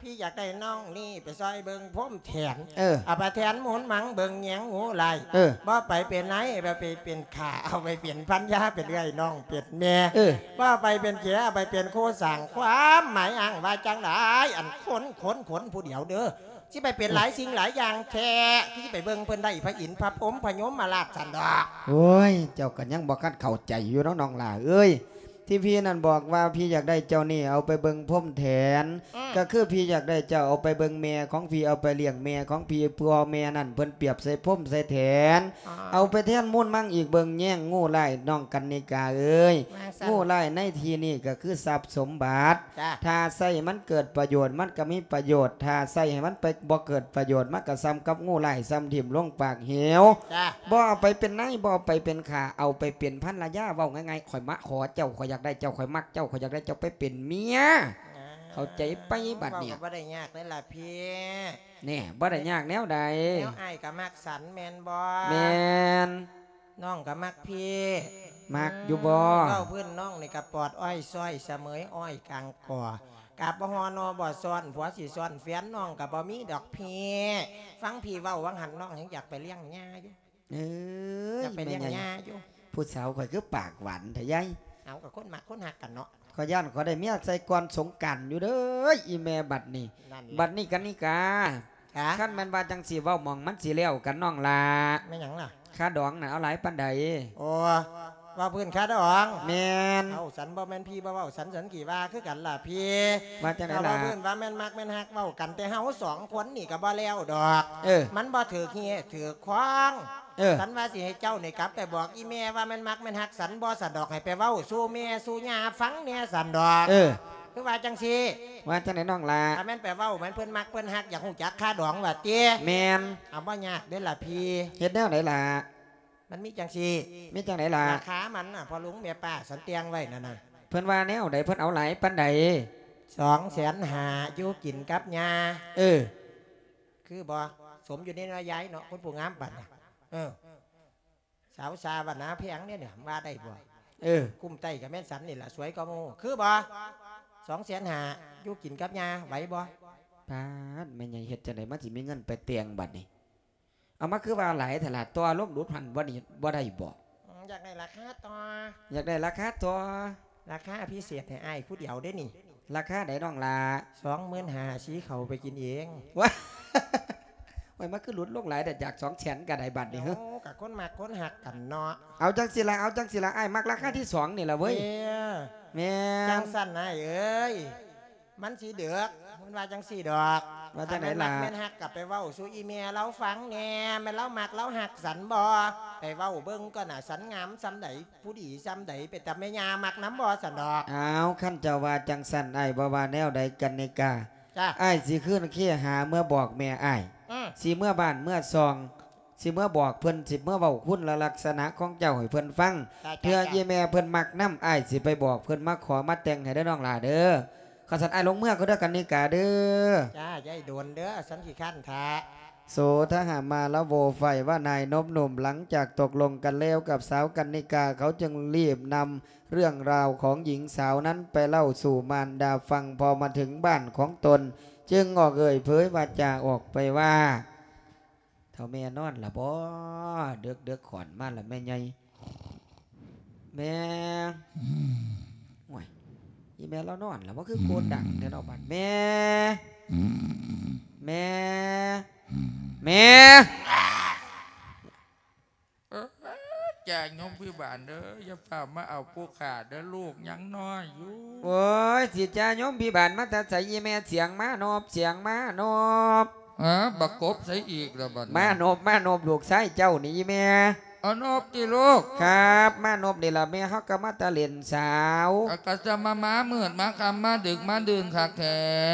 ພີ່ຢາກໄດ້ນ້ອງນີ້ໄປຊ່ອຍເບິ່ງພົມແທນ ເອີ ເອົາໄປແທນມູນມັງເບິ່ງແຍງງູໄລ່ ເອີ ບໍ່ໄປເປັນນາຍ ເອົາໄປເປັນຂ້າ ເອົາໄປເປັນພັນຍາ ເປັນເອື້ອຍນ້ອງເປັນແມ່ ເອີ ບໍ່ໄປເປັນເຂຍ ເອົາໄປເປັນຄູ່ສ້າງ ຄວາມໝາຍອ້າງວ່າຈັ່ງໃດ? ອັນຄົນ ຄົນ ຄົນຜູ້ດຽວເດີ ຊິໄປເປັນຫຼາຍສິ່ງຫຼາຍຢ່າງແທ້ ຄືຊິໄປເບິ່ງເພິ່ນໄດ້ພະອິນພະພົມພະຍົມມະລາດຊັ້ນດອກ. ໂອ້ຍ ເຈົ້າກໍຍັງບໍ່ທັນເຂົ້າໃຈຢູ່ເນາະນ້ອງຫຼ້າເອີຍ ທີ່ພີ່ນັ້ນບອກວ່າພີ່ຢາກໄດ້ເຈົ້ານີ້ເອົາໄປເບິ່ງພົມແທນ ອືມ ກໍຄືພີ່ຢາກໄດ້ເຈົ້າເອົາໄປເບິ່ງແມ່ຂອງພີ່ ເອົາໄປລ້ຽງແມ່ຂອງພີ່ ເພາະແມ່ນັ້ນເພິ່ນປຽບໃສ່ພົມໃສ່ແທນ ອໍ ເອົາໄປແທນມູນມັງອີກ ເບິ່ງແຍງງູໄລ່ ນ້ອງກັນນິກາເອີຍ ວ່າຊັ້ນ ງູໄລ່ໃນທີ່ນີ້ກໍຄືຊັບສົມບັດ ຈ້າ ຖ້າໃຊ້ໃຫ້ມັນເກີດປະໂຫຍດ ມັນກໍມີປະໂຫຍດ ຖ້າໃຊ້ໃຫ້ມັນໄປບໍ່ເກີດປະໂຫຍດ ມັນກໍສ່ຳກັບງູໄລ່ ສ່ຳຖິ້ມລົງປາກເຫວ ຈ້າ ບໍ່ເອົາໄປເປັນນາຍ ບໍ່ເອົາໄປເປັນຂ້າ ເອົາໄປເປັນພັນລະຍາ ເວົ້າງ່າຍໆ ຂ້ອຍມາຂໍເຈົ້າ ຂ້ອຍຢາກໄດ້ເຈົ້າ ຂ້ອຍມັກເຈົ້າ ຂ້ອຍຢາກໄດ້ເຈົ້າໄປເປັນເມຍ ອ່າ ເຂົ້າໃຈໄປບາດນີ້ ເວົ້າກໍບໍ່ໄດ້ຍາກເດ້ລະພີ່ ແນ່ ບໍ່ໄດ້ຍາກແນວໃດ ແນວອ້າຍກໍມັກສັນແມ່ນບໍ່? ແມ່ນ ນ້ອງກໍມັກພີ່ ມັກຢູ່ບໍ່? ອືມ ເວົ້າພື້ນນ້ອງນີ້ກໍປອດອ້ອຍຊ້ອຍສະເໝີຍອ້ອຍກາງກໍ ກາບບໍ່ຫໍ່ໜໍ່ບໍ່ຊ້ອນ ຜົວຊິຊ້ອນແຟນນ້ອງກໍບໍ່ມີດອກພີ່ ຟັງພີ່ເວົ້າຫວ່າງຫັ້ນ ນ້ອງຍັງຢາກໄປລ້ຽງຍ່າຢູ່ ເອີຍ ຢາກໄປລ້ຽງຍ່າຢູ່ ຜູ້ສາວຂ້ອຍຄືປາກຫວານແທ້ຍາຍ ເອົາ ກໍຄົນມັກຄົນຮັກກັນເນາະ ຂ້ອຍຢ້ານຂ້ອຍໄດ້ເມຍໃສ່ກ່ອນສົງການຢູ່ເດີ ອີແມ່ບັດນີ້ ນັ້ນແຫຼະ ບັດນີ້ກັນນິກາ ຄະ ຄັນແມ່ນວ່າຈັ່ງຊີ້ ເວົ້າໝ່ອງມັນຊິແລ້ວກັນນ້ອງຫຼ້າ ແມ່ນຫຍັງລະ? ຄ່າດອງນັ້ນເອົາຫຼາຍປານໃດ? ໂອ້ ວ່າພື້ນຄ່າດອງ ແມ່ນ ເອົາ ສັນບໍ່ແມ່ນພີ່ບໍ່ເວົ້າ ສັນ ສັນກໍວ່າຄືກັນລະພີ່ ວ່າຈັ່ງໃດລະ? ເວົ້າພື້ນວ່າແມ່ນມັກແມ່ນຮັກ ເວົ້າກັນແຕ່ເຮົາສອງຄົນນີ້ກໍບໍ່ແລ້ວດອກ ເອີ ມັນບໍ່ຖືກເຫດຖືກຄອງ ເອີ ສັນວ່າຊິໃຫ້ເຈົ້ານີ້ກັບໄປບອກອີແມ່ວ່າແມ່ນມັກແມ່ນຮັກສັນບໍ່ ສັນດອກ ໃຫ້ໄປເວົ້າສູ່ແມ່ສູ່ຍ່າຟັງແດ່ສັນດອກ ເອີ ຄືວ່າຈັ່ງຊີ້ ວ່າຈັ່ງໃດນ້ອງຫຼ້າ? ຖ້າແມ່ນໄປເວົ້າ ແມ່ນເພິ່ນມັກເພິ່ນຮັກ ຢາກຮູ້ຈັກຄ່າດອງວ່າຕິ? ແມ່ນ ເອົາ ບໍ່ຍາກເດ້ລະພີ່ ເຮັດແນວໃດລະ? ມັນມີຈັ່ງຊີ້ ມີຈັ່ງໃດລະ? ລາຄາມັນນະ ພໍ່ລຸງແມ່ປ້າສັນແຕ່ງໄວ້ນັ້ນນະ ເພິ່ນວ່າແນວໃດ? ເພິ່ນເອົາຫຼາຍປານໃດ? ສອງແສນຫ້າ ຢູ່ກິນກັບຍ່າ ເອີ ຄືບໍ່? ສົມຢູ່ໃນເນາະຍາຍເນາະ ຄົນຜູ້ງາມປານນີ້ ເອີ ສາວຊາວານາແພງເດ້ນີ້ ວ່າໄດ້ບໍ່? ເອີ ກຸ້ມໃຕ້ກໍແມ່ນສັນນີ້ລະ ສວຍກວ່າໝູ່ ຄືບໍ່? ສອງແສນຫ້າ ຢູ່ກິນກັບຍ່າ ໄຫວບໍ່? ປາດ ແມ່ໃຫຍ່ເຮັດຈັ່ງໃດມັນຊິມີເງິນໄປແຕ່ງບັດນີ້? ເອົາມາຄືວ່າຫຼາຍແທ້ລະ ຕໍ່ລົງດຸດຫັ້ນບໍ່ນີ້ ບໍ່ໄດ້ບໍ່? ອືມ ຢາກໄດ້ລາຄາຕໍ່ ຢາກໄດ້ລາຄາຕໍ່ ລາຄາພິເສດໃຫ້ອ້າຍຜູ້ດຽວເດ້ນີ້ ລາຄາໃດນ້ອງຫຼ້າ? ສອງໝື່ນຫ້າ ສີເຂົ້າໄປກິນເອງ ວ້າ ໂອ້ຍ ມັນຄືຫຼຸດລົງຫຼາຍແທ້ ຈາກສອງແສນກໍໄດ້ບັດນີ້ ໂອ້ ກໍຄົນມັກຄົນຮັກກັນເນາະ ເອົາຈັ່ງຊີ້ລະ ເອົາຈັ່ງຊີ້ລະ ອ້າຍມັກລາຄາທີສອງນີ້ລະເວີຍ ເອີ ແມ່ນ ຈັ່ງຊັ້ນອ້າຍເອີຍ ມັນຊິເດິກ ມັນວ່າຈັ່ງຊີ້ດອກ ວ່າຈັ່ງໃດລະ? ຄັນແມ່ນມັກແມ່ນຮັກກໍໄປເວົ້າສູ່ອີແມ່ລາວຟັງແດ່ ແມ່ນລາວມັກລາວຮັກສັນບໍ່? ໄປເວົ້າເບິ່ງກ່ອນນະ ສັນງາມສ່ຳໃດ ຜູ້ດີສ່ຳໃດ ເປັນຕາແມ່ຍ່າມັກນຳບໍ່ ສັນດອກ. ອ້າວ ຄັນເຈົ້າວ່າຈັ່ງຊັ້ນ ອ້າຍບໍ່ວ່າແນວໃດກັນນິກາ ຈ້າ ອ້າຍຊິຄືນເຄຫາເມືອບອກແມ່ອ້າຍ ອືມ ຊິເມືອບ້ານເມືອຊ່ອງ ຊິເມືອບອກເພິ່ນ ຊິເມືອເວົ້າຄຸນລະລັກສະນະຂອງເຈົ້າໃຫ້ເພິ່ນຟັງ ຈ້າ ເທື່ອ ຈ້າ ອີ່ແມ່ເພິ່ນມັກນຳ ອ້າຍຊິໄປບອກເພິ່ນມາຂໍມາແຕ່ງໃຫ້ເດີນ້ອງຫຼ້າເດີ. ຄັນຊັ້ນອ້າຍລົງເມືອກ່ອນເດີກັນນິກາເດີ. ຈ້າ ຢ່າໃຫ້ດົນເດີ ສັນຂີ້ຄ້ານຖ້າ. ໂສທະຫະມາລະໂວ ຝ່າຍວ່ານາຍນົບໜຸ່ມ ຫຼັງຈາກຕົກລົງກັນແລ້ວກັບສາວກັນນິກາ ເຂົາຈຶ່ງລີບນຳເລື່ອງລາວຂອງຍິງສາວນັ້ນໄປເລົ່າສູ່ມານດາຟັງ. ພໍມາເຖິງບ້ານຂອງຕົນ ຈຶ່ງອອກເອີ່ຍເຜີຍວາຈາອອກໄປວ່າ ເຖົ້າແມ່ນອນລະບໍ? ເດິກໆ ຂ້ອນມາລະແມ່ໃຫຍ່. ແມ່ ໂອ້ຍ ອີ່ແມ່ລາວນອນລະບໍ? ຄືໂກນດັງແທ້ເນາະບາດ. ແມ່ ແມ່ ແມ່. ເອີ ຈ້າ ໂຍມພິບານເດີ ຢ່າຟ້າວມາເອົາຜູ້ຂ້າເດີ ລູກຍັງນ້ອຍຢູ່. ໂອ້ຍ ຊິຈ້າໂຍມພິບານມາແຕ່ໃສ? ອີ່ແມ່ສຽງມານົບ ສຽງມານົບ. ເອີ ບັກກົບໃສອີກລະບັດນີ້? ມານົບ ມານົບ ລູກຊາຍເຈົ້ານີ້ ອີ່ແມ່. ເອົານົບຕິລູກ. ຄັບ ມານົບນີ້ລະແມ່ ເຮົາກໍມາແຕ່ຫຼິ້ນສາວ. ກໍ ກໍຈະມາ ມາມືດມາຄ່ຳມາດຶກມາດື່ນຄັກແທ້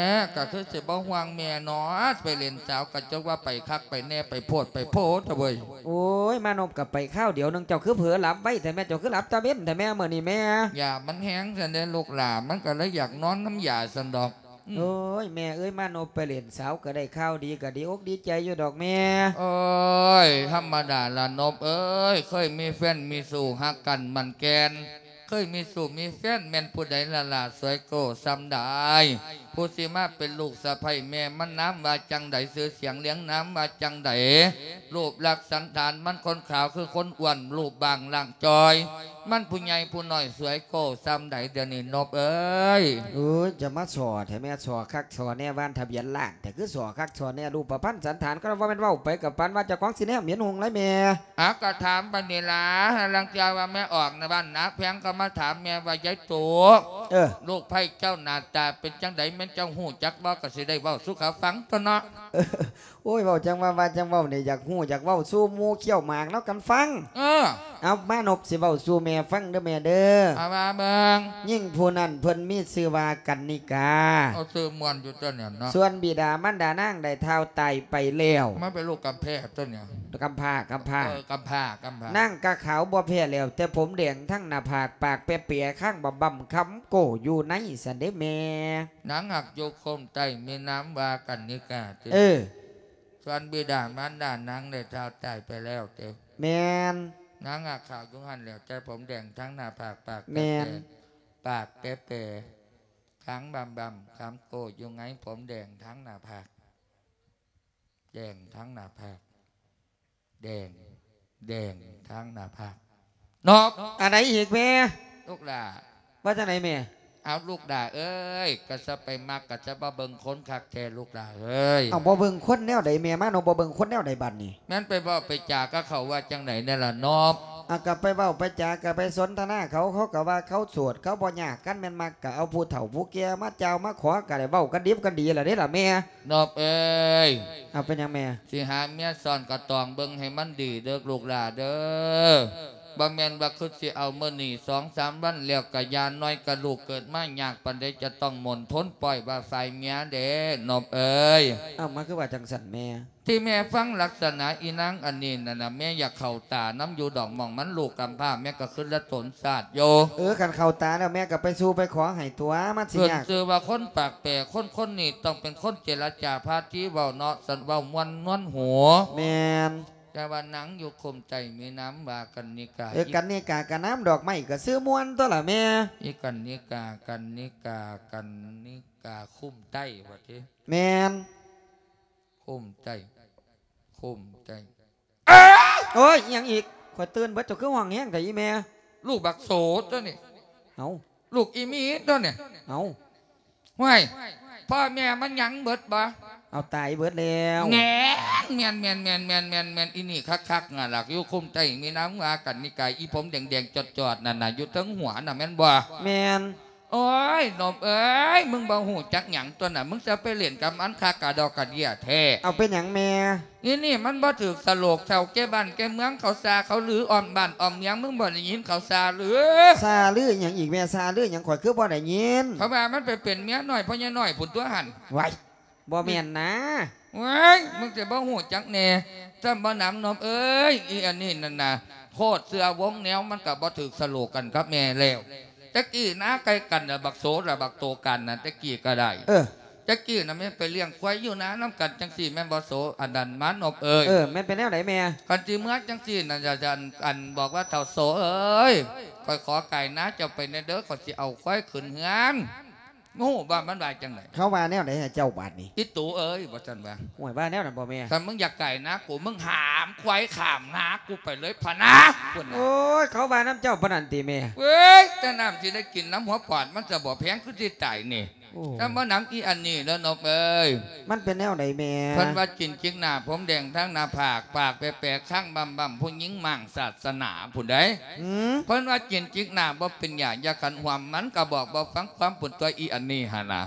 ກໍຄືຊິບໍ່ຫ່ວງແມ່ເນາະ ໄປຫຼິ້ນສາວກໍຈັກວ່າໄປຄັກໄປແນ່ ໄປໂພດໄປໂພດເວີຍ. ໂອ້ຍ ມານົບກໍໄປຄາວດຽວໜຶ່ງ ເຈົ້າຄືເຜີຫຼັບໄວແທ້ແມ່ ເຈົ້າຄືຫຼັບຕາເວັນແທ້ແມ່ ມື້ນີ້ແມ່. ຢາມັນແຮງຊັ້ນເດ້ລູກຫຼ້າ ມັນກໍເລີຍຢາກນອນນຳຢາຊັ້ນດອກ. ອືມ ໂອ້ຍ ແມ່ເອີຍ ມານົບໄປຫຼິ້ນສາວກໍໄດ້ຂ່າວດີ ກໍດີອົກດີໃຈຢູ່ດອກແມ່. ໂອ້ຍ ທຳມະດາລະນົບເອີຍ ເຄີຍມີແຟນມີຊູ່ຮັກກັນໝັ້ນແກ່ນ ເຄີຍມີຊູ່ມີແຟນແມ່ນຜູ້ໃດລະຫຼ້າ ສວຍໂກ້ຊ່ຳໃດ ຜູ້ຊິມາເປັນລູກສະໃພ້ແມ່ ມັນນາມວ່າຈັ່ງໃດ ຊື່ສຽງລຽງນາມວ່າຈັ່ງໃດ ຮູບລັກສັນຖານມັນຄົນຂາວຄືຄົນອ້ວນ ຮູບບາງຮ່າງຈ່ອຍ ມັນຜູ້ໃຫຍ່ຜູ້ນ້ອຍ ສວຍໂກ້ຊ່ຳໃດ ດຽວນີ້ນົບເອີຍ. ເອີຍ ຈະມາສໍ້ແທ້ແມ່ ສໍ້ຄັກສໍ້ແນ່ ວ່າທະບຽນລ້ານ ແຕ່ຄືສໍ້ຄັກສໍ້ແນ່ ຮູບປະພັນສັນຖານ ກໍວ່າແມ່ນເວົ້າໄປກໍປານວ່າເຈົ້າຂອງຊິແນມເຫັນຮຸ່ງຫຼາຍແມ່. ອາ ກໍຖາມປານນີ້ລະ ລາງເທື່ອວ່າແມ່ອອກນະບ້ານນາແພງ ກໍມາຖາມແມ່ວ່າ ຍາຍໂຕ ເອີ ລູກໃພ້ເຈົ້າໜ້າຕາເປັນຈັ່ງໃດ ແມ່ນເຈົ້າຮູ້ຈັກບໍ່ ກໍຊິໄດ້ເວົ້າສູ່ເຂົາຟັງຕົວະເນາະ. ໂອ້ຍ ເວົ້າຈັ່ງວ່າ ວ່າຈັ່ງເວົ້ານີ້ ຢາກຮູ້ຢາກເວົ້າສູ່ໝູ່ຂ້ຽວໝາກນຳກັນຟັງ. ເອີ ເອົາ ມານົບຊິເວົ້າສູ່ແມ່ຟັງເດີແມ່ເດີ. ເອົາວ່າເບິ່ງ. ຍິງຜູ້ນັ້ນເພິ່ນມີຊື່ວ່າກັນນິກາ. ເອົາ ຊື່ມ່ວນຢູ່ຕົວະນີ້ເນາະ. ສ່ວນບິດາມານດານາງໄດ້ທ້າວຕາຍໄປແລ້ວ. ມາເປັນລູກກຳແພ້ຕົວະນີ້. ກຳພ້າ ກຳພ້າ. ເອີ ກຳພ້າ ກຳພ້າ. ນາງກະຂາວບໍ່ແພ້ແລ້ວ ແຕ່ຜົມແດງທັງໜ້າຜາກ ປາກແປໆ ຄາງບຳໆ ຄຳໂກ້ຢູ່ໃນຊັ້ນເດ້ແມ່. ນາງຮັກຢູ່ຄົມໃຕ້ ມີນາມວ່າກັນນິກາຕິ. ເອີ ສ່ວນບິດາມານດານາງໄດ້ທ້າວຕາຍໄປແລ້ວເຕ. ແມ່ນ. ນາງຮັກຂາວຢູ່ຫັ້ນແຫຼ້ວ ແຕ່ຜົມແດງທັງໜ້າຜາກ ປາກແປໆ. ແມ່ນ. ປາກແປໆ ຄາງບຳໆ ຄຳໂກ້ຢູ່ໄງ ຜົມແດງທັງໜ້າຜາກ ແດງທັງໜ້າຜາກ ແດງ ແດງທາງໜ້າຜາກ ນົບ. ອັນໃດອີກແມ່? ລູກຫຼ້າ ວ່າຈັ່ງໃດແມ່? ເອົາ ລູກຫຼ້າເອີຍ ກະຊະໄປມັກ ກະຊະບໍ່ເບິ່ງຄົນຄັກແທ້ລູກຫຼ້າເອີຍ. ເອົາ ບໍ່ເບິ່ງຄົນແນວໃດແມ່? ມານົບ ບໍ່ເບິ່ງຄົນແນວໃດບັດນີ້? ແມ່ນໄປເວົ້າໄປຈາກັບເຂົາວ່າຈັ່ງໃດແນ່ລະນົບ? ເອົາ ກະໄປເວົ້າໄປຈາ ກະໄປສົນທະນາເຂົາ ເຂົາກະວ່າເຂົາໂສດ ເຂົາບໍ່ຍາກ ຄັນແມ່ນມັກກະເອົາຜູ້ເຖົ້າຜູ້ແກ່ມາເຈົ້າມາຂໍ ກະໄດ້ເວົ້າກັນດິບກັນດີລະເດ້ລະແມ່. ນົບເອີຍ ເອົາ ເປັນຫຍັງແມ່? ຊິຫາເມຍຊ້ອນກະຕ້ອງເບິ່ງໃຫ້ມັນດີເດີລູກຫຼ້າເດີ. ບໍ່ແມ່ນວ່າຄືຊິເອົາມື້ນີ້ສອງສາມວັນແລ້ວກະຢ່າ ນ້ອຍກະລູກເກີດມາຍາກປານໃດ ຈະຕ້ອງໝົນທົນປ່ອຍວ່າຝ່າຍເມຍເດ້ ນົບເອີຍ. ເອົາ ມັນຄືວ່າຈັ່ງຊັ້ນແມ່? ທີ່ແມ່ຟັງລັກສະນະອີນາງອັນນີ້ນັ້ນນະ ແມ່ຢາກເຂົ້າຕານຳຢູ່ດອກ ໝ່ອງມັນລູກກຳພ້າ ແມ່ກະຄຶດລະຕົນຊາດຢູ່. ເອີ ຄັນເຂົ້າຕາແລ້ວແມ່ກະໄປສູ່ໄປຂໍໃຫ້ຕົວະ ມັນຊິຍາກ. ເພິ່ນຊື່ວ່າຄົນປາກແປ ຄົນຄົນນີ້ຕ້ອງເປັນຄົນເຈລະຈາພາທີເວົ້າເນາະ ສັນເວົ້າມ່ວນນວນຫູ. ແມ່ນ. ແຕ່ວ່ານາງຢູ່ຄຸ້ມໃຕ້ມີນາມວ່າກັນນິກາ. ເອີ ກັນນິກາກະນາມດອກໄມ້ກະຊື່ມ່ວນຕົວະລະແມ່. ອີກັນນິກາ ກັນນິກາ ກັນນິກາຄຸ້ມໃຕ້ວ່າຕິ. ແມ່ນ. ຄຸ້ມໃຕ້ ຄຸ້ມໃຕ້. ໂອ້ຍ ອີ່ຫຍັງອີກ? ຂ້ອຍຕື່ນເບິດ ເຈົ້າຄືຮ້ອງແຮງແທ້ອີ່ແມ່? ລູກບັກໂສຕົວນີ້. ເອົ້າ ລູກອີ່ມີຕົວນີ້. ເອົ້າ ຫ້ວຍ ພໍ່ແມ່ມັນຫຍັງເບິດບໍ່? ເອົາ ຕາຍເບິດແລ້ວ. ແມ່ນ ແມ່ນ ອີ່ນີ້ຄັກໆ ງາຫຼັກຢູ່ຄຸ້ມໃຕ້ມີນາມວ່າກັນນິກາ ອີ່ຜົມແດງໆຈອດໆນັ້ນນະ ຢູ່ເທິງຫົວນະ ແມ່ນບໍ່? ແມ່ນ. ໂອ້ຍ ນົບເອີຍ ມຶງບໍ່ຮູ້ຈັກຫຍັງຕົວະນະ ມຶງຈະໄປຫຼິ້ນກັບມັນຄັກກະດອກກະເດຍແທ້. ເອົາ ເປັນຫຍັງແມ່? ອີ່ນີ້ມັນບໍ່ຖືກສະໂຫຼກ ເຖົ້າແກ່ບ້ານແກ່ເມືອງເຂົາຊ່າເຂົາລື ອ້ອມບ້ານອ້ອມເມືອງ ມຶງບໍ່ໄດ້ຍິນເຂົາຊ່າລື? ຊ່າລືຫຍັງອີກແມ່? ຊ່າລືຫຍັງ ຂ້ອຍຄືບໍ່ໄດ້ຍິນ? ເຂົາວ່າມັນໄປເປັນເມຍນ້ອຍພໍ່ໃຫຍ່ນ້ອຍພຸ້ນຕົວຫັ້ນ. ໄວ້ ບໍ່ແມ່ນນາ. ເວີຍ ມຶງຈະບໍ່ຮູ້ຈັກແດ່ ຈຳບໍ່ນຳ ນົບເອີຍ. ອີ່ອັນນີ້ນັ້ນນະ ໂຄດເຊື່ອວົງແນວ ມັນກະບໍ່ຖືກສະໂຫຼກກັນກັບແມ່ແລ້ວ. ແຕ່ກີ້ນາໃກ້ກັນນະ ບັກໂສລະບັກໂຕກັນນະ ແຕ່ກີ້ກະໄດ້. ເອີ ແຕ່ກີ້ນະແມ່ນໄປລ້ຽງຄວາຍຢູ່ນານຳກັນຈັ່ງຊີ້ແມ່ນບໍ່ໂສ? ອັນນັ້ນມາ ນົບເອີຍ. ເອີ ແມ່ນເປັນແນວໃດແມ່? ຄັນຊິເມືອຈັ່ງຊີ້ນະ ອັນ ອັນ ບອກວ່າ ເຖົ້າໂສເອີຍ ຂ້ອຍຂໍກາຍນາເຈົ້າໄປແດ່ເດີ ຂ້ອຍຊິເອົາຄວາຍຂຶ້ນເຮືອນ. ຮູ້ບໍ່ມັນວ່າຈັ່ງໃດ? ເຂົາວ່າແນວໃດໃຫ້ເຈົ້າບາດນີ້? ອີ່ຕູເອີຍ ວ່າຊັ້ນວ່າ. ໂອ້ຍ ວ່າແນວນັ້ນບໍ່ແມ່? ຄັນມຶງຢາກກາຍນາກູ ມຶງຫາມຄວາຍຂ້າມນາກູໄປເລີຍພະນາ ພຸ້ນນະ. ໂອ້ຍ ເຂົາວ່ານຳເຈົ້າປານນັ້ນຕິແມ່? ເວີຍ ແຕ່ນ້ຳຊິໄດ້ກິນນຳຫົວປອດມັນຈະບໍ່ແພງຄືຊິຕາຍນີ້. ໂອ້ ຈຳບໍ່ນຳອີ່ອັນນີ້ເດີ ນົບເອີຍ. ມັນເປັນແນວໃດແມ່? ເພິ່ນວ່າຈີນຈິກໜ້າ ຜົມແດງທັງໜ້າຜາກ ປາກແປໆ ຄາງບຳໆ ຜູ້ຍິງມ້າງສາສະໜາພຸ້ນໃດ໋. ເພິ່ນວ່າຈີນຈິກໜ້າບໍ່ເປັນຢາ ຢາຂັນຫວມ ມັນກະບອກບໍ່ຟັງຄວາມພຸ້ນຕົວະ ອີ່ອັນນີ້ຫັ້ນນະ.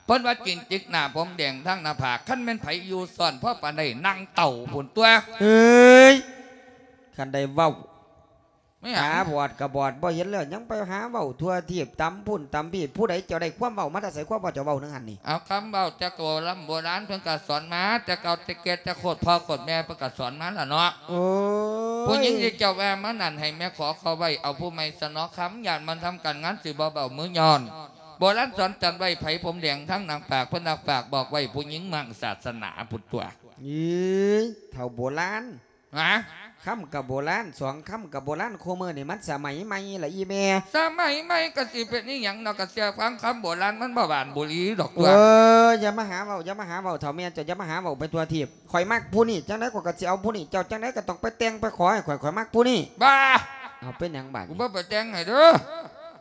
ເພິ່ນວ່າຈີນຈິກໜ້າ ຜົມແດງທັງໜ້າຜາກ ຄັນແມ່ນໃຜຢູ່ຊ້ອນພໍປານໃດ ນັ່ງເຕົ່າພຸ້ນຕົວະ. ເອີຍ ຄັນໄດ້ເວົ້າ ແມ່ນຫຍັງ? ຕາບອດກໍບອດ ບໍ່ເຫັນແລ້ວ ຍັງໄປຫາເວົ້າທົ່ວທີບ ຕຳພຸ້ນຕຳພີ້. ຜູ້ໃດເຈົ້າໄດ້ຄວາມເວົ້າມາແຕ່ໃສ? ຄວາມເວົ້າເຈົ້າເວົ້າໜຶ່ງຫັ້ນນີ້ ເອົາຄຳເວົ້າແຕ່ໂກລຳໂບລານ ເພິ່ນກໍສອນມາແຕ່ເກົ່າແຕ່ແກ່ ແຕ່ໂຄດພໍ່ໂຄດແມ່ເພິ່ນກໍສອນມາລະເນາະ. ໂອ້ຍ ຜູ້ຍິງທີ່ເຈົ້າວ່າມານັ້ນ ໃຫ້ແມ່ຂໍເຂົາໄວ້ເອົາຜູ້ໃໝ່ຊະເນາະຄຳ ຢ້ານມັນທຳການງານຊິບໍ່ເບົາມືຍ້ອນ. ໂບລານສອນຈັນໄວ້ ໃຜຜົມແດງທັງໜັງປາກ ເພິ່ນໜັກປາກບອກໄວ້ ຜູ້ຍິງມັ້ງສາສະໜາພຸ້ນຕົວະ. ອີ ເຖົ້າໂບລານ ຫາ ຄຳກໍໂບລານ ສອງຄຳກໍໂບລານ ຄູ່ມື້ນີ້ມັນສະໄໝໃໝ່ລະອີ່ແມ່. ສະໄໝໃໝ່ກໍຊິເປັນອີ່ຫຍັງເນາະ ກະເຊື່ອຟັງຄຳໂບລານ ມັນບໍ່ຫວານບໍ່ຫຼີດອກຕົວະ. ເອີ ຢ່າມາຫາເວົ້າ ຢ່າມາຫາເວົ້າ ເຖົ້າແມ່ເຈົ້າ ຢ່າມາຫາເວົ້າໄປທົ່ວທີບ. ຂ້ອຍມັກຜູ້ນີ້ ຈັ່ງໃດຂ້ອຍກໍຊິເອົາຜູ້ນີ້ ເຈົ້າຈັ່ງໃດກໍຕ້ອງໄປແຕ່ງໄປຂໍໃຫ້ຂ້ອຍ ຂ້ອຍມັກຜູ້ນີ້. ບ້າ ເອົາ ເປັນຫຍັງບາດນີ້? ກູບໍ່ໄປແຕ່ງໃຫ້ເດີ.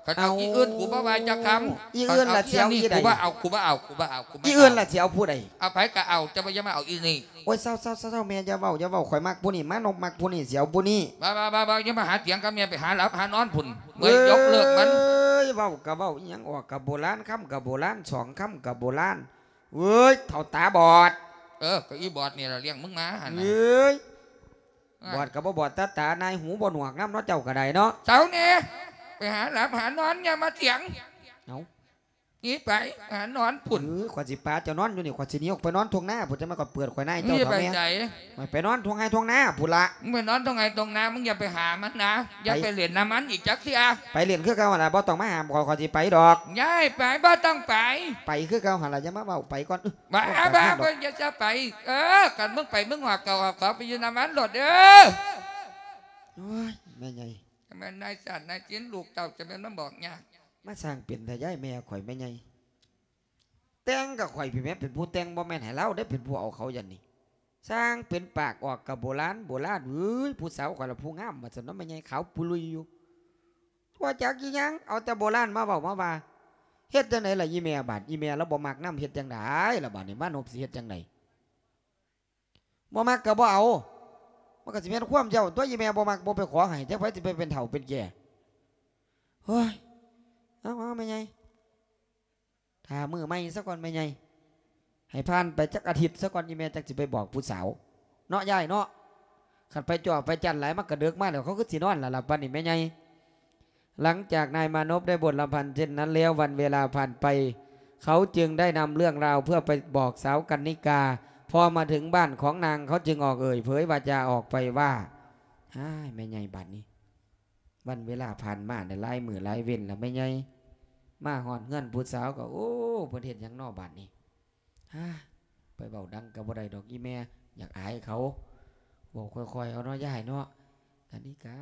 ຄັນເອົາ ເອົາ ອີ່ອື່ນ ກູບໍ່ວ່າຈັກຄຳ. ອີ່ອື່ນລະຊິເອົາອີ່ໃດ? ກູບໍ່ເອົາ ກູບໍ່ເອົາ ກູບໍ່ເອົາ ກູບໍ່ເອົາ. ອີ່ອື່ນລະຊິເອົາຜູ້ໃດ? ເອົາໃຜກໍເອົາ ຈະບໍ່ ຢ່າມາເອົາອີ່ນີ້. ໂອ້ຍ ເຊົາໆໆໆ ແມ່ ຢ່າເວົ້າ ຢ່າເວົ້າ ຂ້ອຍມັກຜູ້ນີ້ ມານົບມັກຜູ້ນີ້ ຊິເອົາຜູ້ນີ້. ບໍ່ໆໆໆ ຢ່າມາຫາຖຽງກັບແມ່ ໄປຫາຫຼັບຫານອນພຸ້ນ ເມື່ອຍຍົກເລີກມັນ. ເອີຍ ເວົ້າກໍເວົ້າ ອີ່ຫຍັງອອກກໍໂບລານ ຄຳກໍໂບລານ ສອງຄຳກໍໂບລານ. ເອີຍ ເຖົ້າຕາບອດ. ເອີ ກໍອີບອດນີ້ລະລ້ຽງມຶງມາຫັ້ນນະ. ເອີຍ ບອດກໍບໍ່ບອດຕາຕາ ນາຍຫູບໍ່ໜວກນຳເນາະ ເຈົ້າກໍໄດ້ເນາະ. ເຊົາແດ່ ໄປຫາຫຼັບຫານອນ ຢ່າມາຖຽງ. ເອົາ ໜີໄປຫານອນພຸ້ນ. ເອີ ຂ້ອຍຊິປາເຈົ້ານອນຢູ່ນີ້ ຂ້ອຍຊິໜີອອກໄປນອນທົ່ງນາພຸ້ນ ຈັ່ງມາກໍເປີດຂ້ອຍນາຍເຈົ້າ. ເຖົ້າແມ່ ໄປໃສ? ຂ້ອຍໄປນອນທົ່ງໄຮ່ທົ່ງນາພຸ້ນລະ. ມຶງໄປນອນທົ່ງໄຮ່ທົ່ງນາ ມຶງຢ່າໄປຫາມັນນະ ຢ່າໄປ ໄປຫຼິ້ນນຳມັນອີກຈັກເທື່ອ. ໄປຫຼິ້ນຄືເກົ່າຫັ້ນລະ ບໍ່ຕ້ອງມາຫ້າມຂ້ອຍ ຂ້ອຍຊິໄປດອກ. ຍ້າຍໄປ ບໍ່ຕ້ອງໄປ. ໄປຄືເກົ່າຫັ້ນລະ ຢ່າມາເວົ້າ ໄປກ່ອນ. ບ້າ ບ້າ ບໍ່ ຢ່າຊະໄປ. ເອີ ຄັນມຶງໄປ ມຶງຫອບເຂົ້າຫອບຂອງໄປຢູ່ນຳມັນໂລດເດີ. ໂອ້ຍ ແມ່ໃຫຍ່ ແມ່ນນາຍສັນນາຍສິນ ລູກເຕົ້າຈະແມ່ນມາບອກຍາກ ມາສ້າງເປັນແທ້ ຍ້າຍແມ່ຂ້ອຍແມ່ໃຫຍ່. ແຕ່ງກັບຂ້ອຍພີ້ແມ່ ເປັນຜູ້ແຕ່ງ ບໍ່ແມ່ນໃຫ້ລາວເດ້ເປັນຜູ້ເອົາເຂົາຢ່າງນີ້. ຊ່າງເປັນປາກອອກກັບໂບລານ ໂບລານເອີຍ ຜູ້ສາວຂ້ອຍລະຜູ້ງາມວ່າຊັ້ນເນາະ ແມ່ໃຫຍ່ຂາວປຸລຸຍຢູ່. ບໍ່ຈັກອີ່ຫຍັງ ເອົາແຕ່ໂບລານມາເວົ້າມາວ່າ. ເຮັດຈັ່ງໃດລະອີ່ແມ່ບາດ ອີ່ແມ່ລາວບໍ່ມັກນຳ ເຮັດຈັ່ງໃດລະບາດນີ້ ມານົບຊິເຮັດຈັ່ງໃດ? ບໍ່ມັກກໍບໍ່ເອົາ ມັນກໍຊິແມ່ນຄວາມເຈົ້າຕົວະ ອີ່ແມ່ບໍ່ມັກບໍ່ໄປຂໍໃຫ້ ຈັກໃຜຊິໄປເປັນເຖົ້າເປັນແກ່. ໂອ້ຍ ເອົາ ເອົາ ແມ່ໃຫຍ່ ຖ້າມື້ໃໝ່ຊະກ່ອນແມ່ໃຫຍ່ ໃຫ້ຜ່ານໄປຈັກອາທິດຊະກ່ອນ ອີ່ແມ່ຈັກຊິໄປບອກຜູ້ສາວເນາະ ຍາຍເນາະ. ຄັນໄປຈ້ອໄປຈັນຫຼາຍ ມັນກະເດິກມາແລ້ວ ເຂົາຄືຊິນອນລະລະບາດນີ້ແມ່ໃຫຍ່. ຫຼັງຈາກນายมานพได้บทลำพันธ์เช่นนั้นแล้ว วันเวลาผ่านไป เขาจึงได้นำเรื่องราวเพื่อไปบอกสาวกันนิกา พอมาถึงบ้านของนาง เขาจึงออกเอ่ยเผยวาจาออกไปว่า อ้าย แม่ใหญ่บาดนี้ วันเวลาผ่านมาได้หลายมื้อหลายเว็นแล้วแม่ใหญ่ มาฮอดเฮือนผู้สาวก็ โอ้ เพิ่นเฮ็ดหยังน้อบาดนี้ อ้า ไปเว้าดังก็บ่ได้ดอกอีแม่ อยากอายเขา เว้าค่อยๆ เอาเนาะยายเนาะ กนิกา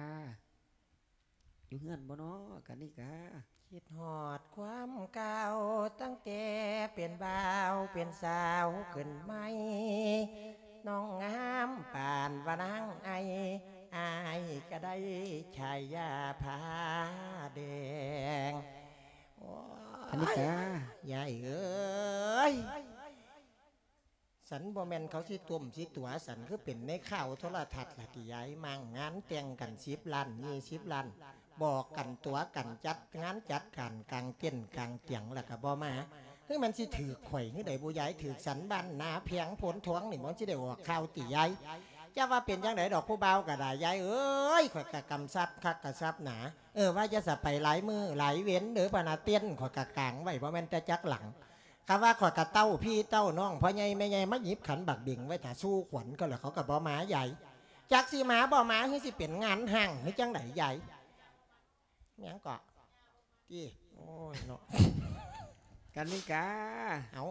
อยู่เฮือนบ่น้อกนิกา คิดฮอดความเก่า ตั้งแต่เป็นบ่าวเป็นสาวขึ้นใหม่ น้องงามปานว่านางไอ อ้ายก็ได้ฉายาผ้าแดง โอ้ย กนิกา ยายเอ้ย สันบ่แม่นเขาสิต้มสิตั๋ว สันคือเป็นในข่าวโทรทัศน์ล่ะติยาย มางงานแต่งกันสิบล้าน ยี่สิบล้าน บอกกันตั๋วกัน จัดงานจัดการกางเต็นท์กางเตียงแล้วก็บ่มา คือมันสิถืกข่อยคือใด๋บุยาย ถืกสันบ้านนาแพงโพนทองนี่บ่ สิได้ออกข่าวติยาย จะว่าเป็นจั่งใด๋ดอกผู้บ่าวก็ได้ยายเอ้ย ข่อยก็กำชับคักกำชับหนา เออ ว่าจะสะไปหลายมื้อหลายเว็นเด้อพะนา เต็นท์ข่อยก็กางไว้บ่แม่นแต่จักหลัง คำว่าข้อยกะเต้าพี่เต้าน้อง พ่อใหญ่แม่ใหญ่มาหยิบขันบักเบงไว้ถ้าสู่ขวัญเขาแล้ว เขาก็บ่มายาย จักสิมาบ่มา คือสิเป็นงานฮ้าง คือจั่งใด๋ยาย หยังเกาะ ติ โอ้ยเนาะ กนิกา เอ้า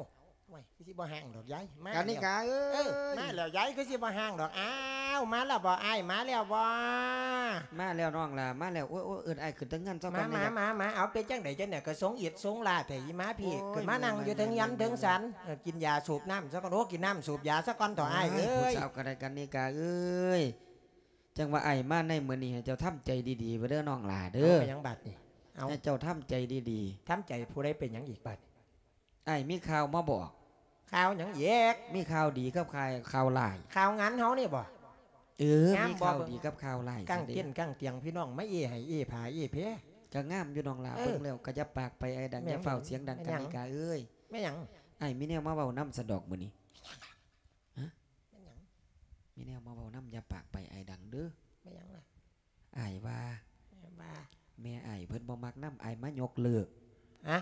โอ้ย คือสิบ่ฮ้างดอกยาย มาก นิกาเอ้ย เออ มาแล้วยาย คือสิบ่ฮ้างดอก อ้าว มาแล้วบ่อ้าย มาแล้วบ่ มาแล้วน้องล่ะ มาแล้ว โอ้ย โอ้ย เอิ้นอ้ายขึ้นแต่เฮือนซะก่อน มา มา มา มา เอาเป็นจั่งใด๋จั่งใด๋ ก็สงอิดสงลาแท้ อีมาพี้ โอ้ย ขึ้นมานั่งอยู่เทิงเฮือนเทิงศาล เออ กินยาสูบน้ำซะก่อน โอ้ กินน้ำสูบยาซะก่อนเถาะอ้ายเอ้ย ผู้สาวก็ได้ กนิกาเอ้ย จั่งว่าอ้ายมาในมื้อนี้ ให้เจ้าทำใจดีๆ ไว้เด้อน้องหล่าเด้อ เอา เป็นหยังบาดนี้ เอา ให้เจ้าทำใจดีๆ ทำใจผู้ใด๋เป็นหยังอีกบาดนี้ อ้ายมีข่าวมาบอก ข่าวหยังอีก มีข่าวดีกับข่าว ข่าวร้าย ข่าวงานเฮานี่บ่ เออ งามบ่ มีข่าวดีกับข่าวร้าย กางเต็นท์กางเตียงพี่น้องมาเอให้เอผาเอแพ ก็งามอยู่น้องหล่า เออ เบิ่งแล้วก็อย่าปากไปอ้ายดัง แม่น อย่าฟ้าวเสียงดัง แม่นหยัง กนิกาเอ้ย แม่นหยัง อ้ายมีแนวมาเว้านำซะดอกมื้อนี้ ฮะ แม่นหยัง มีแนวมาเว้านำ อย่าปากไปอ้ายดังเด้อ ແມ່ນຫຍັງລະ? ອ້າຍວ່າ ແມ່ວ່າ ແມ່ອ້າຍເພິ່ນບໍ່ມັກນຳ ອ້າຍມາຍົກເລີກ. ຮະ?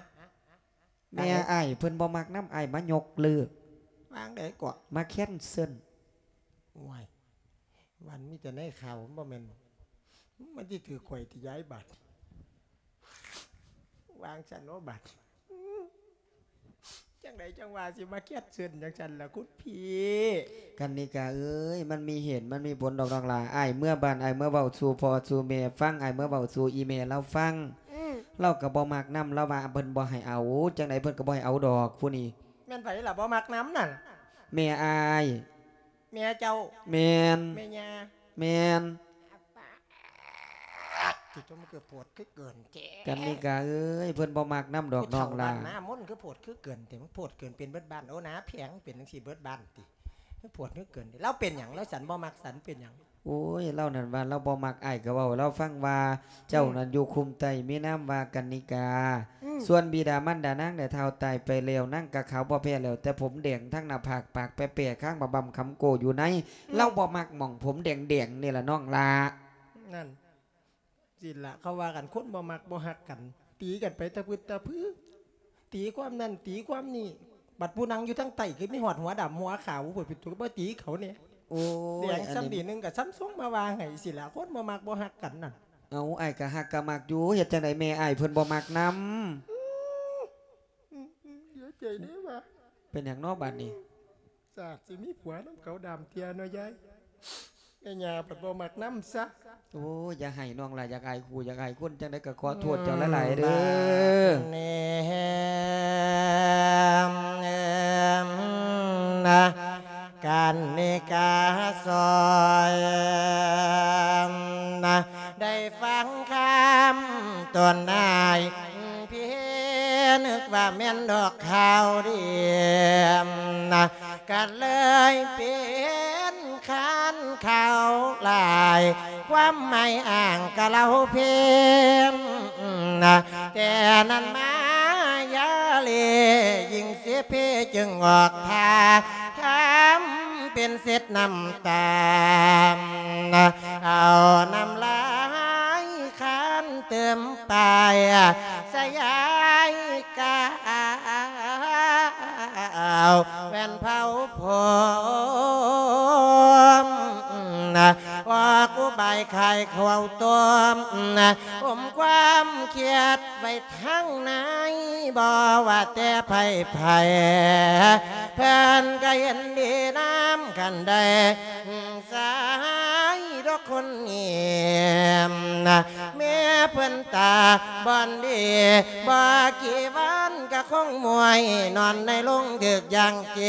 ແມ່ອ້າຍເພິ່ນບໍ່ມັກນຳ ອ້າຍມາຍົກເລີກ. ວ່າຈັ່ງໃດເກາະ? ມາແຄນເຊິນ. ໂອ້ຍ ມັນມີແຕ່ໃນຂ່າວ ມັນບໍ່ແມ່ນ ມັນຊິຖືກຂ້ອຍຕິຍາຍບາດ. ວ່າຈັ່ງຊັ້ນເນາະບາດ. ຈັ່ງໃດຈັ່ງວ່າຊິມາແຄນເຊິນຈັ່ງຊັ້ນລະຄຸນພີ່? ກັນນິກາເອີຍ ມັນມີເຫດມັນມີຜົນດອກນ້ອງຫຼ້າ. ອ້າຍເມືອບ້ານ ອ້າຍເມືອເວົ້າສູ່ພໍ່ສູ່ແມ່ຟັງ ອ້າຍເມືອເວົ້າສູ່ອີ່ແມ່ລາວຟັງ. ອືມ ລາວກໍບໍ່ມັກນຳ ລາວວ່າເພິ່ນບໍ່ໃຫ້ເອົາ. ຈັ່ງໃດເພິ່ນກໍບໍ່ໃຫ້ເອົາດອກຜູ້ນີ້. ແມ່ນໃຜລະບໍ່ມັກນຳນັ້ນ? ແມ່ອ້າຍ. ແມ່ເຈົ້າ? ແມ່ນ. ແມ່ຍ່າ? ແມ່ນ. ຕິດຕົວ ມັນຄືໂພດຄືເກີນແທ້. ກັນນິກາເອີຍ ເພິ່ນບໍ່ມັກນຳດອກນ້ອງຫຼ້າ. ຜູ້ເຖົ້າບ້ານນາມົນ ຄືໂພດຄືເກີນແທ້. ມັນໂພດເກີນເປັນເບິດບ້ານ. ໂອ້ ໜ້າແພງເປັນຈັ່ງຊີ້ເບິດບ້ານຕິ? ມັນໂພດຄືເກີນແທ້. ລາວເປັນຫຍັງ? ລາວສັນບໍ່ມັກສັນເປັນຫຍັງ? ໂອ້ຍ ລາວນັ້ນວ່າລາວບໍ່ມັກ ອ້າຍກໍເວົ້າໃຫ້ລາວຟັງວ່າ ເຈົ້ານັ້ນຢູ່ຄຸ້ມໃຕ້ມີນາມວ່າກັນນິກາ. ອືມ ສ່ວນບິດາມານດານາງໄດ້ເຖົ້າຕາຍໄປແລ້ວ ນາງກໍຂາວບໍ່ແພ້ແລ້ວ ແຕ່ຜົມແດງທັງໜ້າຜາກ ປາກແປະໆ ຄາງບາບຳຄຳໂກ້ຢູ່ໃນ. ອືມ ລາວບໍ່ມັກໝ່ອງຜົມແດງໆ ນີ້ລະນ້ອງຫຼ້າ. ນັ້ນ ຊີ້ລະເຂົາວ່າກັນ ຄົນບໍ່ມັກບໍ່ຮັກກັນ ຕີກັນໄປຕະພຶດຕະພື ຕີຄວາມນັ້ນຕີຄວາມນີ້ ບັດຜູ້ນັ່ງຢູ່ທາງໃຕ້ຄືມີຮອດຫົວດຳຫົວຂາວ ເພິ່ນເປັນຕົວມາຕີເຂົາແດ່. ໂອ້ຍ ແດງສ່ຳນີ້ໜຶ່ງກໍສ່ຳຊົງມາວ່າໃຫ້ຊີ້ລະ ຄົນບໍ່ມັກບໍ່ຮັກກັນນັ້ນ. ເອົາ ອ້າຍກໍຮັກກໍມັກຢູ່ ເຮັດຈັ່ງໃດແມ່ອ້າຍເພິ່ນບໍ່ມັກນຳ. ອືມ ອືມ ເສຍໃຈເດ້ວ່າ. ເປັນຫຍັງເນາະບາດນີ້? ຊາດຊິມີຜົວນຳເຂົາດຳເທື່ອເນາະຍາຍ. ແມ່ຍ່າພັດບໍ່ມັກນຳຊະ. ໂອ້ຍ ຢ່າໄຫ້ນ້ອງຫຼ້າ ຢາກອາຍຄູ່ ຢາກອາຍຄົນ ຈັ່ງໃດກໍຂໍໂທດເຈົ້າຫຼາຍໆເດີ້. ແນມ ກັນນິກາຊອຍ ໄດ້ຟັງຄຳຕົນອ້າຍ ພີ່ນຶກວ່າແມ່ນດອກຂ່າວດີ ກໍເລີຍເປັນຄານຂ່າວຫຼາຍ ຄວາມໝາຍອ້າງກະເລົ່າເພງ ແຕ່ນັ້ນມາຢາເລ ຍິ່ງເສເພຈຶ່ງອອກທ່າ ທຳເປັນເຊັດນ້ຳຕາ ເອົານ້ຳລາຍຄານເຕີມປາຍ ສະຫຍາຍກາວແວ່ນເຜົາຜົມ ອອກອຸບາຍຂາຍເຂົ້າຕົ້ມ ອົມຄວາມຄຽດໄວ້ທາງໃນ ບໍ່ວ່າແຕ່ໃຜໆ ເພິ່ນກໍເຫັນດີນຳກັນໄດ້ ສາຍດອກຄົນນີ້ ແມ່ເພິ່ນຕາບ່ອນດີ ບໍ່ກີ່ວັນກໍຄົງມວຍ ນອນໃນໂລງຖືກຢ່າງເກ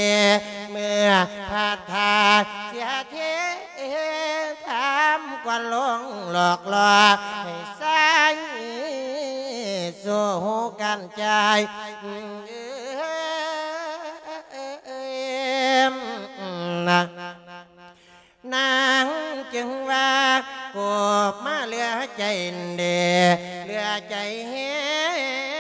ເມື່ອພາດທ່າເສຍເທ ຖາມກວ່າໂລງຫຼອກຫຼໍ່ ໃຫ້ສາຍສູ້ກັນຈ່າຍ ນາງຈຶ່ງວ່າ ໂກບມາເຫຼືອໃຈເດ ເຫຼືອໃຈແຮ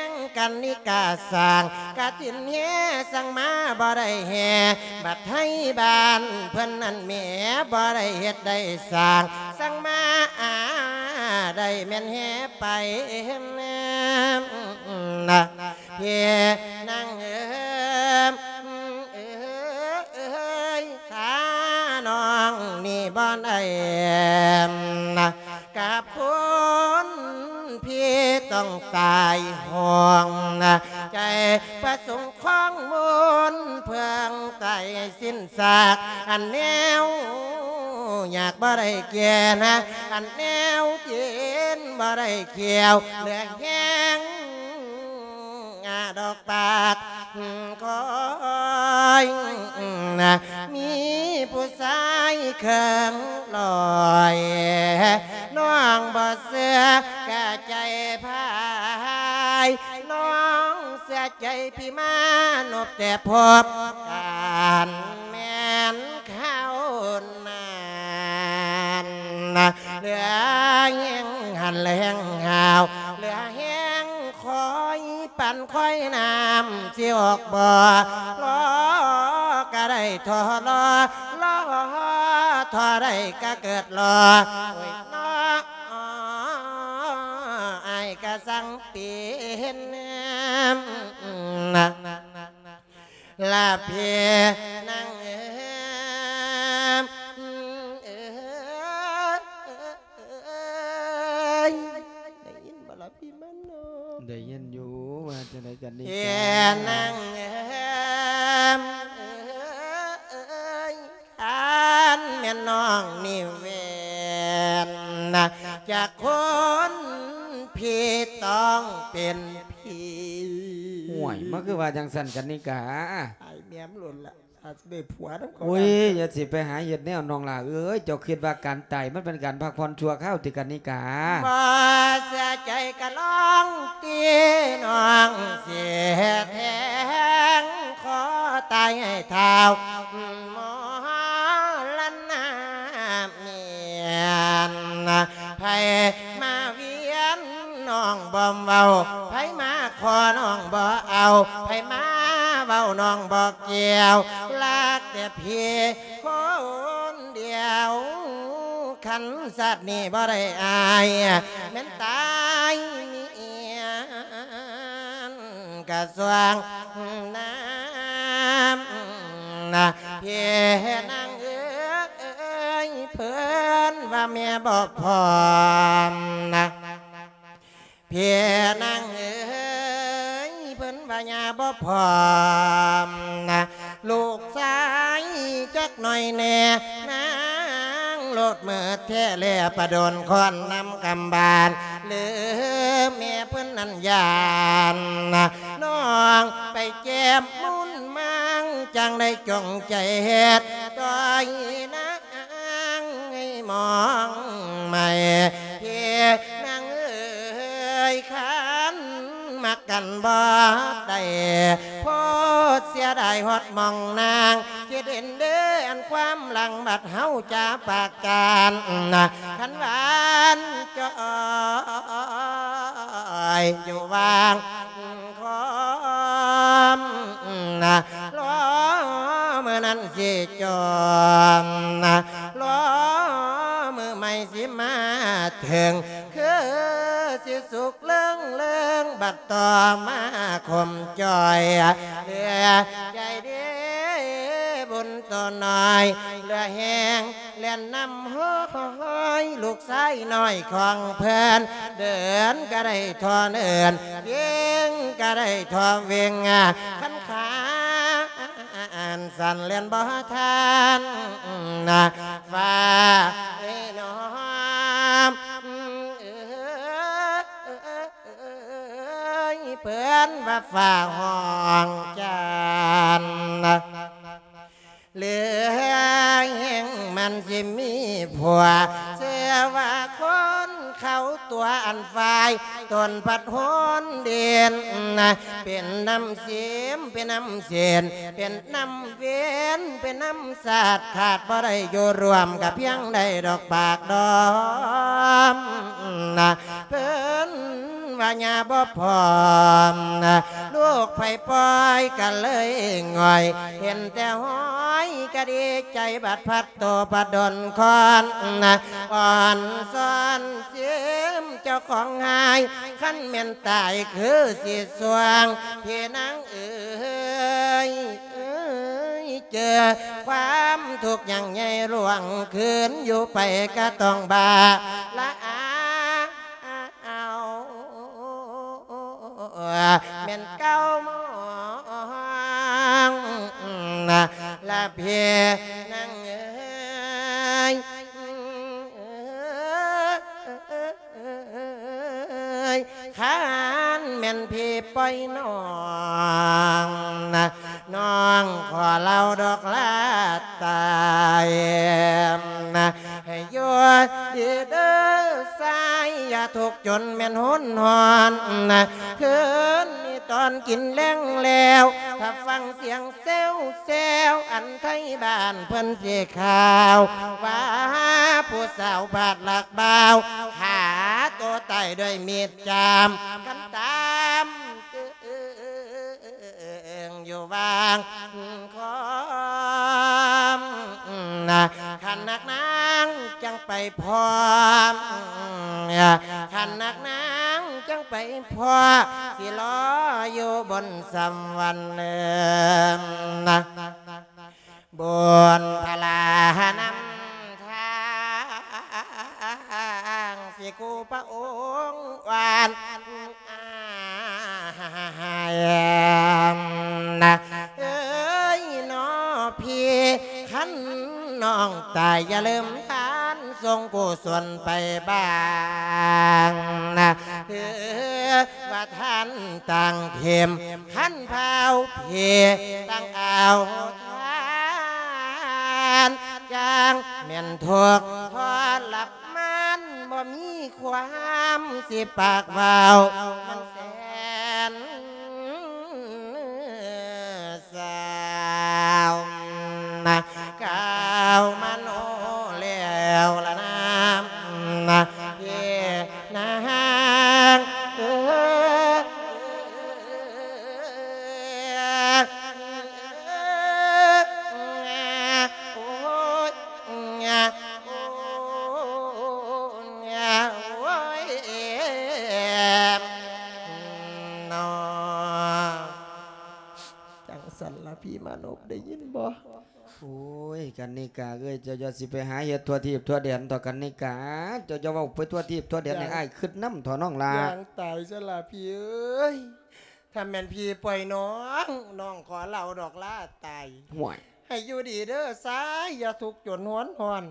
ງກັນນິກາສ້າງ ກະຖິນແຮ່ສັ່ງມາບໍ່ໄດ້ແຮ່ ບັດໄທບ້ານເພິ່ນນັ້ນແໝ່ ບໍ່ໄດ້ເຮັດໄດ້ສ້າງ ສັ່ງມາອາໄດ້ແມ່ນແຮ່ໄປ ນະ ພີ່ນາງເອີ ເອີຍ ຖ້ານ້ອງນີ້ບໍ່ໄດ້ ກັບຄົນພີ່ຕ້ອງຕາຍຫ້ອງ ໃຈປະສົງຄອງມົນເພິ່ງໄຕສິ້ນຊາກ ອັນແນວຢາກບໍ່ໄດ້ແກ່ນ ອັນແນວກິນບໍ່ໄດ້ແຂ້ວ ເຫຼືອແຮງ ອາດອກປາກຄອຍ ມີຜູ້ຊາຍເຄິ່ງຮ້ອຍ ນ້ອງບໍ່ເຊື່ອກະໃຈພາຍ ນ້ອງເຊື່ອໃຈພີ່ມານົບແຕ່ພົບ ການແມ່ນຄາວນັ້ນ ເຫຼືອແຮງຫັນແຮງຫາວ ເຫຼືອແຮງ ຄອຍປັນຄອຍນ້ຳຊິອອກບໍ່ ລໍກໍໄດ້ທໍລໍ ລໍທໍ ໄດ້ກະເກີດລໍ ໂອ້ຍເນາະ ອ້າຍກະສັງເປັນ ລະເພນາງເອີຍ ໄດ້ຍິນບໍ່ລະພີ່ມານອກ? ໄດ້ຍິນຢູ່ ວ່າຈັ່ງໃດກັນນີ້ ເພນາງເອີຍ ຄັນແມ່ນນ້ອງນີ້ແມ່ນນະ ຈາກຄົນຜີຕ້ອງເປັນຜີ. ໂອ້ຍ ມັນຄືວ່າຈັ່ງຊັ້ນກັນນີ້ກະ ຕາຍແມ່ມໂລດລະ ອາດຊິໄດ້ຜົວນຳເຂົາ. ໂອ້ຍ ຢ່າຊິໄປຫາເຮັດແນວ ນ້ອງຫຼ້າເອີຍ ເຈົ້າຄິດວ່າການຕາຍມັນເປັນການພັກຜ່ອນຊົ່ວຄາວຕິກັນນີ້ກະ? ບໍ່ເຊື່ອໃຈກະລອງຕິ ນ້ອງຊິແທງຄໍຕາຍໃຫ້ທ້າວ ມໍລະນະແມ່ນ ໃຜມາວຽນນ້ອງບໍ່ເວົ້າ ໃຜມາຂໍນ້ອງບໍ່ເອົາ ໃຜມາເວົ້ານ້ອງບໍ່ກ່ຽວ ລັກແຕ່ເພຍຄົນດຽວ ຄັນຊາດນີ້ບໍ່ໄດ້ອ້າຍ ແມ່ນຕາຍມີ ກະຊ່ວງນຳນະ ເພນາງເອີຍ ເພິ່ນວ່າແມ່ບໍ່ພ້ອມນະ ເພນາງເອີຍ ເພິ່ນວ່າຍ່າບໍ່ພ້ອມນະ ລູກຊາຍຈັກໜ້ອຍແນ່ ນາງໂລດເມີແທ້ແລ ປະດົນຄອນນຳກຳບານ ຫຼືແມ່ເພິ່ນນັ້ນຢ້ານນະ ນ້ອງໄປແຈມມຸນມັງ ຈັ່ງໄດ້ຈົ່ງໃຈເຮັດ ຕ່ອຍນາງໃຫ້ມອງໃໝ່ ເພນາງເອີຍ ຄັນ ມັກກັນບໍ່ໄດ້ ໂພດເສຍດາຍຮອດໝ່ອງນາງ ຄິດເຫັນເດີອັນຄວາມຫຼັງ ບັດເຮົາຈາປາກກັນນະ ຄັນຫວານຈ້ອຍຢູ່ຫວ່າງຄອມນະ ລໍມື້ນັ້ນຊິຈອມນະ ລໍມື້ໃໝ່ຊິມາເຖິງ ຄືຊິສຸກເລິງເລີງ ບັດຕໍ່ມາຄົມຈ່ອຍ ເຫຼືອໃຈເດບຸນໂຕນ້ອຍ ເຫຼືອແຮງແລ່ນນຳຫ້ອຍ ລູກຊາຍນ້ອຍຂອງເພິ່ນ ເດີນກະໄດ້ທໍ່ເນີນ ວຽງກະໄດ້ທໍ່ວຽງ ຄັນຂາ ອັນສັ່ນແລ່ນບໍ່ທັນນະ ຟ້າເອີຍນ້ອງເອີຍ ເພິ່ນວ່າຟ້າຮ້ອງຈັນນະ ເລື່ອງແຫ່ງມັນຊິມີຜົວ ເຊື່ອວ່າຄົນເຂົາຕົວອັນຝ່າຍ ຕົນພັດຫົນເດັ່ນນະ ເປັນນ້ຳເສມ ເປັນນ້ຳເສັ້ນ ເປັນນ້ຳເວນ ເປັນນ້ຳສາດ ຂາດບໍ່ໄດ້ຢູ່ຮ່ວມ ກະພຽງໄດ້ດອກປາກດອມນະ ເພິ່ນວ່າຍ່າບໍ່ພ້ອມນະ ລູກໃຜປ່ອຍກະເລີຍຫງອຍ ເຫັນແຕ່ຫອຍກະດີໃຈ ບັດພັດ ໂຕປະດົນຄອນນະ ອ່ອນຊອນເສມເຈົ້າຂອງຫາຍ ຄັນແມ່ນຕາຍຄືຊິສ່ວງ ເພນາງເອີຍ ເອີຍ ເຈີຄວາມທຸກຢ່າງໃຫຍ່ລ່ວງຄືນ ຢູ່ໄປກະຕ້ອງບ້າລະອາ ເອົາ ແມ່ນເກົ່າມອງນະ ລະເພນາງເອີຍ ຄັນແມ່ນເພປ່ອຍນ້ອງນະ ນ້ອງຂໍລາວດອກລາຕາຍນະ ໃຫ້ຢູ່ດີເດີຊາຍ ຢ່າທຸກຈົນແມ່ນຫົນຫອນນະ ຄືນນີ້ຕອນກິນແລງແລ້ວ ຖ້າຟັງສຽງແຊວໆ ອັນໄທບ້ານເພິ່ນຊິຂ່າວ ວ່າຜູ້ສາວພາດລັກບ່າວ ຂ້າໂຕຕາຍດ້ວຍມີດຈາມ ຄັນຕາມ ເອີງຢູ່ຫວ່າງຄອມນະ ຄັນນັກໜາ ໄປພ້ອມ ຄັນຮັກນາງຈັ່ງໄປພໍ້ ຊິລໍຢູ່ບົນສຳຫວັນເອີນ ບຸນພະລານຳທາງ ຊິຄູ່ພະອົງຫວານອ້າຍນະ ເອີຍນໍພີ່ ຄັນນ້ອງຕາຍຢ່າລືມທານ ສົ່ງກຸສົນໄປບາງນະ ຄືວ່າທ່ານຕ່າງເຂັມ ຄັນພາວເພຕ່າງເອົາທານ ຈັ່ງແມ່ນທຸກທໍລະມານ ບໍ່ມີຄວາມຊິປາກເວົ້າ ມັນແສນ ສາວນະ ກ່າວມະໂນແລ້ວລະນາ ນະ ເພນາງເອີຍ ໂອ້ຍ ໂອ້ຍ ໂອ້ຍ ເນາະ. ຈັ່ງຊັ້ນລະພີ່ມານົບ ໄດ້ຍິນບໍ່? ໂອ້ຍ ກັນນິກາເອີຍ ເຈົ້າຢ່າຊິໄປຫາເຮັດທົ່ວທີບທົ່ວແດນເຖາະກັນນິກາ ເຈົ້າຢ່າເວົ້າໄປທົ່ວທີບທົ່ວແດນ ໃຫ້ອ້າຍຄິດນຳເຖາະນ້ອງຫຼ້າ. ຢ່າງຕາຍຊະລະພີ່ເອີຍ ຖ້າແມ່ນພີ່ປ່ອຍນ້ອງ ນ້ອງຂໍເລົ່າດອກລາຕາຍ. ຫ້ວຍ ໃຫ້ຢູ່ດີເດີຊາຍ ຢ່າທຸກຈົນຮວນຮ້ອນ.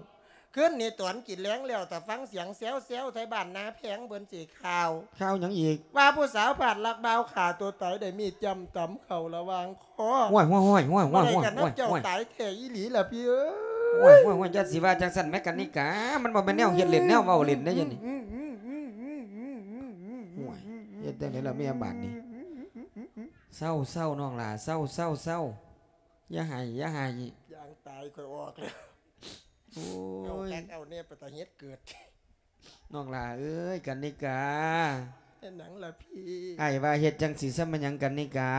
ຄືນນີ້ຕອນກິນແລງແລ້ວ ຖ້າຟັງສຽງແຊວໆ ໄທບ້ານນາແພງເພິ່ນຊິຂ່າວ. ຂ່າວຫຍັງອີກ? ວ່າຜູ້ສາວພາດລັກບ່າວຂ້າຕົວຕາຍ ໄດ້ມີດຈ້ຳຕຳເຂົ້າລະຫວ່າງຄໍ. ຫ້ວຍ ຫ້ວຍ ຫ້ວຍ ຫ້ວຍ ບໍ່ໄດ້ກັນນຳເຈົ້າຕາຍແທ້ອີ່ຫຼີລະພີ່ເອີຍ. ຫ້ວຍ ຫ້ວຍ ຢ່າຊິວ່າຈັ່ງຊັ້ນແໝ ກັນນິກາ ມັນບໍ່ແມ່ນແນວເຮັດຫຼິ້ນແນວເວົ້າຫຼິ້ນເດ້ ຢູ່ນີ້. ໂອ້ຍ ເຮັດຈັ່ງໃດລະແມ່ບາດນີ້? ເຊົາ ເຊົາ ນ້ອງຫຼ້າ ເຊົາ ເຊົາ ເຊົາ ຢ່າໄຫ້ ຢ່າໄຫ້. ຢ່າງຕາຍຂ້ອຍອອກແລ້ວ. ໂອ້ຍ ເອົາແຄັກເອົາແນ່ ເປັນຕາເຮັດເກີດ. ນ້ອງຫຼ້າເອີຍ ກັນນິກາ. ເຮັດຫຍັງລະພີ່? ອ້າຍວ່າເຮັດຈັ່ງຊີ້ຊະແມ່ນຫຍັງ ກັນນິກາ?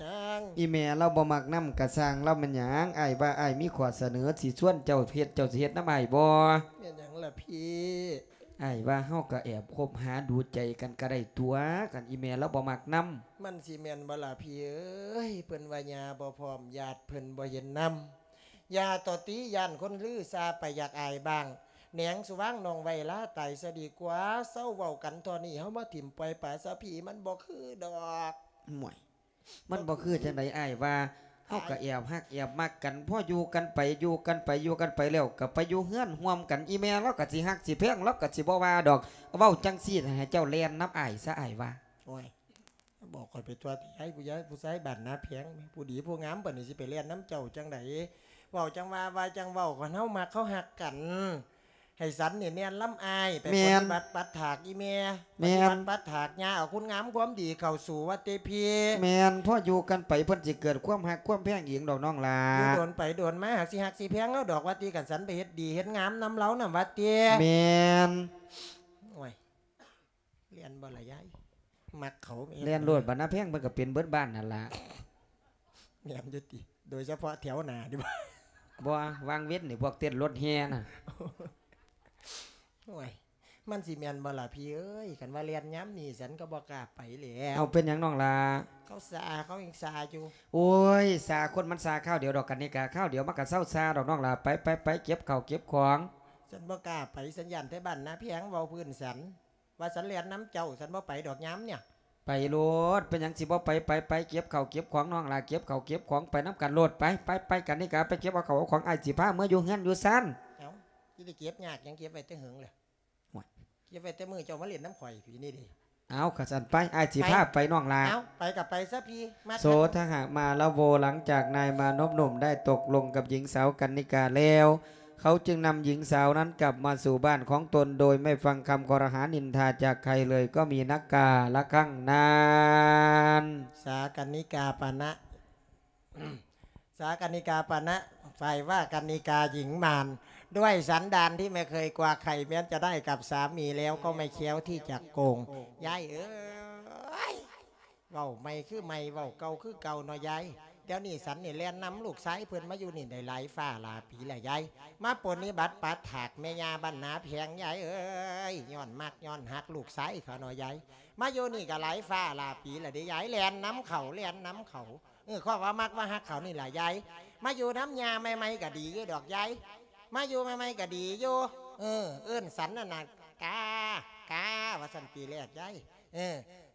ຫຍັງ? ອີ່ແມ່ລາວບໍ່ມັກນຳກະຊ່າງລາວແມ່ນຫຍັງ? ອ້າຍວ່າອ້າຍມີຂໍ້ສະເໜີ ຊິຊວນເຈົ້າເຮັດ ເຈົ້າຊິເຮັດນຳອ້າຍບໍ່? ແມ່ນຫຍັງລະພີ່? ອ້າຍວ່າເຮົາກະແອບຄົບຫາດູໃຈກັນກະໄດ້ຕົວະ ຄັນອີ່ແມ່ລາວບໍ່ມັກນຳ. ມັນຊິແມ່ນບໍ່ລະພີ່ເອີຍ? ເພິ່ນວ່າຍ່າບໍ່ພ້ອມ ຍາດເພິ່ນບໍ່ເຫັນນຳ. ຢ່າຕໍ່ຕີ ຢ້ານຄົນລືຊາໄປ ຢາກອາຍບ້າງ. ແໜງສຸວາງນ້ອງໄວ້ລາຕາຍຊະດີກວ່າ. ເຊົາເວົ້າກັນທໍ່ນີ້ ເຮົາມາຖິ້ມປ່ອຍປາຊະພີ ມັນບໍ່ຄືດອກ. ໂອ້ຍ ມັນບໍ່ຄືຈັ່ງໃດ? ອ້າຍວ່າເຮົາກະແອບຮັກແອບມັກກັນ ພໍຢູ່ກັນໄປ ຢູ່ກັນໄປ ຢູ່ກັນໄປແລ້ວ ກະໄປຢູ່ເຮືອນຮ່ວມກັນ ອີ່ແມ່ລາວກະຊິຮັກຊິແພງ ລາວກະຊິບໍ່ວ່າດອກ. ເວົ້າຈັ່ງຊີ້ ໃຫ້ເຈົ້າແລ່ນນຳອ້າຍຊະ ອ້າຍວ່າ. ໂອ້ຍ ບອກຂ້ອຍໄປທົ່ວຕິ ໃຫ້ຜູ້ໃຫຍ່ຜູ້ຊາຍບ້ານນາແພງ ຜູ້ດີຜູ້ງາມ ບາດນີ້ຊິໄປແລ່ນນຳເຈົ້າຈັ່ງໃດ? ເວົ້າຈັ່ງວ່າ ວ່າຈັ່ງເວົ້າ ຄັນເຮົາມັກເຮົາຮັກກັນ ໃຫ້ສັນນີ້ແລ່ນນຳອ້າຍ ໄປປະຕິບັດປັດຖາກອີ່ແມ່ ປະຕິບັດປັດຖາກຍ່າ ເອົາຄຸນງາມຄວາມດີເຂົ້າສູ່ວ່າຕິພີ່. ແມ່ນ ພໍຢູ່ກັນໄປ ເພິ່ນຊິເກີດຄວາມຮັກຄວາມແພງເອງດອກນ້ອງຫຼ້າ. ຢູ່ດົນໄປດົນມາ ຫາກຊິຮັກຊິແພງລາວດອກວ່າຕິ ຄັນສັນໄປເຮັດດີເຮັດງາມນຳລາວນຳວ່າຕິ. ແມ່ນ. ໂອ້ຍ ແລ່ນບໍ່ລະຍາຍ? ມັກເຂົາແມ່ນ. ແລ່ນໂລດ ບັດນາແພງເພິ່ນກະເປັນເບິດບ້ານຫັ້ນລະ. ແມ່ນຢູ່ຕິ ໂດຍສະເພາະແຖວໜ້ານີ້ບໍ່? ບໍ່ ວາງເວັນນີ້ພວກເຕັ້ນລົດແຫ່ນະ. ໂອ້ຍ ມັນຊິແມ່ນບໍ່ລະພີ່ເອີຍ? ຄັນວ່າແລ່ນຍາມນີ້ ສັນກະບໍ່ກ້າໄປແລ້ວ. ເອົາ ເປັນຫຍັງນ້ອງຫຼ້າ? ເຂົາຊາ ເຂົາຍັງຊາຢູ່. ໂອ້ຍ ຊາຄົນມັນຊາຄາວດຽວດອກ ກັນນິກາ ຄາວດຽວມັນກະເຊົາຊາດອກນ້ອງຫຼ້າ. ໄປ ໄປ ໄປ ເກັບເຂົ້າເກັບຂອງ. ສັນບໍ່ກ້າໄປ ສັນຢ້ານແຕ່ບ້ານນາແພງເວົ້າພື້ນສັນ. ວ່າສັນແລ່ນນຳເຈົ້າ ສັນບໍ່ໄປດອກຍາມເນີ້ຍ. ໄປໂລດ ເປັນຫຍັງຊິບໍ່ໄປ? ໄປ ໄປ ເກັບເຂົ້າເກັບຂອງນ້ອງຫຼ້າ ເກັບເຂົ້າເກັບຂອງໄປນຳກັນໂລດ. ໄປ ໄປ ໄປ ກັນນິກາ ໄປເກັບເອົາເຂົ້າເອົາຂອງ ອ້າຍຊິພາເມືອຢູ່ເຮືອນຢູ່ຊານ. ເອົ້າ ຊິໄດ້ເກັບຍາກຫຍັງ ເກັບໄວ້ແຕ່ເຫິງແລ້ວ. ໂອ້ຍ ເກັບໄວ້ແຕ່ມື້ເຈົ້າມາຫຼິ້ນນຳຂ້ອຍພີ້ນີ້ເດ້. ເອົາ ຄັນຊັ້ນໄປ ອ້າຍຊິພາໄປນ້ອງຫຼ້າ. ເອົ້າ ໄປກະໄປຊະພີ້ ມາ. ໂສທະຫະມາລະໂວ ຫຼັງຈາກນາຍມານົບໜຸ່ມໄດ້ຕົກລົງກັບຍິງສາວກັນນິກາແລ້ວ ເຂົາຈຶ່ງນຳຍິງສາວນັ້ນກັບມາສູ່ບ້ານຂອງຕົນ ໂດຍໄມ່ຟັງຄຳຄໍລະຫານິນທາຈາກໃຜເລີຍ ກໍມີນັກກາລະຄັ້ງນັ້ນ. ສາກັນນິກາປະນະ ສາกัณฑิกาปณะ ฝ่ายว่ากัณฑิกาหญิงมาร ด้วยสันดานที่ไม่เคยกลัวใคร แม้จะได้กับสามีแล้วก็ไม่แคล้วที่จะโกง ยายเอ๋ย เว้าใหม่คือใหม่ เว้าเก่าคือเก่าเนาะยาย ດຽວນີ້ສັນນີ້ແລ່ນນຳລູກຊາຍເພິ່ນມາຢູ່ນີ້ໄດ້ຫຼາຍຟ້າຫຼາຍປີແລ້ວຍາຍ ມາປົນນິບັດປັດຖາກແມ່ຍ່າບ້ານນາແພງຍາຍເອີຍ ຍ້ອນມັກຍ້ອນຮັກລູກຊາຍເຂົາເນາະຍາຍ ມາຢູ່ນີ້ກໍຫຼາຍຟ້າຫຼາຍປີແລ້ວເດ້ຍາຍ ແລ່ນນຳເຂົາ ແລ່ນນຳເຂົາ ເອີ ເພາະວ່າມັກວ່າຮັກເຂົານີ້ລະຍາຍ ມາຢູ່ນຳຍ່າໃໝ່ໆກໍດີຢູ່ດອກຍາຍ ມາຢູ່ໃໝ່ໆກໍດີຢູ່ ເອີ ເອີ້ນສັນນັ້ນນະ ກາ ກາ ວ່າຊັ້ນ ປີແລກຍາຍ ເອີ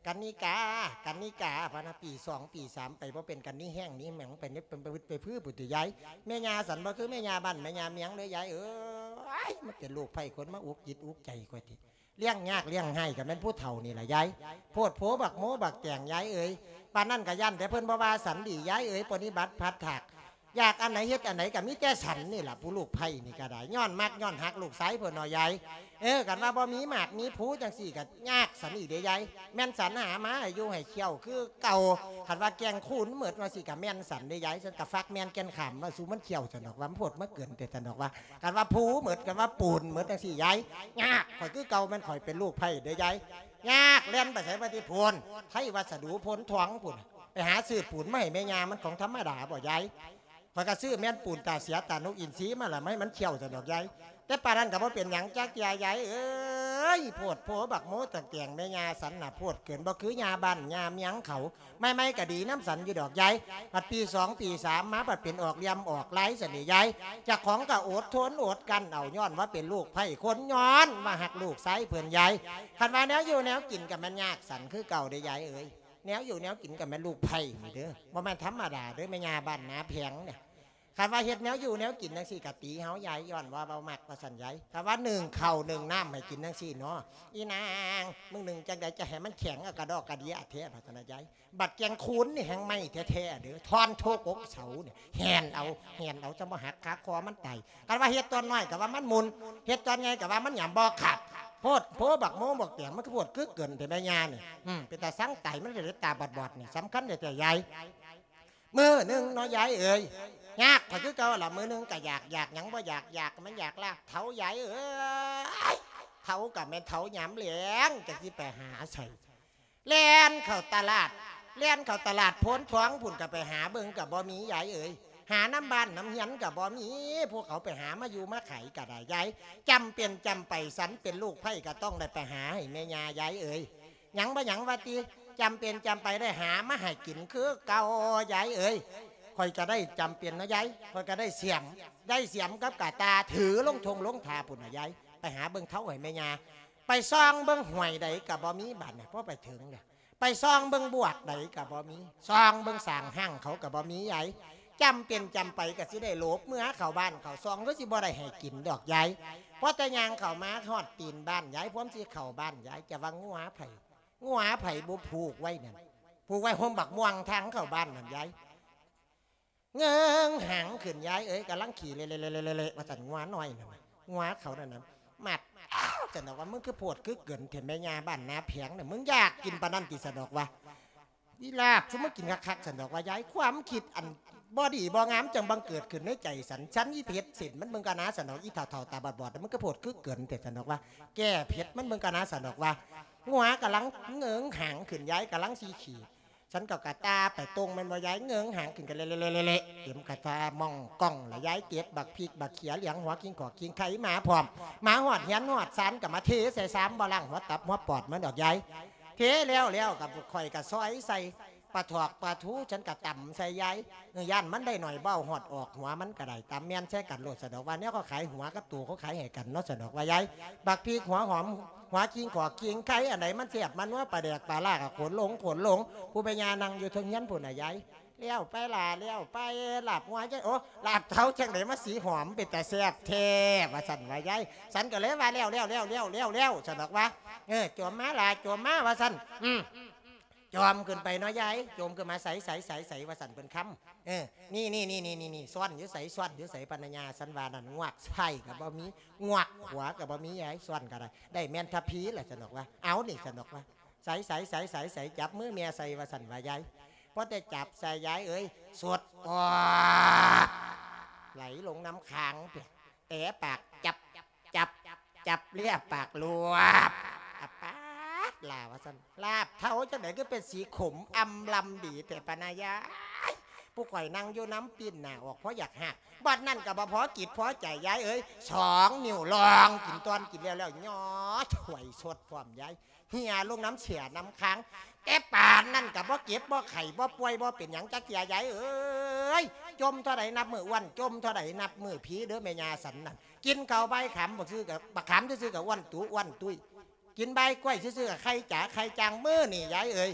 ກັນນິກາ ກັນນິກາ ພະນະ ປີສອງ ປີສາມ ໄປບໍ່ເປັນກັນນິແຮງນີ້ ແມ່ງໄປ ໄປ ໄປ ໄປ ໄປ ໄປ ພຸ້ນຕິຍາຍ ແມ່ຍ່າສັນບໍ່ຄືແມ່ຍ່າບ້ານແມ່ຍ່າເມືອງເດີຍາຍເອີຍ ມັນເປັນໂລກໄພ ຄົນມາອຸກຈິດອຸກໃຈຂ້ອຍຕິ ລ້ຽງຍາກລ້ຽງໄຮ້ກໍແມ່ນຜູ້ເຖົ້ານີ້ລະຍາຍ ໂພດໂພບັກໂມບັກແຕງຍາຍເອີຍ ປານນັ້ນກໍຢ້ານແຕ່ເພິ່ນບໍ່ວ່າສັນດີຍາຍເອີຍ ປະນິບັດພັດຖາກ ຢາກອັນໃດເຮັດອັນໃດກໍມີແຕ່ສັນນີ້ລະ ຜູ້ລູກໃພ້ນີ້ກໍໄດ້ ຍ້ອນມັກຍ້ອນຮັກລູກຊາຍເພິ່ນເນາະຍາຍ ເອີ ຄັນວ່າບໍ່ມີໝາກມີພູຈັ່ງຊີ້ກໍຍາກສັນອີກເດ້ຍາຍ ແມ່ນສັນຫາມາໃຫ້ຢູ່ໃຫ້ຂ້ຽວຄືເກົ່າ ຄັນວ່າແກ່ງຄູນໝົດວ່າຊີ້ກໍແມ່ນສັນເດ້ຍາຍ ສັນກໍຟັກແມ່ນແກ່ນຂາມວ່າສູ່ມັນຂ້ຽວຊັ້ນດອກວ່າ ມັນໂພດມາເກີນແຕ່ຊັ້ນດອກວ່າ ຄັນວ່າພູໝົດ ຄັນວ່າປູນໝົດຈັ່ງຊີ້ຍາຍ ຍາກ ຂ້ອຍຄືເກົ່າ ແມ່ນຂ້ອຍເປັນລູກໃພ້ເດີຍາຍ ຍາກ ແລ່ນໄປໃສວ່າຕິພຸ້ນ ໄທວັດສະດູໂພນທອງພຸ້ນ ໄປຫາຊື້ປູນມາໃຫ້ແມ່ຍ່າ ມັນຂອງທຳມະດາບໍ່ຍາຍ ຂ້ອຍກໍຊື້ແມ່ນປູນຕາເສຍຕານົກອິນຊີມາລະ ມາໃຫ້ມັນຂ້ຽວຊັ້ນດອກຍາຍ ແຕ່ປານນັ້ນກໍບໍ່ເປັນຫຍັງຈັກເທື່ອຍາຍເອີຍ ໂພດໂພບັກໂມບັກແຕງແມ່ຍ່າສັນນະ ໂພດເກີນ ບໍ່ຄືຍ່າບ້ານຍ່າເມືອງເຂົາ ໃໝ່ໆກໍດີນຳສັນຢູ່ດອກຍາຍ ບັດປີສອງປີສາມມາ ບັດເປັນອອກລ່ຽມອອກລາຍຊັ້ນເດຍາຍ ເຈົ້າຂອງກໍອົດທົນອົດກັ້ນເອົາ ຍ້ອນວ່າເປັນລູກໃພ້ຄົນ ຍ້ອນວ່າຮັກລູກຊາຍເພິ່ນຍາຍ ຄັນວ່າແນວຢູ່ແນວກິນກໍແມ່ນຍາກສັນຄືເກົ່າເດ້ຍາຍເອີຍ ແນວຢູ່ແນວກິນກໍແມ່ນລູກໃພ້ນີ້ເດີ ບໍ່ແມ່ນທຳມະດາເດີ ແມ່ຍ່າບ້ານນາແພງນີ້ ຄັນວ່າເຮັດແນວຢູ່ແນວກິນຈັ່ງຊີ້ກໍຕີເຮົາຍາຍ ຍ້ອນວ່າເວົ້າມັກວ່າຊັ້ນຍາຍ ຄັນວ່າໜຶ້ງເຂົ້າໜຶ້ງນ້ຳໃຫ້ກິນຈັ່ງຊີ້ເນາະ ອີນາງ ມຶງໜຶ້ງຈັ່ງໃດຈະໃຫ້ມັນແຂງ ເອົາກະດອກກະເດຍແທ້ ວ່າຊັ້ນນະຍາຍ ບັດແກງຄູນນີ້ແຮງໄໝ້ແທ້ໆເດີ ທ່ອນໂທກົກເສົານີ້ ແຫ່ນເອົາ ແຫ່ນເອົາ ຈະບໍ່ຫັກຄາຄໍມັນຕາຍ ຄັນວ່າເຮັດຕອນນ້ອຍກໍວ່າມັນໝຸ່ນ ເຮັດຕອນໃຫຍ່ກໍວ່າມັນຫຍາມບໍ່ຂາດ ໂພດໂພບັກໂມບັກແຕງ ມັນຄືໂພດຄືເກີນແທ້ແມ່ຍ່ານີ້ ອືມ ເປັນຕາຊັງຕາຍ ມັນເປັນຕາບອດໆນີ້ ສຳຄັນແທ້ໆຍາຍ ມື້ໜຶ່ງເນາະຍາຍເອີຍ ຍາກຂ້ອຍຄືເກົ່າລະ ມື້ໜຶ່ງກໍຢາກ ຢາກຫຍັງບໍ່ຢາກ ຢາກມັນຢາກລາບເທົາຍາຍເອີຍ ເທົາກໍແມ່ນເທົາຍາມແລງ ຈັກຊິໄປຫາໃສ ແລ່ນເຂົ້າຕະຫຼາດ ແລ່ນເຂົ້າຕະຫຼາດໂພນທອງພຸ້ນ ກໍໄປຫາເບິ່ງກໍບໍ່ມີຍາຍເອີຍ ຫານຳບ້ານນຳເຮືອນກໍບໍ່ມີ ພວກເຂົາໄປຫາມາຢູ່ມາຂາຍກໍໄດ້ຍາຍ ຈຳເປັນຈຳໄປ ສັນເປັນລູກໃພ້ກໍຕ້ອງໄດ້ໄປຫາໃຫ້ແມ່ຍ່າຍາຍເອີຍ ຫຍັງບໍ່ຫຍັງວ່າຕິ ຈຳເປັນຈຳໄປໄດ້ຫາມາໃຫ້ກິນຄືເກົ່າຍາຍເອີຍ ຂ້ອຍກໍໄດ້ຈຳເປັນເນາະຍາຍ ຂ້ອຍກໍໄດ້ສຽມ ໄດ້ສຽມກັບກະຕ່າຖືລົງທົ່ງລົງທ່າພຸ້ນນະຍາຍ ໄປຫາເບິ່ງເທົາໃຫ້ແມ່ຍ່າ ໄປສ່ອງເບິ່ງຫ້ວຍໃດກໍບໍ່ມີບາດນີ້ ພໍໄປເຖິງແລ້ວ ໄປສ່ອງເບິ່ງບວກໃດກໍບໍ່ມີ ສ່ອງເບິ່ງສ້າງຫ້າງເຂົາກໍບໍ່ມີຍາຍ ຈຳເປັນຈຳໄປກໍຊິໄດ້ຫຼົບເມືອເຂົ້າບ້ານເຂົ້າຊ່ອງ ຄືຊິບໍ່ໄດ້ໃຫ້ກິນດອກຍາຍ ພໍແຕ່ຍ່າງເຂົ້າມາຮອດຕີນບ້ານຍາຍ ພວມຊິເຂົ້າບ້ານຍາຍ ຈະວ່າງົວໃຜ ງົວໃຜບໍ່ຜູກໄວ້ນັ້ນ ຜູກໄວ້ຮົ່ມບັກມ່ວງທາງເຂົ້າບ້ານນັ້ນຍາຍ ເງີງຫາງຂຶ້ນຍາຍເອີຍ ກຳລັງຂີ້ເລະໆໆໆ ວ່າຊັ້ນ ງົວນ້ອຍນັ້ນ ງົວເຂົານັ້ນນະ ມັດ ອ້າວ ຊັ້ນດອກວ່າ ມຶງຄືໂພດຄືເກີນແທ້ແມ່ຍ່າບ້ານນາແພງນະ ມຶງຢາກກິນປານນັ້ນຕິ ຊັ້ນດອກວ່າ ອີລາບ ຊຸມມຶງກິນຄັກໆ ຊັ້ນດອກວ່າ ຍາຍ ຄວາມຄິດອັນບໍ່ດີບໍ່ງາມຈັ່ງບັງເກີດຂຶ້ນໃນໃຈສັນ ສັນອີເພັດເສັ້ນມັນເບິ່ງກະນາ ຊັ້ນດອກ ອີເຖົ້າໆ ຕາບອດໆ ມຶງຄືໂພດຄືເກີນແທ້ ຊັ້ນດອກວ່າ ແກ້ເຜັດມັນເບິ່ງກະນາ ຊັ້ນດອກວ່າ ງົວກຳລັງເງີງຫາງຂຶ້ນ ຍາຍກຳລັງຊິຂີ້ ສັນກໍກະຕ່າໄປຕົງແມ່ນບໍ່ຍາຍ ເງີງຫາງຂຶ້ນກະເລະໆ ເຕັມກະຕ່າມອງກ່ອງລະຍາຍ ເກັບບັກພິກບັກເຂຍ ຫຼຽງຫົວກິງຂອກກິງໄຂ່ມາພ້ອມ ມາຮອດເຮືອນຮອດຊານກໍມາເທໃສ່ຊາມ ບໍ່ລ້າງຫົວຕັບຫົວປອດມັນດອກຍາຍ ເທແລ້ວແລ້ວກໍຂ້ອຍກໍຊອຍໃສ່ປາຖອກປາທູ ສັນກໍຕຳໃສ່ຍາຍ ເອີ ຢ້ານມັນໄດ້ໜ້ອຍ ບໍ່ເອົາຮອດອອກຫົວມັນກໍໄດ້ ຕຳແມ່ນໃສ່ກັນໂລດ ສະດອກວ່າ ແນວເຂົາຂາຍຫົວກັບໂຕເຂົາຂາຍໃຫ້ກັນເນາະ ສະດອກວ່າຍາຍ ບັກພິກ ຫົວຫອມ ຫົວກິງຂອກກິງໄຂ່ ອັນໃດມັນແຊບມານົວ ປາແດກປາລ້າກໍຂົນລົງຂົນລົງ ຜູ້ແມ່ຍ່ານັ່ງຢູ່ເທິງເຮືອນພຸ້ນນະຍາຍ ແລ້ວໄປຫຼ້າ ແລ້ວໄປ ລາບງົວຈັ່ງ ໂອ້ ລາບເທົາຈັ່ງໃດມາສີຫອມ ເປັນຕາແຊບແທ້ ວ່າຊັ້ນວ່າຍາຍ ສັນກໍເລີຍວ່າ ແລ້ວ ແລ້ວ ແລ້ວ ແລ້ວ ແລ້ວ ແລ້ວ ຊັ້ນດອກວ່າ ເອີ ໂຈມມາຫຼ້າ ໂຈມມາ ວ່າຊັ້ນ ອືມ ຈອມຂຶ້ນໄປເນາະຍາຍ ໂຈມຂຶ້ນມາ ໃສ ໃສ ໃສ ໃສ ວ່າຊັ້ນເພິ່ນຄຳ ເອີ ນີ້ໆໆໆ ຊ່ອນຢູ່ໃສ ຊ່ອນຢູ່ໃສ ພະນະຍາ ສັນວ່ານັ້ນ ງວກຊ້າຍກໍບໍ່ມີ ງວກຂວາກໍບໍ່ມີຍາຍ ຊ່ອນກໍໄດ້ ໄດ້ແມ່ນທະພີລະ ສັນດອກວ່າ ເອົານີ້ ສັນດອກວ່າ ໃສ ໃສ ໃສ ໃສ ໃສ ຈັບມືແມ່ໃສ່ ວ່າຊັ້ນວ່າຍາຍ ພໍແຕ່ຈັບໃສ່ຍາຍເອີຍ ສົດອອກ ໄຫຼລົງນ້ຳຄາງ ແຕະປາກ ຈັບ ຈັບ ຈັບເລຍ ປາກລວບ ອາປາດ ລາ ວ່າຊັ້ນ ລາບເທົາຈັ່ງໃດຄືເປັນສີຂົມອຳລຳດີແທ້ປານາຍາຍ ຜູ້ຂ້ອຍນັ່ງຢູ່ນຳ ປີ້ນໜ້າອອກພໍຢາກຮາກ. ບັດນັ້ນກໍບໍ່ພໍຈິດພໍໃຈ ຍາຍເອີຍ, ສອງນິ້ວລອງກິນ ຕອນກິນແລ້ວແລ້ວ ຍໍຖ້ວຍສົດພ້ອມ ຍາຍ. ເຫ່ຍລົງນຳເສ້ຍນຳຄາງ. ແຕ່ປານນັ້ນກໍບໍ່ເຈັບບໍ່ໄຂ້ ບໍ່ປ່ວຍບໍ່ເປັນຫຍັງຈັກເທື່ອ ຍາຍເອີຍ. ຈົ່ມເທົ່າໃດນັບມື້ອ້ວນ, ຈົ່ມເທົ່າໃດນັບມື້ຜີເດີແມ່ຍ່າສັນນັ້ນ. ກິນເຂົ້າໃບຂາມບັກຊື່ກັບ ບັກຂາມຊື່ໆ ກໍອ້ວນຕູອ້ວນຕຸ້ຍ. ກິນໃບກ້ວຍຊື່ໆ ກໍໄຂ່ຈາໄຂ່ຈາງ. ມື້ນີ້ ຍາຍເອີຍ,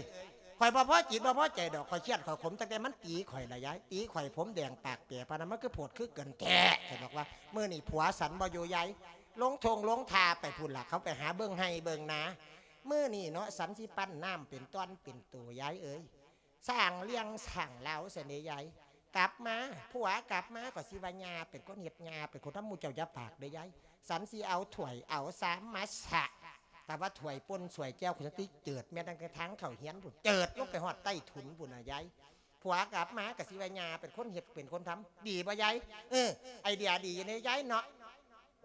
ຂ້ອຍບໍ່ພໍຈິດບໍ່ພໍໃຈດອກ, ຂ້ອຍຄຽດຂ້ອຍຂົມ ຕັ້ງແຕ່ມັນຕີຂ້ອຍລະ ຍາຍ. ຕີຂ້ອຍຜົມແດງປາກແປປານນັ້ນ ມັນຄືໂພດຄືເກີນແທ້. ຂ້ອຍບອກວ່າ ມື້ນີ້ຜົວສັນບໍ່ຢູ່ ຍາຍ. ລົງທົ່ງລົງທ່າໄປພຸ້ນລະ, ເຂົາໄປຫາເບິ່ງໄຮ່ເບິ່ງນາ. ມື້ນີ້ເນາະ ສັນຊິປັ້ນນ້ຳເປັນຕ່ອນເປັນໂຕ ຍາຍເອີຍ. ສ້າງເລື່ອງສ້າງລາວຊັ້ນເດ ຍາຍ. ກັບມາ ຜົວກັບມາ ກໍຊິວ່າຍ່າເປັນຄົນເຮັດ ຍ່າເປັນຄົນທຳ. ໝູ່ເຈົ້າຢ່າປາກເດີ ຍາຍ. ສັນຊິເອົາຖ້ວຍເອົາຊາມມາສະ, ແຕ່ວ່າຖ້ວຍປົ່ນຖ້ວຍແຈ່ວ ຂ້ອຍຊິເຈີດແມ່ນຕັ້ງແຕ່ທາງເຂົ້າເຮືອນພຸ້ນ, ເຈີດລົງໄປຮອດໃຕ້ຖົນພຸ້ນນະ ຍາຍ. ຜົວກັບມາກໍຊິວ່າຍ່າເປັນຄົນເຮັດເປັນຄົນທຳ. ດີບໍ່ ຍາຍ? ເອີ ໄອເດຍດີເດ ຍາຍເນາະ.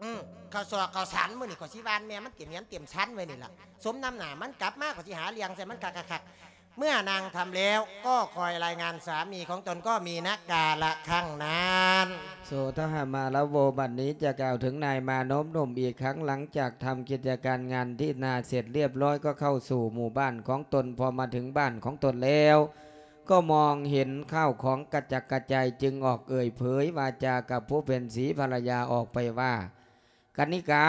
ອື ເຂົ້າຊອກເຂົ້າສານ ມື້ນີ້ຂ້ອຍຊິຫວ່ານແມ່ມັນເຕັມເຮືອນເຕັມຊານໄວ້ນີ້ລະ. ສົມນ້ຳໜ້າມັນ, ກັບມາຂ້ອຍຊິຫາເລື່ອງໃສ່ມັນຄັກໆ. ເມື່ອນາງທຳແລ້ວ ກໍຄອຍລາຍງານສາມີຂອງຕົນ ກໍມີນະກາລະຄັ້ງນັ້ນ. ໂສດະຫະມາລະໂວ ບັດນີ້ຈະກ່າວເຖິງນາຍມານົບໜຸ່ມອີກຄັ້ງ. ຫຼັງຈາກທຳກິດຈະການງານທີ່ນາເສັດລຽບຮ້ອຍ ກໍເຂົ້າສູ່ໝູ່ບ້ານຂອງຕົນ. ພໍມາເຖິງບ້ານຂອງຕົນແລ້ວ ກໍມອງເຫັນຂ້າວຂອງກະຈັດກະຈາຍ ຈຶ່ງອອກເອີ່ຍເຜີຍວາຈາກັບຜູ້ເປັນສີພັນລະຍາອອກໄປວ່າ, ກະນິກາ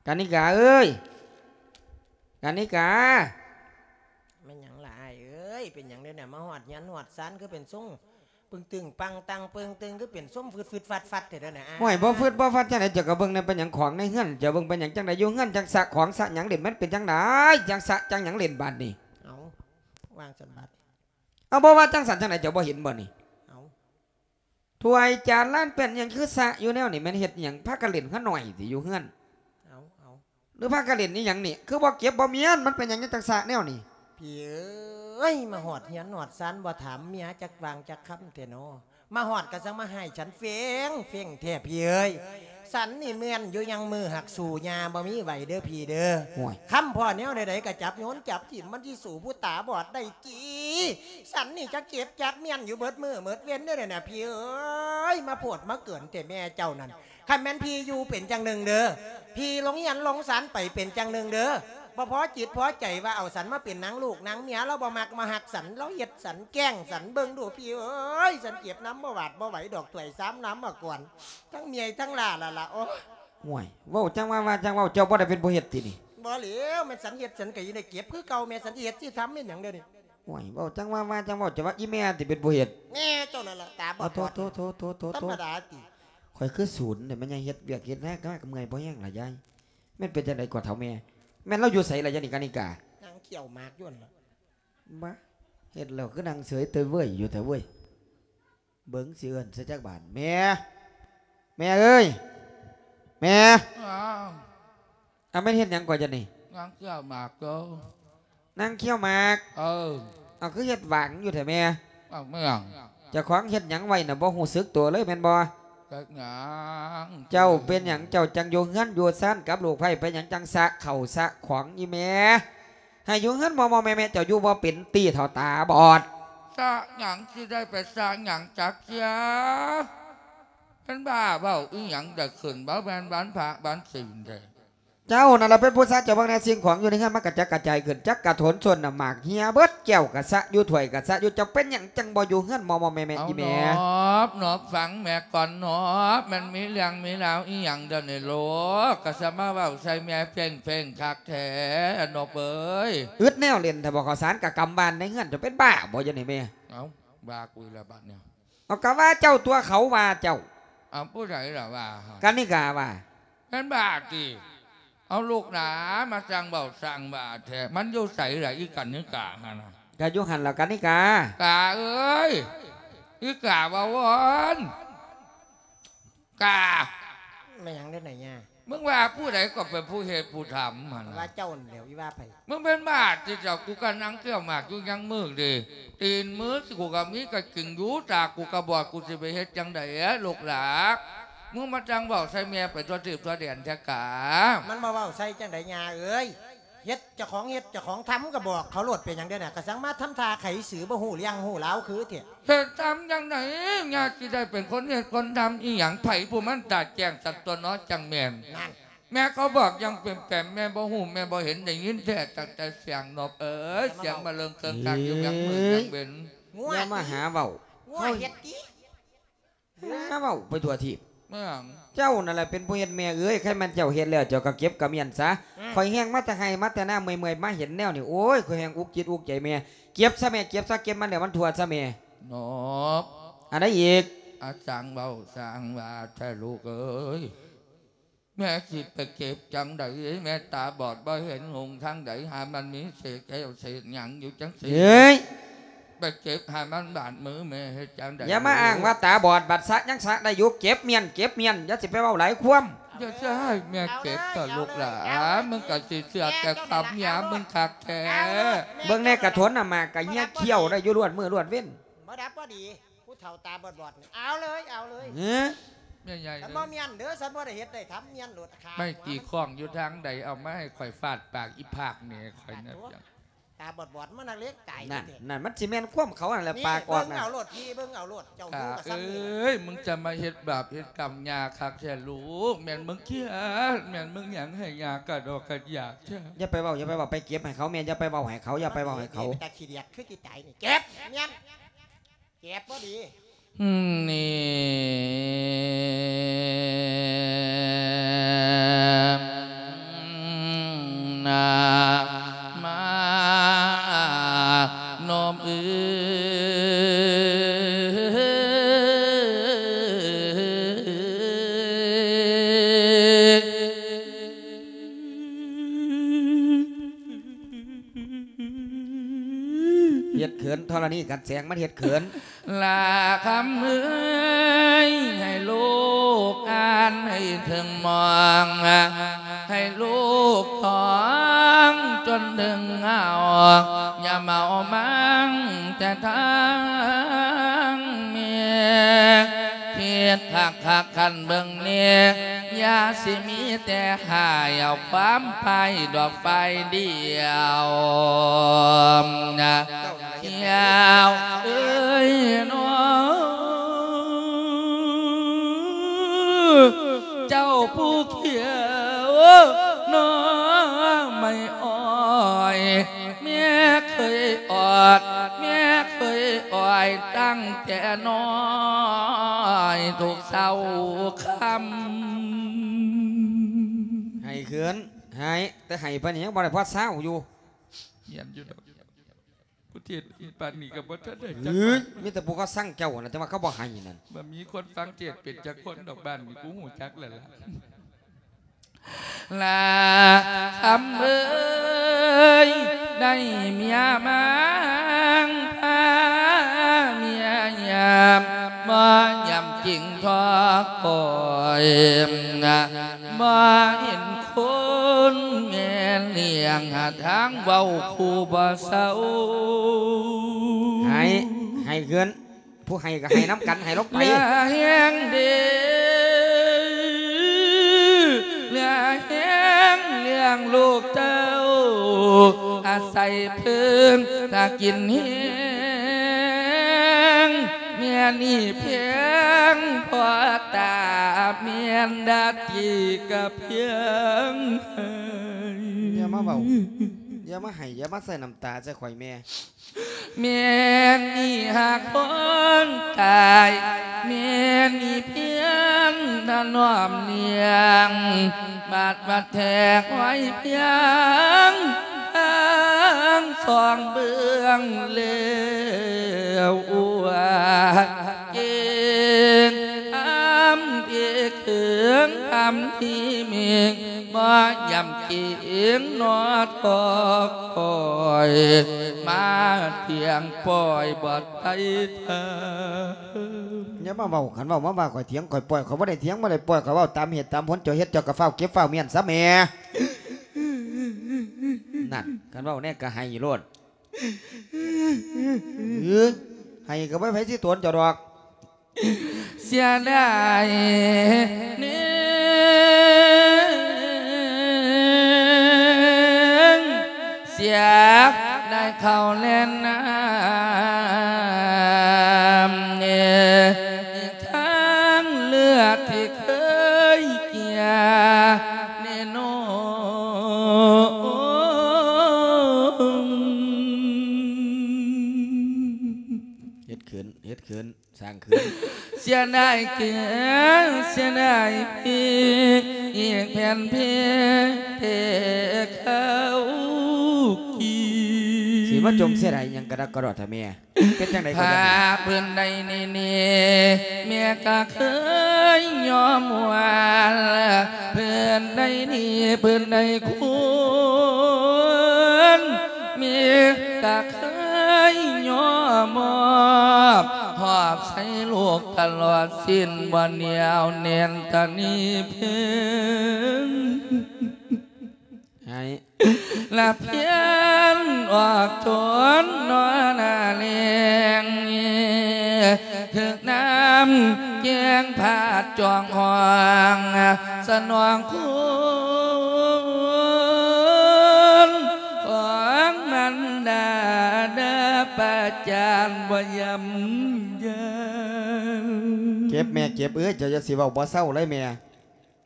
ກະນິກາເອີຍ ກະນິກາ. ແມ່ນຫຍັງລະອ້າຍເອີຍ? ເປັນຫຍັງເດນະ? ມາຮອດເຮືອນຮອດຊານຄືເປັນຊົງປຶ້ງຕຶງປັງຕັງເປິງຕຶງ ຄືເປັນຊົມຟຶດໆ ຟັດໆ ແທ້ເດນະອ້າຍ? ໂອ້ຍ ບໍ່ຟຶດບໍ່ຟັດຈັ່ງໃດ? ເຈົ້າກໍເບິ່ງແດ່ ເປັນຫຍັງຂອງໃນເຮືອນ ເຈົ້າເບິ່ງເປັນຫຍັງ? ຈັ່ງໃດຢູ່ເຮືອນຈັ່ງສະຂອງສະຫຍັງເຫຼັ້ນ? ມັນເປັນຈັ່ງໃດ? ຈັ່ງສະຈັ່ງຫຍັງເຫຼັ້ນບາດນີ້? ເອົາ ວາງຊັ້ນບາດ ເອົາ ບໍ່ວ່າຈັ່ງຊັ້ນຈັ່ງໃດ ເຈົ້າບໍ່ເຫັນບໍ່ນີ້? ເອົາ ຖ້ວຍຈານລານແປ້ນຫຍັງຄືສະຢູ່ແນວນີ້? ແມ່ນເຮັດຫຍັງ? ພາກັນເຫຼັ້ນຂະໜ້ອຍຕິຢູ່ເຮືອນ? ເອົາ ເອົາ ຫຼືພາກັນເຫຼັ້ນອີຫຍັງນີ້? ຄືບໍ່ເກັບບໍ່ມ້ຽນ? ມັນເປັນຫຍັງຈັ່ງສະແນວນີ້? ພີ່ເອີຍ ມາຮອດເຮືອນຮອດຊານ ບໍ່ຖາມເມຍຈັກຫວ່າງຈັກຄຳແທ້ນໍ. ມາຮອດກໍຈັ່ງມາໃຫ້ສັນເຟງເຟງແທ້ພີ່ເອີຍ. ສັນນີ້ແມ່ນຢູ່ຍັງມື ຫາກສູ້ຍ່າບໍ່ມີໄຫວເດີພີ່ເດີ. ໂອ້ຍ ຄຳພໍ້ແນວໃດໆ ກໍຈັບໂຍນຈັບຖິ້ມ ມັນຊິສູ້ຜູ້ຕາບອດໄດ້ຕິ? ສັນນີ້ຈັກເຈັບຈັກມ້ຽນຢູ່ເບິດມື້ເບິດເວັນເດີນະ ພີ່ເອີຍ. ມາໂພດມາເກີນແທ້ແມ່ເຈົ້ານັ້ນ. ຄັນແມ່ນພີ່ຢູ່ເປັນຈັ່ງໜຶ່ງເດີ, ພີ່ລົງເຮືອນລົງຊານໄປເປັນຈັ່ງໜຶ່ງເດີ. ບໍ່ພໍຈິດພໍໃຈວ່າເອົາສັນມາເປັນນາງລູກນາງເມຍ, ລາວບໍ່ມັກບໍ່ຮັກສັນ, ລາວເຮັດສັນແກ້ງສັນ. ເບິ່ງດູພີ່ເອີຍ, ສັນເຈັບນຳບໍ່ຫວາດບໍ່ໄຫວດອກ, ຖ້ວຍຊາມນຳມາກ່ອນ, ທັງເມຍທັງຫຼ້າລະລະ. ໂອ້ຍ ໂອ້ຍ ເວົ້າຈັ່ງວ່າ ວ່າຈັ່ງເວົ້າ, ເຈົ້າບໍ່ໄດ້ເປັນຜູ້ເຮັດຕິນີ້? ບໍ່ແລ້ວ, ແມ່ນສັນເຮັດ, ສັນກໍຍັງໄດ້ເກັບຄືເກົ່າ. ແມ່ນສັນຊິເຮັດຊິທຳແມ່ນຫຍັງເດີນີ້? ໂອ້ຍ ເວົ້າຈັ່ງວ່າ ວ່າຈັ່ງເວົ້າ, ເຈົ້າວ່າອີແມ່ຕິເປັນຜູ້ເຮັດ? ແມ່ເຈົ້ານັ້ນລະ ຕາບອດ. ໂອ້ ໂທ້ ໂທ້ ທຳມະດາຕິ. ຂ້ອຍຄືສູນແທ້ ແມ່ນຫຍັງເຮັດວຽກເຮັດງານກໍເມື່ອຍພໍແຮງລະຍາຍ. ແມ່ນເປັນຈັ່ງໃດກໍເຖົ້າແມ່? ແມ່ນລາວຢູ່ໃສລະ ຍານີ້ ການິກາ? ນັ່ງຄ້ຽວໝາກຢູ່ຫັ້ນລະ. ບາ ເຮັດແລ້ວຄືນັ່ງເສີຍເຕີເວີຍຢູ່ແທ້ເວີຍ. ເບິ່ງຊິເອີ້ນໃສ່ຈັກບາດ. ແມ່ ແມ່ເອີຍ ແມ່. ອ້າວ ອາ ແມ່ນເຮັດຫຍັງກ່ອຍຈະນີ້? ນັ່ງຄ້ຽວໝາກເດີ. ນັ່ງຄ້ຽວໝາກ? ເອີ. ເອົາ ຄືເຮັດຫວາງຢູ່ແທ້ແມ່? ເອົາ ແມ່ນຫຍັງ? ເຈົ້າຂອງເຮັດຫຍັງໄວ້ນະ ບໍ່ຮູ້ສຶກຕົວເລີຍແມ່ນບໍ່? ເຮັດຫຍັງ? ເຈົ້າເປັນຫຍັງ ເຈົ້າຈັ່ງຢູ່ເຮືອນຢູ່ຊານກັບລູກໃພ້ ເປັນຫຍັງຈັ່ງສະເຂົ້າສະຂອງອີແມ່? ໃຫ້ຢູ່ເຮືອນມໍ່ໆແມ່ໆ ເຈົ້າຢູ່ບໍ່ເປັນຕິ ເຖົ້າຕາບອດ. ສະຫຍັງ ຊິໄດ້ໄປສະຫຍັງຈັກເທື່ອ? ເປັນບ້າເວົ້າອີຫຍັງ ໄດ້ຂຶ້ນບໍ່ແມ່ນວັນພະວັນສິນແທ້. ເຈົ້ານັ້ນລະເປັນຜູ້ສະ. ເຈົ້າເບິ່ງແດ່ ສິ່ງຂອງຢູ່ໃນເຮືອນມັນກະຈັດກະຈາຍຂຶ້ນ ຈັກກະໂຖນສົ້ນນະ ໝາກເຫ່ຍເບິດ, ແກ້ວກະສະຢູ່ ຖ້ວຍກະສະຢູ່. ເຈົ້າເປັນຫຍັງຈັ່ງບໍ່ຢູ່ເຮືອນມໍ່ໆແມ່ໆ ອີແມ່? ນອບ ນອບ ຟັງແມ່ກ່ອນນອບ. ແມ່ນມີເລື່ອງມີລາວອີຫຍັງດຽວນີ້ລູກ ກະສະມາເວົ້າໃສ່ແມ່ເຟງໆຄັກແທ້ ນອບເອີຍ. ອຶດແນວເຫຼັ້ນແທ້ບໍ່? ເຂົ້າສານກະກຳບ້ານໃນເຮືອນ. ເຈົ້າເປັນບ້າບໍ່ດຽວນີ້ແມ່? ເອົ້າ ວ່າກູອີກແລ້ວບາດນີ້. ເອົາ ກະວ່າເຈົ້າຕົວະ ເຂົາວ່າເຈົ້າ. ເອົາ ຜູ້ໃດລະວ່າ? ການິກາວ່າ. ແມ່ນບ້າຕິ? ເອົາ ລູກຫຼານ ມາຊ່າງເວົ້າຊ່າງວ່າແທ້. ມັນຢູ່ໃສລະ ອີການິກາຫັ້ນນະ? ກະຢູ່ຫັ້ນລະ ການິກາ. ກາເອີຍ ອີກາເວົ້າວອນ. ກາ ແມ່ນຫຍັງເດ້ນາຍາ? ມຶງວ່າຜູ້ໃດກໍເປັນຜູ້ເຮັດຜູ້ທຳຫັ້ນນະ? ວ່າເຈົ້ານັ້ນແຫຼ້ວ ອີວ່າໃຜ? ມຶງເປັນບ້າຕິເຈົ້າ? ກູກະນັ່ງຄ້ຽວໝາກຢູ່ຍັງມື້ເດ. ຕີນມືກູກະມີກະກິງຢູ່, ຕາກູກະບອດ, ກູຊິໄປເຮັດຈັ່ງໃດ ລູກຫຼານ? ມຶງມາຈັ່ງເວົ້າໃສ່ແມ່ໄປທົ່ວທີບທົ່ວແດນແທ້ກາ. ມັນມາເວົ້າໃສ່ຈັ່ງໃດ ຍ່າເອີຍ? ເຮັດເຈົ້າຂອງເຮັດເຈົ້າຂອງທຳ ກໍບອກເຂົາໂລດ ເປັນຫຍັງເດນະ ກໍຈັ່ງມາທຳທ່າໄຂຊື່ ບໍ່ຮູ້ເລື່ອງຮູ້ລາວຄືແທ້. ເຮັດທຳຈັ່ງໃດ ຍາຊິໄດ້ເປັນຄົນເຮັດຄົນທຳອີ່ຫຍັງ ໃຜຜູ້ມັນຕາແຈ້ງສັກຕົວເນາະ ຈັ່ງແມ່ນ. ນັ້ນ ແມ່ເຂົາບອກຢ່າງແປມໆ ແມ່ບໍ່ຮູ້ແມ່ບໍ່ເຫັນ ໄດ້ຍິນແທ້ຕັ້ງແຕ່ສຽງນົກເອີຍ ສຽງມາເລິງເຄິ່ງກາງຢູ່ຫຍັງມື້ຫຍັງເວັນ. ງົວ ຢ່າມາຫາເວົ້າ ງົວເຮັດຕິ ຫາເວົ້າໄປທົ່ວທີບ. ແມ່ນຫຍັງ? ເຈົ້ານັ້ນແຫຼະເປັນຜູ້ເຮັດແມ່ເອີຍ ຄັນແມ່ນເຈົ້າເຮັດແລ້ວ ເຈົ້າກໍເກັບກະມ້ຽນຊະ. ອືມ ຂ້ອຍແຮງມາແຕ່ໄຮ່ມາແຕ່ນາ ເມື່ອຍໆ ມາເຫັນແນວນີ້ ໂອ້ຍ ຂ້ອຍແຮງອຸກຈິດອຸກໃຈແມ່. ເກັບຊະແມ່ ເກັບຊະ ເກັບມັນແລ້ວມັນທົ່ວຊະແມ່. ນົກ ອັນໃດອີກ? ອາ ຊ່າງເວົ້າຊ່າງວ່າແທ້ລູກເອີຍ. ແມ່ຊິໄປເກັບຈັ່ງໃດ ແມ່ຕາບອດບໍ່ເຫັນຫົງທາງໃດ ຫາມັນມີເສດແກ້ວເສດຫຍັງຢູ່ຈັ່ງຊີ້ ເອີຍ ໄປເກັບໃຫ້ມັນບາດມືແມ່ເຮັດຈັ່ງໃດ. ຢ່າມາອ້າງວ່າຕາບອດ ບັດສະຍັງສະໄດ້ຢູ່ ເກັບມ້ຽນ ເກັບມ້ຽນ ຢ່າຊິໄປເວົ້າຫຼາຍຄວາມ. ຢ່າຊິໃຫ້ແມ່ເກັບເຖາະລູກຫຼາ ເອົາເລີຍ ເອົາເລີຍ ມຶງກໍຊິເຊື່ອແຕ່ຄຳເມຍມຶງຄັກແທ້. ເອົາໂລດແມ່ ເບິ່ງແນ່ ກະຖົນນ້ຳໝາກກະເຮຍ ບໍ່ດັບບໍ່ດີ ຂ້ຽວໄດ້ຢູ່ລວດມື້ລວດເວັນ. ບໍ່ດັບບໍ່ດີ ຜູ້ເຖົ້າຕາບອດໆນີ້ ເອົາເລີຍ ເອົາເລີຍ. ເອີ ແມ່ໃຫຍ່ ຄັນບໍ່ແມ່ນເດີ ສັນບໍ່ໄດ້ເຮັດໄດ້ທຳ ແມ່ນໂລດຂາ ໄມ້ຕີຄ້ອງຢູ່ທາງໃດ ເອົາມາໃຫ້ຂ້ອຍຟາດປາກອີພາກແມ່ຂ້ອຍນະ. ຕາບອດໆ ມານັກເລງຕາຍ. ນັ້ນ ແທ້ໆ ນັ້ນ ມັນຊິແມ່ນຄວາມເຂົາຫັ້ນແຫຼະ ນີ້ ປາກອອກນະ. ເບິ່ງເອົາໂລດພີ່ ເບິ່ງເອົາໂລດ ເຈົ້າຢູ່ກັບສາມີ. ເອີຍ ມຶງຈະມາເຮັດບາບເຮັດກຳຍ່າຄັກແທ້ລູກ ແມ່ນມຶງຄຽດ ແມ່ນມຶງຫຍັງໃຫ້ຍ່າກະດອກກະຢາກແທ້. ຢ່າໄປເວົ້າ ຢ່າໄປເວົ້າ ໄປເກັບໃຫ້ເຂົາແມ່ ຢ່າໄປເວົ້າໃຫ້ເຂົາ ຢ່າໄປເວົ້າໃຫ້ເຂົາ. ເປັນຕາຂີ້ດຽດຄືຊິຕາຍນີ້ ເກັບແມ່ນ ເກັບບໍ່ດີ. ນີ້ນະ ມານອມເອີຍ ເຮັດເຂີນ ທໍລະນີ ກັນແສງ ມັນເຮັດເຂີນ. ລາຄຳເອີຍ ໃຫ້ລູກອ່ານໃຫ້ເຖິງມອງ ໃຫ້ລູກທ່ອງຈົນເຖິງເຫງົາ ຢ່າເມົາມັນແຕ່ທາງແມ່ ຄິດຄັກໆ ຄັນເບິ່ງແນ່ ຢ່າຊິມີແຕ່ຫາຍເອົາຄວາມໄພດອກຝ່າຍດຽວນະ. ແກ້ວເອີຍນ້ອ ເຈົ້າຜູ້ຂຽວໜໍ່ໄມ້ອ້ອຍ ແມ່ເຄີຍອອດ ແມ່ເຄີຍອ້ອຍ ຕັ້ງແຕ່ນ້ອຍທຸກເຊົ້າຄ່ຳ. ໄຫ້ເຂືອນ ໄຫ້ ແຕ່ໄຫ້ປານນີ້ຍັງບໍ່ໄດ້ພໍເຊົາຢູ່. ແມ່ນຢູ່ດອກ. ຜູ້ເທດປານນີ້ກໍບໍ່ທັນໄດ້ຈັກ ເອີຍ ບາດ ມີແຕ່ຜູ້ເຂົາຊັງເຈົ້ານະ ແຕ່ວ່າເຂົາບໍ່ໃຫ້ນັ້ນ. ບໍ່ມີຄົນຟັງເທດເປັນຈັກຄົນດອກ ບ້ານນີ້ກູຮູ້ຈັກແລ້ວລະ. ລາຄຳເອີຍ ໄດ້ເມຍມາງພາເມຍຍາມ ບໍ່ຢາມຈິງທອກຂ້ອຍ ບໍ່ເຫັນຄົນແມ່ລ້ຽງ ຫາທາງເວົ້າຄູ່ບໍ່ເຊົາ. ໃຫ້ ໃຫ້ເພິ່ນ ຜູ້ໃຫ້ກໍໃຫ້ນຳກັນ ໃຫ້ລົງໄປ. ລາແຮງເດີ ລາແຮງລ້ຽງລູກເຕົ້າ ອາໄສເພິ່ນຖ້າກິນແຮງ ແມ່ນີ້ແພງພໍຕາ ແມ່ນດາຕີກະພຽງໃຫ້. ຢ່າມາເວົ້າ ຢ່າມາໃຫ້ ຢ່າມາໃສ່ນ້ຳຕາໃສ່ຂ້ອຍແມ່. ແມ່ນີ້ຫາກຄົນຕາຍ ແມ່ນີ້ພຽງຖະໜອມລ້ຽງ ບາດວ່າແທກໄວ້ພຽງທາງສອງເບື້ອງແລ້ວ ອວດເກັ່ງອຳເອກເຂີງອຳທີ່ເມງ ບໍ່ຢາມເກັ່ງໜໍ່ທອກຂ້ອຍ ມາຖຽງປ້ອຍບໍ່ໄດ້ເທີ. ຢ່າມາເວົ້າ ຄັນເວົ້າມາວ່າຂ້ອຍຖຽງຂ້ອຍປ້ອຍ ຂ້ອຍບໍ່ໄດ້ຖຽງບໍ່ໄດ້ປ້ອຍ ຂ້ອຍເວົ້າຕາມເຫດຕາມຜົນ ເຈົ້າເຮັດເຈົ້າກໍຟ້າວເກັບຟ້າວມ້ຽນຊະແໝ່. ນັ້ນ ຄັນເວົ້າແນ່ກໍໃຫ້ໂລດ. ເອີ ໃຫ້ກໍບໍ່ໃຜຊິໂຕນເຈົ້າດອກ. ເສຍດາຍເນງ ເສຍໄດ້ເຂົ້າແລ່ນນ້ຳ ອີກທັງເລືອດທີ່ເຄີຍເກຍໃນນົມ. ເຮັດເຂີນ ເຮັດເຂີນ ສ້າງຄືນ. ເສຍດາຍເກືອ ເສຍດາຍພີ ອີກແຜ່ນພີແຕ່ເຂົ້າກີ້. ຊິມາຈົ່ມເສຍດາຍຫຍັງກະດອກກະດອດແທ້ແມ່? ເປັນຈັ່ງໃດກໍຢ່າ. ຜ້າຜືນໃດນີ້ ແມ່ກະເຄີຍຍອມຫວານ ຜືນໃດນີ້ ຜືນໃດຄວນ ແມ່ກະເຄີຍຍອມມອບ ຫອບໃສ່ລູກຕະຫຼອດສິ້ນ ບໍ່ໜຽວແໜ້ນຕະໜີເພິງ ໃຫ້ລະພຽນອອກຈົນໜໍໜ້າແລ້ງ ຖືກນ້ຳແກ້ງພາດຈອງຫ້ອງ ສະໜອງຄຸນຂອງມັນດາ ດາປະຈານບໍ່ຢ້ຳຢານ. ເຈັບແມ່ເຈັບເອີຍ ເຈົ້າຢ່າຊິເວົ້າບໍ່ເຊົາເລີຍແມ່.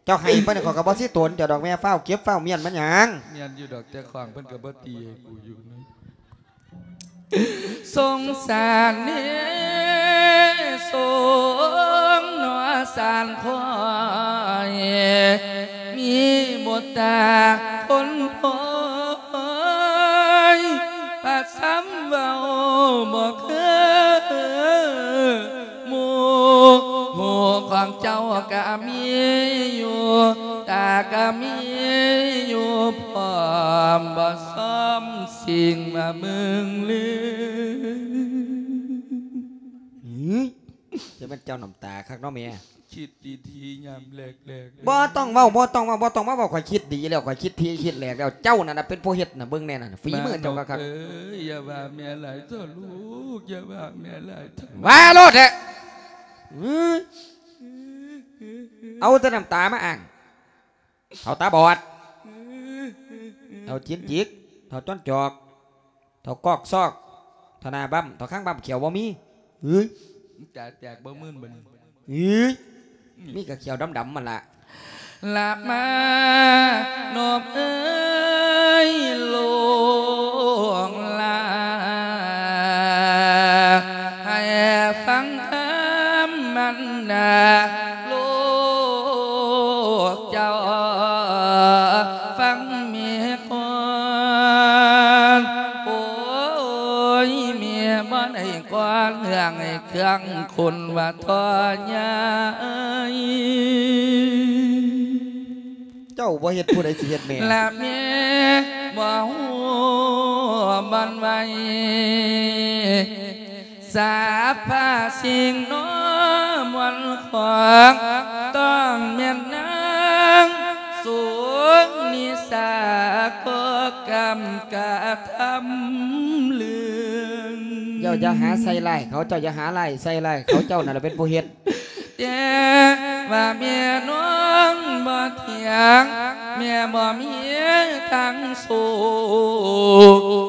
ເຈົ້າໄຫ້ປານນີ້ ຂ້ອຍກໍບໍ່ຊິໂຕນເຈົ້າດອກແມ່. ຟ້າວເກັບຟ້າວມ້ຽນມັນຫຍັງ? ແມ່ນຢູ່ດອກ ແຕ່ຂວາງເພິ່ນກໍບໍ່ຕີໃຫ້ກູຢູ່ນະ. ສົງສານເນ ສົງໜໍສານຂ້ອຍ ມີບຸດຕາຄົນພອຍ ພະ ສຳເວົ້າບໍ່ຄືໝູ່. ຫູຂອງເຈົ້າກະມີຢູ່ ຕາກະມີຢູ່ພ້ອມ ບໍ່ຊອມສິ່ງມາເບິ່ງເລີຍ. ຫື ຈະແມ່ນເຈົ້ານ້ຳຕາຄັກເນາະແມ່. ຄິດດີໆ ຍາມແລກໆ ບໍ່ຕ້ອງເວົ້າ ບໍ່ຕ້ອງເວົ້າ ບໍ່ຕ້ອງມາເວົ້າ. ຂ້ອຍຄິດດີແລ້ວ ຂ້ອຍຄິດທີ່ຄິດແລກແລ້ວ. ເຈົ້ານັ້ນນະເປັນຜູ້ເຮັດນະ ເບິ່ງແນ່ນັ້ນ ຝີມືເຈົ້າຄັກໆ. ເອີຍ ຢ່າວ່າແມ່ຫຼາຍເຖາະລູກ ຢ່າວ່າແມ່ຫຼາຍເຖາະ. ວ່າໂລດແທ້. ເອີຍ ເອົາແຕ່ນ້ຳຕາມາອ້າງ. ເຖົ້າຕາບອດ ເຖົ້າຈີນຈິກ ເຖົ້າຈ້ອນຈອກ ເຖົ້າກອກຊອກ ເຖົ້າໜ້າບັ້ມ ເຖົ້າຄາງບັ້ມ ຂຽວບໍ່ມີ. ເອີຍ ຕາແຕກບໍ່ມື່ນບັດນີ້. ເອີຍ ມີແຕ່ຂຽວດຳໆ ຫັ້ນລະ. ລະມານົບເອີຍລູກຫຼາ ໃຫ້ຟັງຄຳມັນດາ ລູກເຈົ້າຟັງແມ່ກ່ອນ. ໂອ້ຍ ແມ່ບໍ່ໄດ້ກ່ອນເລື່ອງໃຫ້ເຄື່ອງຄຸນວ່າທໍ່ໃຫຍ່. ເຈົ້າບໍ່ເຮັດ ຜູ້ໃດຊິເຮັດແມ່? ລະແມ່ບໍ່ຮູ້ບ່ອນໄວ້ ສາພະສິ່ງໜໍ່ມວນຂອງ ຕ້ອງແມ່ນນາງສຸນິສາກໍກຳກະທຳເລື່ອງ. ເຈົ້າຢ່າຫາໃສ່ຮ້າຍເຂົາ ເຈົ້າຢ່າຫາຮ້າຍໃສ່ຮ້າຍເຂົາ ເຈົ້ານັ້ນລະເປັນຜູ້ເຮັດ. ແຕ່ວ່າແມ່ນ້ອງບໍ່ຖຽງ ແມ່ບໍ່ມີທາງສູ້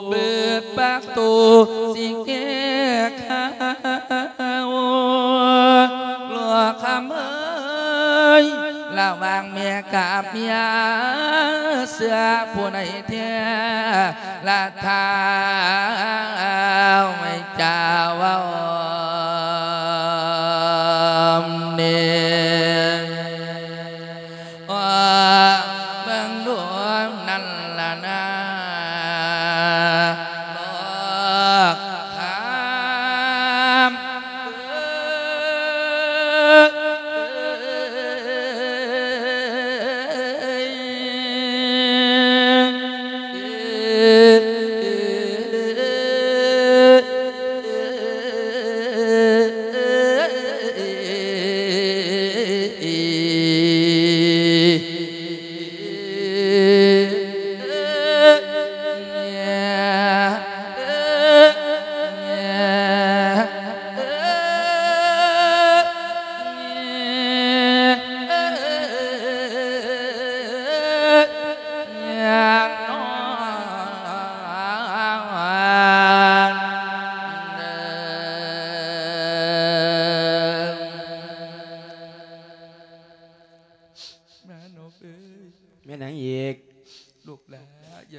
ເປີດປະຕູຊິແກ້ໄຂ ລູກຄຳເອີຍ ລະຫວ່າງແມ່ກັບເມຍ ເຊື່ອຜູ້ໃດແທ້ ລະທ້າວໃຫ້ເຈົ້າເວົ້າແນ່ ເບິ່ງດູນັ້ນລະນາ ດອກຄຳ.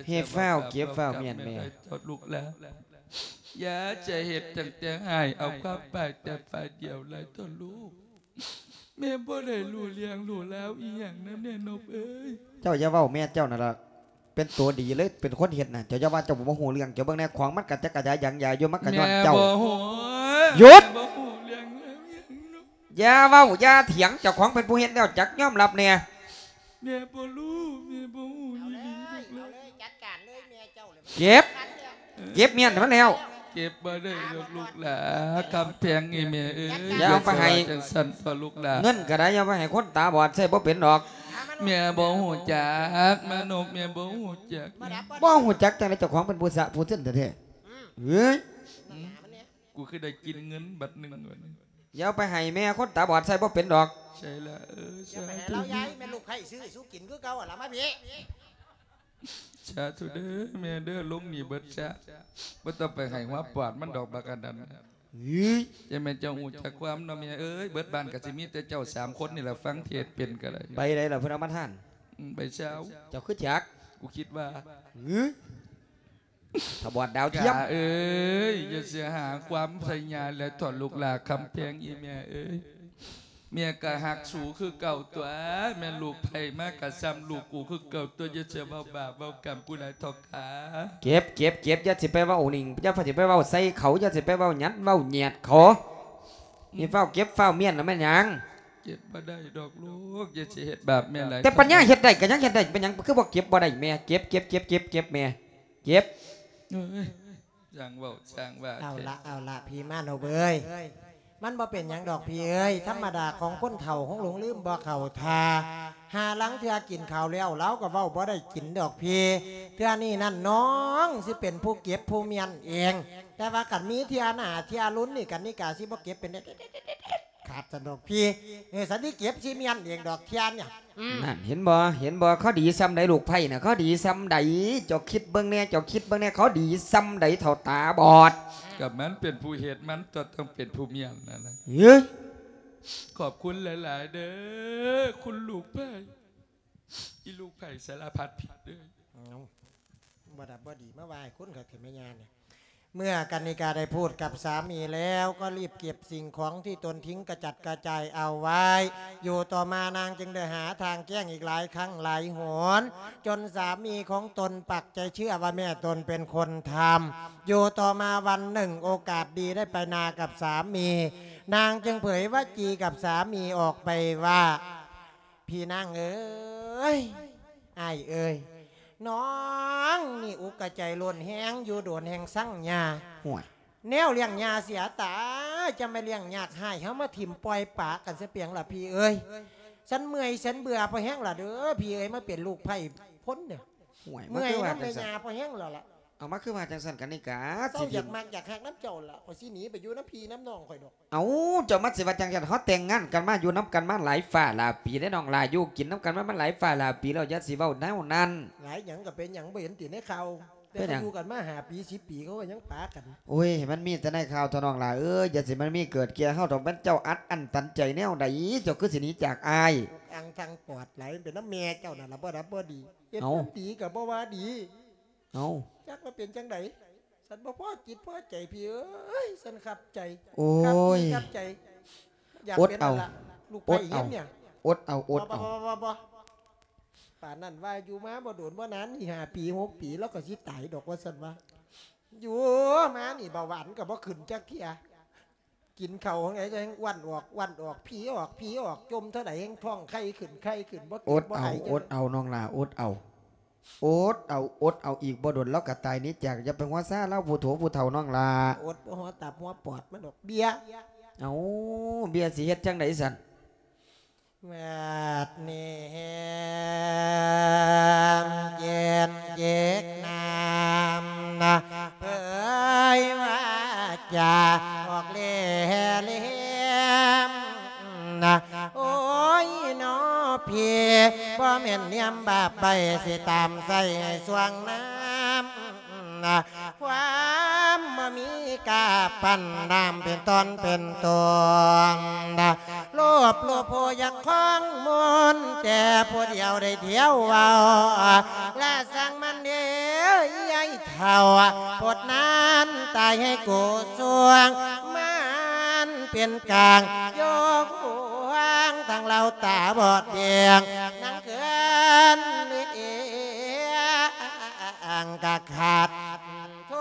ເຮັດຟ້າວເກັບຟ້າວມ້ຽນແມ່ ເຈົ້າລູກຫຼານ ຢ່າຈະເຮັດຕັ້ງແຕ່ອ້າຍເອົາຄວາມປາກແຕ່ຝ່າຍດຽວຫຼາຍເຖາະລູກ. ແມ່ບໍ່ໄດ້ຮູ້ເລື່ອງຮູ້ລາວອີ່ຫຍັງນຳແນ່ນົບເອີຍ. ເຈົ້າຢ່າເວົ້າແມ່ເຈົ້ານັ້ນລະ ເປັນໂຕດີເລີຍ ເປັນຄົນເຮັດນະ. ເຈົ້າຢ່າວ່າເຈົ້າບໍ່ຮູ້ເລື່ອງ ເຈົ້າເບິ່ງແດ່ ຂອງມັນກະຈັກກະຈາຍຢາງຢາຢູ່ ມັນກະຍ້ອນເຈົ້າ. ຢຸດ! ຢ່າເວົ້າຢ່າຖຽງ ເຈົ້າຂອງເປັນຜູ້ເຮັດແລ້ວ ຈັກຍອມຮັບແດ່. ແມ່ບໍ່ຮູ້ ແມ່ບໍ່ຮູ້ອີ່ຫຼີ ເອົາເລີຍ ເອົາເລີຍ ຈັດການເລີຍ ແມ່ເຈົ້າເລີຍ. ເກັບ ເກັບມ້ຽນໃຫ້ມັນແລ້ວ. ເກັບບໍ່ໄດ້ດອກລູກຫຼານ ຄຳແພງອີ່ແມ່ເອີຍ. ຢ່າເອົາໄປໃຫ້ ຢ່າວ່າຈັ່ງຊັ້ນເຖາະລູກຫຼານ. ເງິນກໍໄດ້ ຢ່າໄປໃຫ້ຄົນຕາບອດ ໃຊ້ບໍ່ເປັນດອກ. ແມ່ບໍ່ຮູ້ຈັກ ມານົບ ແມ່ບໍ່ຮູ້ຈັກ. ບໍ່ຮູ້ຈັກຈັ່ງໃດ ເຈົ້າຂອງເປັນຜູ້ສະຜູ້ເສິນແທ້ໆ. ເອີຍ ກູຄືໄດ້ກິນເງິນບັດໜຶ່ງ. ຢ່າເອົາໄປໃຫ້ແມ່ຄົນຕາບອດ ໃຊ້ບໍ່ເປັນດອກ. ໃຊ່ລະ ເອີ ຢ່າໄປໃຫ້ລາວ ສາທຸ ຍາຍ ແມ່ລູກໃພ້ຊື້ສູ່ກິນຄືເກົ່າຫັ້ນລະ ມາພີ້. ສາທຸເດີແມ່ເດີ ລົງໜີເບິດຊະ ບໍ່ຕ້ອງໄປໃຫ້ຫົວປອດມັນດອກບັກອັນນັ້ນ. ເອີຍ ຈັ່ງແມ່ນເຈົ້າຮູ້ຈັກຄວາມເນາະແມ່ເອີຍ. ເບິດບ້ານກໍຊິມີແຕ່ເຈົ້າສາມຄົນນີ້ລະ ຟັງເທດເປັນກໍໄດ້. ໃບໃດລະເພິ່ນເອົາມາທານ? ອືມ ໃບຊາວ. ເຈົ້າຄືຈັກ? ກູຄິດວ່າ ເອີຍ ຕາບອດດາວທຽມ. ກາເອີຍ ຢ່າຊິຫາຄວາມໃສ່ຍາແລະຖອນລູກຫຼານ ຄຳແພງອີ່ແມ່ເອີຍ. ແມ່ກໍຮັກສູຄືເກົ່າຕົວະ ແມ່ນລູກໃຜມາກໍຊ່ຳລູກກູຄືເກົ່າຕົວະ. ຢ່າຊິເວົ້າບາບເວົ້າກຳກູຫຼາຍເຖາະກາ. ເກັບ ເກັບ ເກັບ ຢ່າຊິໄປເວົ້ານີ້ ຢ່າຊິໄປເວົ້າໃສ່ເຂົາ ຢ່າຊິໄປເວົ້າຫຍັດເວົ້າຫຍາດເຂົາ. ນີ້ຟ້າວເກັບຟ້າວມ້ຽນລະແມ່ນຫຍັງ? ເກັບບໍ່ໄດ້ດອກລູກ ຢ່າຊິເຮັດບາບແມ່ຫຼາຍ. ແຕ່ປັນຍາເຮັດໄດ້ກໍຍັງເຮັດໄດ້ ເປັນຫຍັງຄືບໍ່ເກັບບໍ່ໄດ້ແມ່? ເກັບ ເກັບ ເກັບ ເກັບ ເກັບແມ່ ເກັບ. ເອີຍ ຊ່າງເວົ້າຊ່າງວ່າ. ເອົາລະ ເອົາລະ ພີ່ມານົບເອີຍ ມັນບໍ່ເປັນຫຍັງດອກພີ່ເອີຍ. ທຳມະດາຂອງຄົນເຖົ້າ ຄົງຫຼົງລືມບໍ່ເຂົ້າທ່າ. ຫາລາງເທື່ອກິນເຂົ້າແລ້ວ ລາວກໍເວົ້າບໍ່ໄດ້ກິນດອກພີ່. ເທື່ອນີ້ນັ້ນນ້ອງຊິເປັນຜູ້ເກັບຜູ້ມ້ຽນເອງ. ແຕ່ວ່າຄັນມີເທື່ອໜ້າເທື່ອລຸນນີ້ ກັນນິກາຊິບໍ່ເກັບເປັນເດັດ ຂາດຊັ້ນດອກພີ່. ເອີ ສັນຕິເກັບຊິມ້ຽນເອງດອກເທຍນ. ອືມ ນັ້ນ ເຫັນບໍ່ ເຫັນບໍ່ ເຂົາດີຊ່ຳໃດ ລູກໃພ້ນະ ເຂົາດີຊ່ຳໃດ. ເຈົ້າຄິດເບິ່ງແດ່ ເຈົ້າຄິດເບິ່ງແດ່ ເຂົາດີຊ່ຳໃດ ເຖົ້າຕາບອດ. ກໍມັນເປັນຜູ້ເຮັດ ມັນກໍຕ້ອງເປັນຜູ້ມ້ຽນນັ້ນນະ. ເອີຍ ຂອບຄຸນຫຼາຍໆເດີ ຄຸນລູກໃພ້ ອີລູກໃພ້ສາລະພັດຜິດເດີ. ເອົາ ບໍ່ດັບບໍ່ດີ ມາວ່າໃຫ້ຄົນຄັກແທ້ແມ່ຍ່ານີ້. ເມື່ອກັນນິກາໄດ້ພູດກັບສາມີແລ້ວ ກໍລີບເກັບສິ່ງຂອງທີ່ຕົນຖິ້ມກະຈັດກະຈາຍເອົາໄວ້. ຢູ່ຕໍ່ມານາງຈຶ່ງໄດ້ຫາທາງແກ້ງອີກຫຼາຍຄັ້ງຫຼາຍຫົນ ຈົນສາມີຂອງຕົນປັກໃຈເຊື່ອວ່າແມ່ຕົນເປັນຄົນທຳ. ຢູ່ຕໍ່ມາວັນໜຶ່ງ ໂອກາດດີໄດ້ໄປນາກັບສາມີ ນາງຈຶ່ງເຜີຍວາຈີກັບສາມີອອກໄປວ່າ ພີ່ນາງເອີຍ ອ້າຍເອີຍ ນ້ອງນີ້ອຸກກະໃຈໂລນແຮງ ຢູ່ໂດນແຮງຊັງຍ່າ. ຫ້ວຍ ແນວລ້ຽງຍ່າເສຍຕາ ຈະມາລ້ຽງຍາກຮ້າຍ ເຮົາມາຖິ້ມປ່ອຍປະກັນຊະປຽງລະພີ່ເອີຍ. ສັນເມື່ອຍສັນເບື່ອພໍແຮງລະເດີພີ່ເອີຍ ມາເປັນລູກໃພ້ພົນເດີ. ຫ້ວຍ ເມື່ອຍນຳແມ່ຍ່າພໍແຮງແລ້ວລະ. ເອົາ ມາຄືວ່າຈັ່ງຊັ້ນກັນນິກາ. ເຈົ້າຢາກມັກຢາກຮັກນຳເຈົ້າລະ ຂ້ອຍຊິໜີໄປຢູ່ນຳພີ່ນຳນ້ອງຂ້ອຍດອກ. ເອົ້າ ເຈົ້າມາຊິວ່າຈັ່ງຊັ້ນ ເຮົາແຕ່ງງານກັນມາ ຢູ່ນຳກັນມາຫຼາຍຟ້າຫຼາຍປີເດ້ນ້ອງຫຼ້າ ຢູ່ກິນນຳກັນມາ ມັນຫຼາຍຟ້າຫຼາຍປີແລ້ວ ຢ່າຊິເວົ້າແນວນັ້ນ. ຫຼາຍຫຍັງກໍເປັນຫຍັງ ບໍ່ເຫັນຕິໃນຂ່າວ ແຕ່ເຂົາຢູ່ກັນມາຫ້າປີສິບປີ ເຂົາກໍຍັງປາກັນ. ໂອ້ຍ ໃຫ້ມັນມີແຕ່ໃນຂ່າວເຖາະນ້ອງຫຼ້າເອີຍ ຢ່າຊິມັນມີເກີດແກ່ເຮົາດອກ. ແມ່ນເຈົ້າອັດອັ້ນຕັນໃຈແນວໃດ ເຈົ້າຄືຊິໜີຈາກອ້າຍ? ອັງທັງປອດຫຼາຍ ມັນເປັນນຳແມ່ເຈົ້ານັ້ນລະ ບໍ່ດັບບໍ່ດີ. ເຮັດ ເອົ້າ ນຳດີກໍບໍ່ວ່າດີ. ເອົ້າ ຈັກວ່າເປັນຈັ່ງໃດ ສັນບໍ່ພໍຈິດພໍໃຈພີ່ເອີຍ ສັນຂັດໃຈ. ໂອ້ຍ ຂັດຈິດຂັດໃຈ ຢາກເປັນນັ້ນລະ ລູກໄພ້ເຮັດນີ້. ອົດເອົາ ອົດເອົາ ບໍ່ ບໍ່ ບໍ່ ບໍ່ ປານນັ້ນວ່າຢູ່ມາບໍ່ດົນບໍ່ນານ ນີ້ຫ້າປີຫົກປີ ລາວກໍຊິຕາຍດອກ ວ່າຊັ້ນວ່າ. ຢູ່ມານີ້ເບົາຫວານກໍບໍ່ຂຶ້ນຈັກເທື່ອ. ກິນເຂົ້າຈັ່ງໃດແຮ່ງອ້ວນອອກ ອ້ວນອອກ ຜີອອກ ຜີອອກ ຈົ່ມເທົ່າໃດແຮ່ງທ້ອງໄຂ່ຂຶ້ນ ໄຂ່ຂຶ້ນ ບໍ່ກິນບໍ່ໄອ. ອົດເອົາ ອົດເອົານ້ອງຫຼ້າ ອົດເອົາ ອົດເອົາ ອົດເອົາ ອີກບໍ່ດົນລາວກໍຕາຍໜີຈາກ. ຢ່າໄປຫົວຊາລາວ ຜູ້ໂຖຜູ້ເຖົ້ານ້ອງຫຼ້າ. ອົດບໍ່ຮອດຕັບຫົວປອດມັນດອກ ເບຍ. ເອົ້າ ເບຍຊິເຮັດຈັ່ງໃດຊັ້ນ? ບາດນີ້ແຮມເຢັນເຈັກນ້ຳນະ ເຜີຍວາຈາອອກແລ່ເລມນະ. ໂອ້ຍນໍພີ່ ບໍ່ແມ່ນນຽມບາບໃບ ຊິຕາມໃສ່ຊ່ວງນ້ຳ ນະ ຄວາມບໍ່ມີກາປັນນ້ຳເປັນຕອນເປັນຕົນນະ. ໂລບໂລໂພຢາກຄອງມົນ ແຕ່ຜູ້ດຽວໄດ້ທ່ຽວເວົ້າ ລະຊ່າງມັນເດ. ເຖົ້າ ໂພດນານຕາຍໃຫ້ກູສວງ ມັນເປັນກາງ ໂຍກຫວງ ທັງເຫຼົ່າຕາບອດແບງ ນາງເຄື່ອນເອງກະຂາດ ໂທ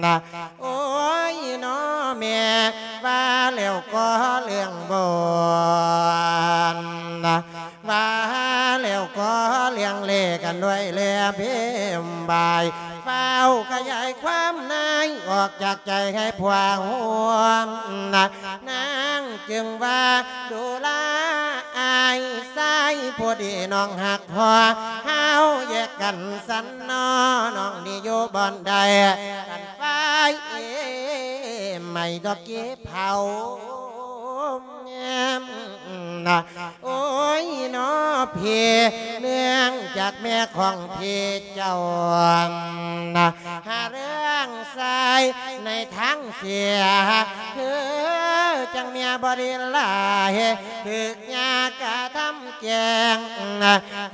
ນ ໂອ້ຍ ນ້ອແມ່ ວ່າແລ້ວກໍເລື່ອງບ່ອນ ວ່າແລ້ວກໍເລື່ອງເລກັນດ້ວຍແລເພມບາຍ ຟ້າວຂະຫຍາຍຄວາມໃນ ອອກຈາກໃຈໃຫ້ພວກຮ່ວມ ນາງຈຶ່ງວ່າ ດູລາອ້າຍຊາຍ ຜູ້ດີນ້ອງຮັກພໍ ເຮົາແຍກກັນຊັ້ນນໍ ນ້ອງນີ້ຢູ່ບ່ອນໃດ ກັນໄຟໄໝ້ດອກກີເຜົາ ໂອ້ຍ ນ້ອເພ ເນື່ອງຈາກແມ່ຂອງເພເຈົ້າ ຫາເລື່ອງຊາຍໃນທາງເສຍ ຄືຈັ່ງເມຍບໍ່ໄດ້ຫຼາຍ ຖືກຍາກະທຳແກງ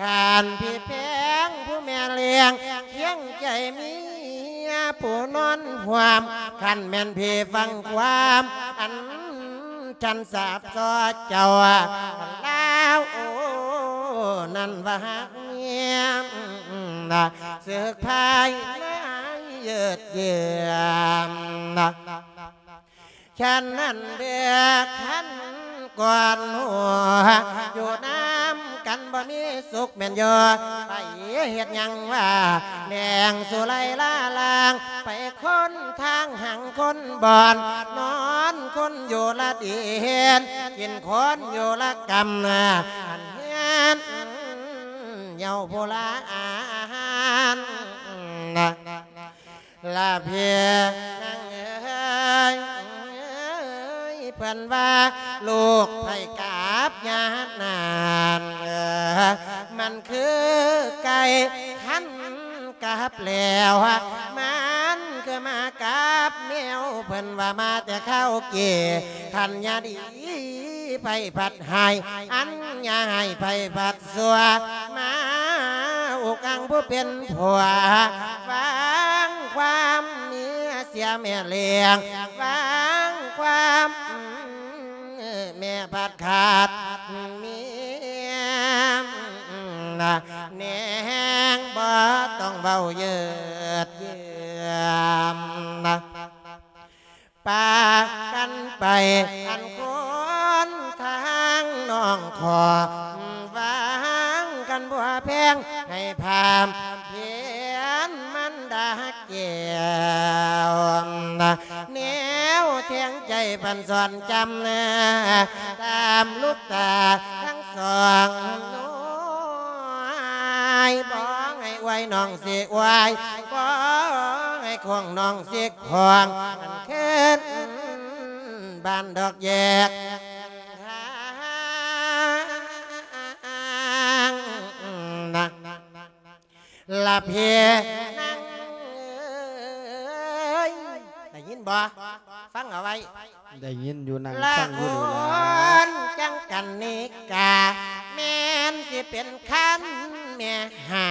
ຄັນເພແພງຜູ້ແມ່ລ້ຽງ ຄຽງໃຈເມຍຜູ້ນອນຮ່ວມ ຄັນແມ່ນເພຟັງຄວາມ ອັນ ສັນສາບຊໍເຈົ້າລາວ ໂອ ນັ້ນວ່າຮັກເມຍ ເສິກພາຍໃນເຢີດເຢືອນ ແຄ່ນນັ້ນເດີ ຄັນກ່ອນຫົວ ຢູ່ນຳກັນບໍ່ມີສຸກແມ່ນຢູ່ ໄປເຮັດຫຍັງວ່າ ແລ່ນສູ່ໄລ່ລາລາງ ໄປຄົນທາງຫາງຄົນບ່ອນ ນອນຄົນຢູ່ລະດິນ ກິນຄົນຢູ່ລະກຳ ອັນເຮືອນເຍົາຜູ້ລາອານ ລະເພຍນາງເອີຍ ເພິ່ນວ່າລູກໃຜກັບຍານານ ມັນຄືໄກ່ຄັນ ກັບແລ້ວ ມັນຄືມາກັບແມວ ເພິ່ນວ່າມາແຕ່ຄາວເກ ຄັນຍາດີໃຜພັດຮ້າຍ ອັນຍາຮ້າຍໃຜພັດຊົ່ວ ມາອຸກອັງຜູ້ເປັນຜົວ ຟັງຄວາມເມຍເສຍແມ່ລ້ຽງ ຟັງຄວາມ ແມ່ພັດຂາດເມຍ ແນງບໍ່ຕ້ອງເວົ້າເຢີດເຢືອນ ປາກັນໄປອັນຄົນທາງນ້ອງຂໍ ຫວັງກັນບົວແພງ ໃຫ້ພາມພຽນມັນດາແກ້ວ ແນວແທງໃຈພັນສອນຈຳ ຕາມລູກຕາທັງສອງນ້ອຍ ບໍ່ໃຫ້ອວຍນ້ອງຊິອວຍ ບໍ່ໃຫ້ຂວາງນ້ອງຊິຂວາງ ອັນຄືນບ້ານດອກແຍກທາງນະ ລະເພຍນາງເອີຍ ໄດ້ຍິນບໍ່? ຟັງເອົາໄວ້ ໄດ້ຍິນຢູ່ ນັ່ງຟັງຢູ່ນີ້ລະ ລະຄົນຈັ່ງກັນນີ້ກະ ແມ່ນຊິເປັນຄັນແມ່ຫ່າ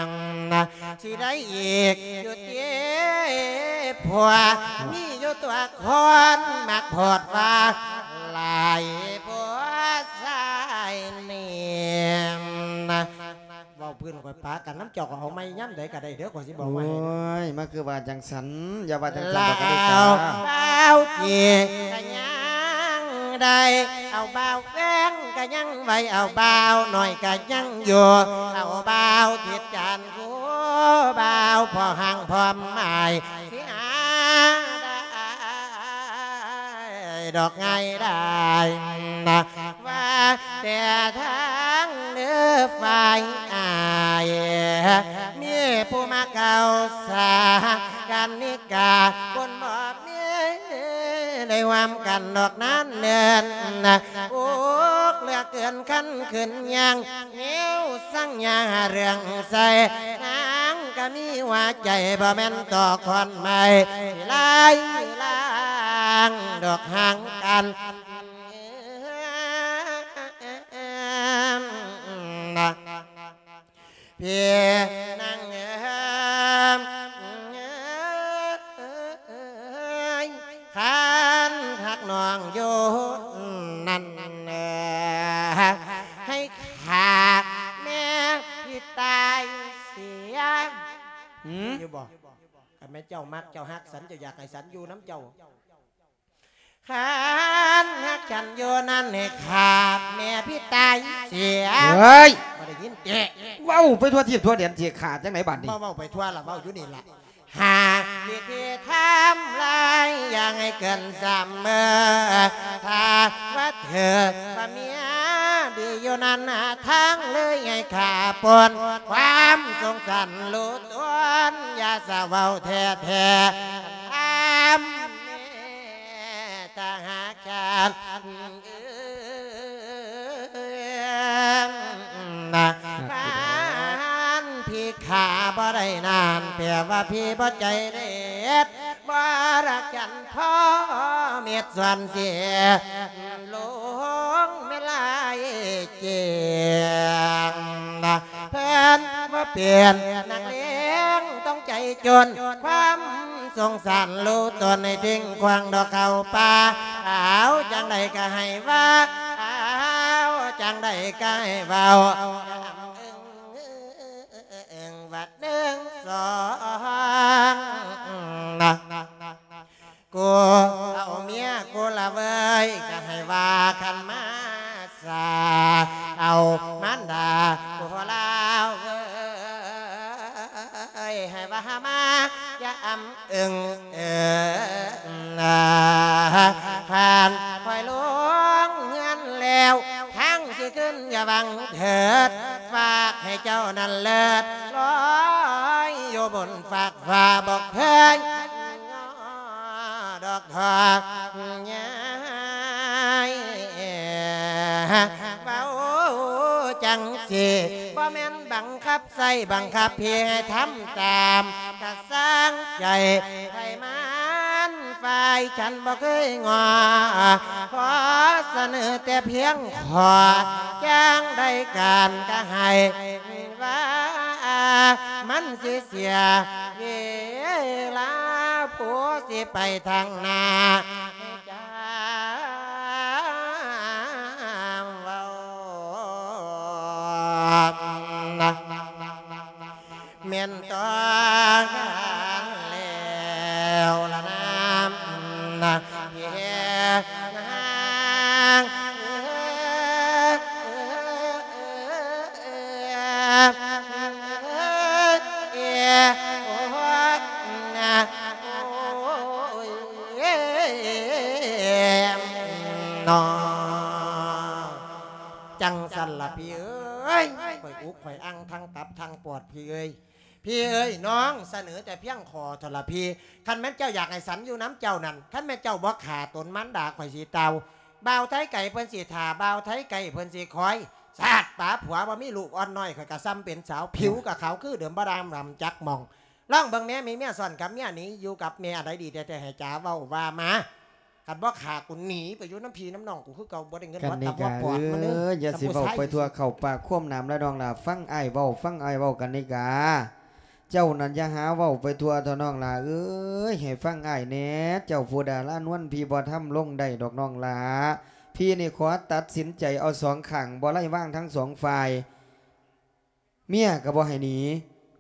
ງນະ ຊິໄດ້ອີກຢູ່ຕິ ຜົວມີຢູ່ຕົວະ ຄົນມັກໂພດວ່າ ຫຼາຍຜົວຊາຍນີ້ນະ ເວົ້າພື້ນຂ້ອຍປາກັນນຳເຈົ້າ ກໍເອົາໃໝ່ຍາມໃດກໍໄດ້ເດີ ຂ້ອຍຊິບອກວ່າໃຫ້ ໂອ້ຍ ມັນຄືວ່າຈັ່ງຊັ້ນ ຢ່າວ່າຈັ່ງຊັ້ນດອກ ກະນິກາ ລາວເຈກະຍັງໄດ້ ເອົາບ່າວແວງກະຍັງໄວ້ ເອົາບ່າວນ້ອຍກະຍັງຢູ່ ເອົາບ່າວທິດຈານຄູ ບ່າວພໍ່ຮ່າງພ້ອມໝາຍ ຊິຫາໄດ້ດອກງ່າຍດາຍນະ ວ່າແຕ່ທາງເດີຝ່າຍອ້າຍ ມີຜູ້ມາກ່າວສາກັນນິກາ ຄົນບໍ່ມີໄດ້ຮ່ວມກັນດອກນານເນີນ ອຸກເຫຼືອເກີນຄັນຂຶ້ນຍ່າງ ແນວສັງຍາເລື່ອງໃສ ນາງກະມີຫົວໃຈ ບໍ່ແມ່ນຕໍ່ຂອນໄມ້ ທີ່ລາຍລາງດອກຫາງກັນນະ. ພີ່ນາງເອີຍ ຄັນຮັກນ້ອງຢູ່ນັ້ນ ໃຫ້ຂ້າແມ່ພີ່ຕາຍເສຍ. ຫືມ? ຢູ່ບໍ່? ຄັນແມ່ນເຈົ້າມັກເຈົ້າຮັກສັນ ເຈົ້າຢາກໃຫ້ສັນຢູ່ນຳເຈົ້າ. ຄັນຮັກສັນຢູ່ນັ້ນ ໃຫ້ຂ້າແມ່ພີ່ຕາຍເສຍ. ເຮີ້ຍ! ບໍ່ໄດ້ຍິນຕິ? ເວົ້າໄປທົ່ວທີບທົ່ວແດນ ຊິຂ້າຈັ່ງໃດບາດນີ້? ບໍ່ເວົ້າໄປທົ່ວລະ ເວົ້າຢູ່ນີ້ລະ. ຫາວິທີທຳລາຍ ຢ່າໃຫ້ເກີນສາມມື້ ຖ້າວ່າເທີວ່າເມຍດີຢູ່ນັ້ນ ທາງເລີຍໃຫ້ຂ້າປົນ ຄວາມສົງສານຮູ້ຕົນ ຢ່າສະເວົ້າແທ້ໆ ຖາມແມ່ ຖ້າຫາກຄັນ ນະ ຄັນພີ່ຂ້າບໍ່ໄດ້ນັ້ນ ແປວ່າພີ່ບໍ່ໃຈເດັດ ບໍ່ຮັກກັນພໍເມັດສ່ວນເສຍ ຫຼົງແມ່ນຫຼາຍແຈ້ງນະ ເພິ່ນບໍ່ເປັນນັກເລງ ຕ້ອງໃຈຈົນ ຄວາມສົງສານຮູ້ຕົນ ໃຫ້ຖິ້ມຂວ້າງດອກເຂົ້າປ່າ ເອົາຈັ່ງໃດກໍໃຫ້ວ່າ ເອົາຈັ່ງໃດກໍໃຫ້ເວົ້າ ເອີ້ງວ່າໜຶ່ງສອງນະ ກູເອົາເມຍກູລະເວີຍ ກໍໃຫ້ວ່າຄັນມາສາ ເອົາມານດາກູລາວເວີຍ ໃຫ້ວ່າມາຢາມເອິງເອີ ຜ່ານຂ້ອຍລົງເຮືອນແລ້ວ ທາງຊິຂຶ້ນຢ່າຫວັງເທີດ ຝາກໃຫ້ເຈົ້ານັ້ນເລີດລອຍຢູ່ບົນຟາກ ວ່າບໍ່ເຄີຍງໍດອກທອກຍາຍ ເວົ້າຈັ່ງຊີ້ ບໍ່ແມ່ນບັງຄັບໃຊ້ບັງຄັບໃຫ້ທຳຕາມ ກະຊ່າງໃຈໃຜມັນ ຝ່າຍສັນບໍ່ເຄີຍງໍ ຂໍສະເໜີແຕ່ພຽງຂໍ້ ຈັ່ງໃດການກະໃຫ້ ວ່າມັນຊິເສຍເວລາ ຜູ້ຊິໄປທາງໜ້າ ຈາເວົ້າ ແມ່ນຕ້ອງການແລ້ວລະນາ ນະ ເພນາງ ເອີ ໂອ້ຍ ນະ ໂອ້ຍ ເນາະ ຈັ່ງຊັ້ນລະພີ່ເອີຍ ຂ້ອຍອຸກຂ້ອຍອັ່ງທັງຕັບທັງປອດ ພີ່ເອີຍ ພີ່ເອີຍ ນ້ອງສະເໜີແຕ່ພຽງຂໍ້ເທົ່າລະພີ່ ຄັນແມ່ນເຈົ້າຢາກໃຫ້ສັນຢູ່ນຳເຈົ້ານັ້ນ ຄັນແມ່ນເຈົ້າບໍ່ຂ້າຕົນມານດາ ຂ້ອຍຊິຕ່າວ ບ່າວໄທໄກເພິ່ນຊິຖ້າ ບ່າວໄທໄກເພິ່ນຊິຄອຍ ຊາດປາຜົວບໍ່ມີລູກ ອ່ອນນ້ອຍຂ້ອຍກະຊ່ຳເປັນສາວ ຜິວກະຂາວຄືເດີມ ບໍ່ດຳດຳຈັກໝ່ອງ ລອງເບິ່ງແດ່ ມີເມຍຊ້ອນກັບເມຍໜີ ຢູ່ກັບແມ່ອັນໃດດີແທ້ໆ ໃຫ້ຈາເວົ້າວ່າມາ ຄັນບໍ່ຂ້າກູໜີໄປຢູ່ນຳພີ່ນຳນ້ອງກູຄືເກົ່າ ບໍ່ໄດ້ເງິນ ກັນນິກາເອີຍ ຢ່າຊິເວົ້າໄປທົ່ວເຂົ້າປາກຄວາມໜາມລະນ້ອງຫຼ້າ ຟັງອ້າຍເວົ້າ ຟັງອ້າຍເວົ້າ ກັນນິກາ ເຈົ້ານັ້ນຢ່າຫາເວົ້າໄປທົ່ວເຖາະນ້ອງຫຼ້າເອີຍ ໃຫ້ຟັງອ້າຍແດ່ ເຈົ້າຜູ້ດາລານວນ ພີ່ບໍ່ທຳລົງໄດ້ດອກນ້ອງຫຼ້າ ພີ່ນີ້ຂໍຕັດສິນໃຈເອົາສອງຂ້າງ ບໍ່ໄລ່ວາງທັງສອງຝ່າຍ ເມຍກໍບໍ່ໃຫ້ໜີ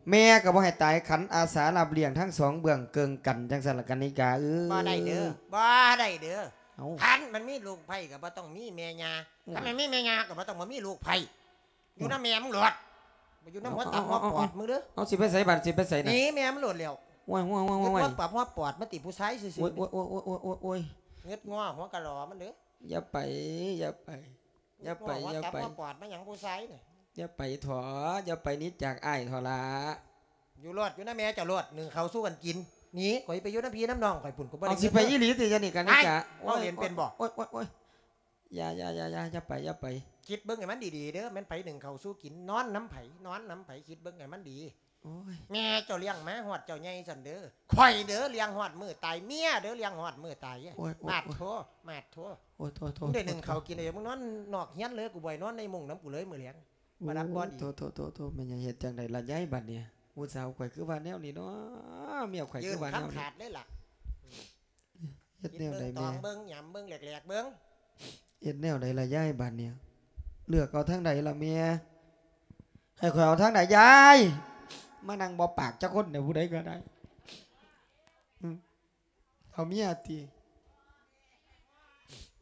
ແມ່ກໍບໍ່ໃຫ້ຕາຍ ຂັນອາສາຮັບລ້ຽງທັງສອງເບື້ອງເກີ່ງກັນ ຈັ່ງຊັ້ນລະກັນນິກາເອີຍ ບໍ່ໄດ້ເດີ ບໍ່ໄດ້ເດີ ເອົ້າ ຄັນມັນມີລູກໃພ້ກໍບໍ່ຕ້ອງມີແມ່ຍ່າ ເອີ ຄັນມັນມີແມ່ຍ່າກໍບໍ່ຕ້ອງມາມີລູກໃພ້ ຢູ່ນຳແມ່ມຶງໂລດ ບໍ່ຢູ່ນຳຫົວຕັບຫົວປອດມຶງເດີ ເອົາ ຊິໄປໃສບາດ ຊິໄປໃສນະ ໜີແມ່ມັນໂລດແລ້ວ ໂອ້ຍ ໂອ້ຍ ໂອ້ຍ ໂອ້ຍ ຫົວປັບຫົວປອດມາຕິຜູ້ຊາຍຊື່ໆ ໂອ້ຍ ໂອ້ຍ ໂອ້ຍ ໂອ້ຍ ໂອ້ຍ ໂອ້ຍ ເຫງືດງໍຫົວກະຫຼໍມັນເດີ ຢ່າໄປ ຢ່າໄປ ຢ່າໄປ ຢ່າໄປ ຫົວຕັບຫົວປອດມາຫຍັງຜູ້ຊາຍນີ້ ຢ່າໄປເຖາະ ຢ່າໄປໜີຈາກອ້າຍເຖາະຫຼ້າ ຢູ່ໂລດ ຢູ່ນຳແມ່ເຈົ້າໂລດ ໜຶ້ງເຂົ້າສູ່ກັນກິນ ໜີ ຂ້ອຍໄປຢູ່ນຳພີ່ນຳນ້ອງຂ້ອຍພຸ້ນ ຂ້ອຍບໍ່ໄດ້ ເອົາ ເງິນ ຊິໄປອີ່ຫຼີຕິ ຈະໜີກັນນີ້ກະ ໂອ້ຍ ເວົ້າຫຼິ້ນເປັນບໍ່ ໂອ້ຍ ໂອ້ຍ ໂອ້ຍ ຢ່າ ຢ່າ ຢ່າ ຢ່າ ຢ່າໄປ ຢ່າໄປ ຄິດເບິ່ງໃຫ້ມັນດີໆເດີ ແມ່ນໃຜໜຶ້ງເຂົ້າສູ່ກິນ ນອນນຳໃຜ ນອນນຳໃຜ ຄິດເບິ່ງໃຫ້ມັນດີ ໂອ້ຍ ແມ່ເຈົ້າລ້ຽງມາຮອດເຈົ້າໃຫຍ່ຊັ້ນເດີ ຂ້ອຍເດີລ້ຽງຮອດມື້ຕາຍ ເມຍເດີລ້ຽງຮອດມື້ຕາຍ ໂອ້ຍ ໂອ້ຍ ມາດໂທ ໂອ້ຍ ມາດໂທ ໂອ້ຍ ໂທ ໂທ ມຶງໄດ້ໜຶ້ງເຂົ້າກິນເລີຍ ມຶງນອນນອກເຮືອນເລີຍ ກູບໍ່ໃຫ້ນອນໃນມຸ້ງນຳກູເລີຍມື້ແລງ ບໍ່ຮັບບໍ່ດີ. ໂອ້ ໂທ້ໆໆໆ ແມ່ນຫຍັງ ເຮັດຈັ່ງໃດລະຍາຍບາດນີ້? ຜູ້ສາວຂ້ອຍຄືວ່າແນວນີ້ເນາະ ເມຍຂ້ອຍຄືວ່າແນວນີ້ ຄຳຂາດເລີຍລະ. ເຮັດແນວໃດແມ່? ຕອງເບິ່ງ ຫຍຳເບິ່ງ ແຫຼກໆເບິ່ງ. ເຮັດແນວໃດລະຍາຍບາດນີ້? ເລືອກເອົາທາງໃດລະແມ່? ໃຫ້ຂ້ອຍເອົາທາງໃດຍາຍ? ມານັ່ງບໍ່ປາກຈັກຄົນເດ້ ຜູ້ໃດກໍໄດ້. ອືມ ເອົາເມຍຕິ?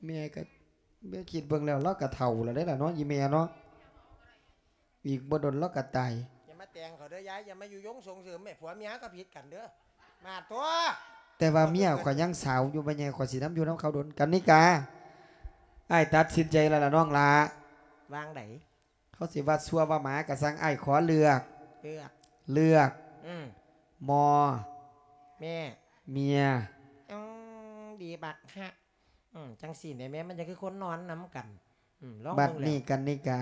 ແມ່ກໍ ແມ່ຄິດເບິ່ງແລ້ວ ລາວກໍເຖົ້າແລ້ວເດ້ລະເນາະ ອີ່ແມ່ເນາະ. ອີກບໍ່ດົນລາວກໍຕາຍ. ຢ່າມາແຕ່ງເຂົາເດີຍາຍ ຢ່າມາຍຸຍົງສົ່ງເສີມແມ່ ຜົວເມຍກໍຜິດກັນເດີ. ມາຕົວະ ແຕ່ວ່າເມຍຂ້ອຍຍັງສາວຢູ່ ແມ່ໃຫຍ່ ຂ້ອຍຊິນຳຢູ່ນຳເຂົາດົນ. ກັນນິກາ ອ້າຍຕັດສິນໃຈແລ້ວລະນ້ອງຫຼ້າ. ວ່າງໃດ? ເຂົາຊິວ່າຊົ່ວວ່າໝາກໍຊ່າງ ອ້າຍຂໍເລືອກ ເລືອກ ເລືອກ ອືມ ມ ແມ່ ເມຍ. ອືມ ດີບັກຮະ. ອືມ ຈັ່ງຊີ້ແຫຼະແມ່ ມັນຈັ່ງຄືຄົນນອນນຳກັນ. ອືມ ລອງເບິ່ງແລ້ວ. ບັດນີ້ກັນນິກາ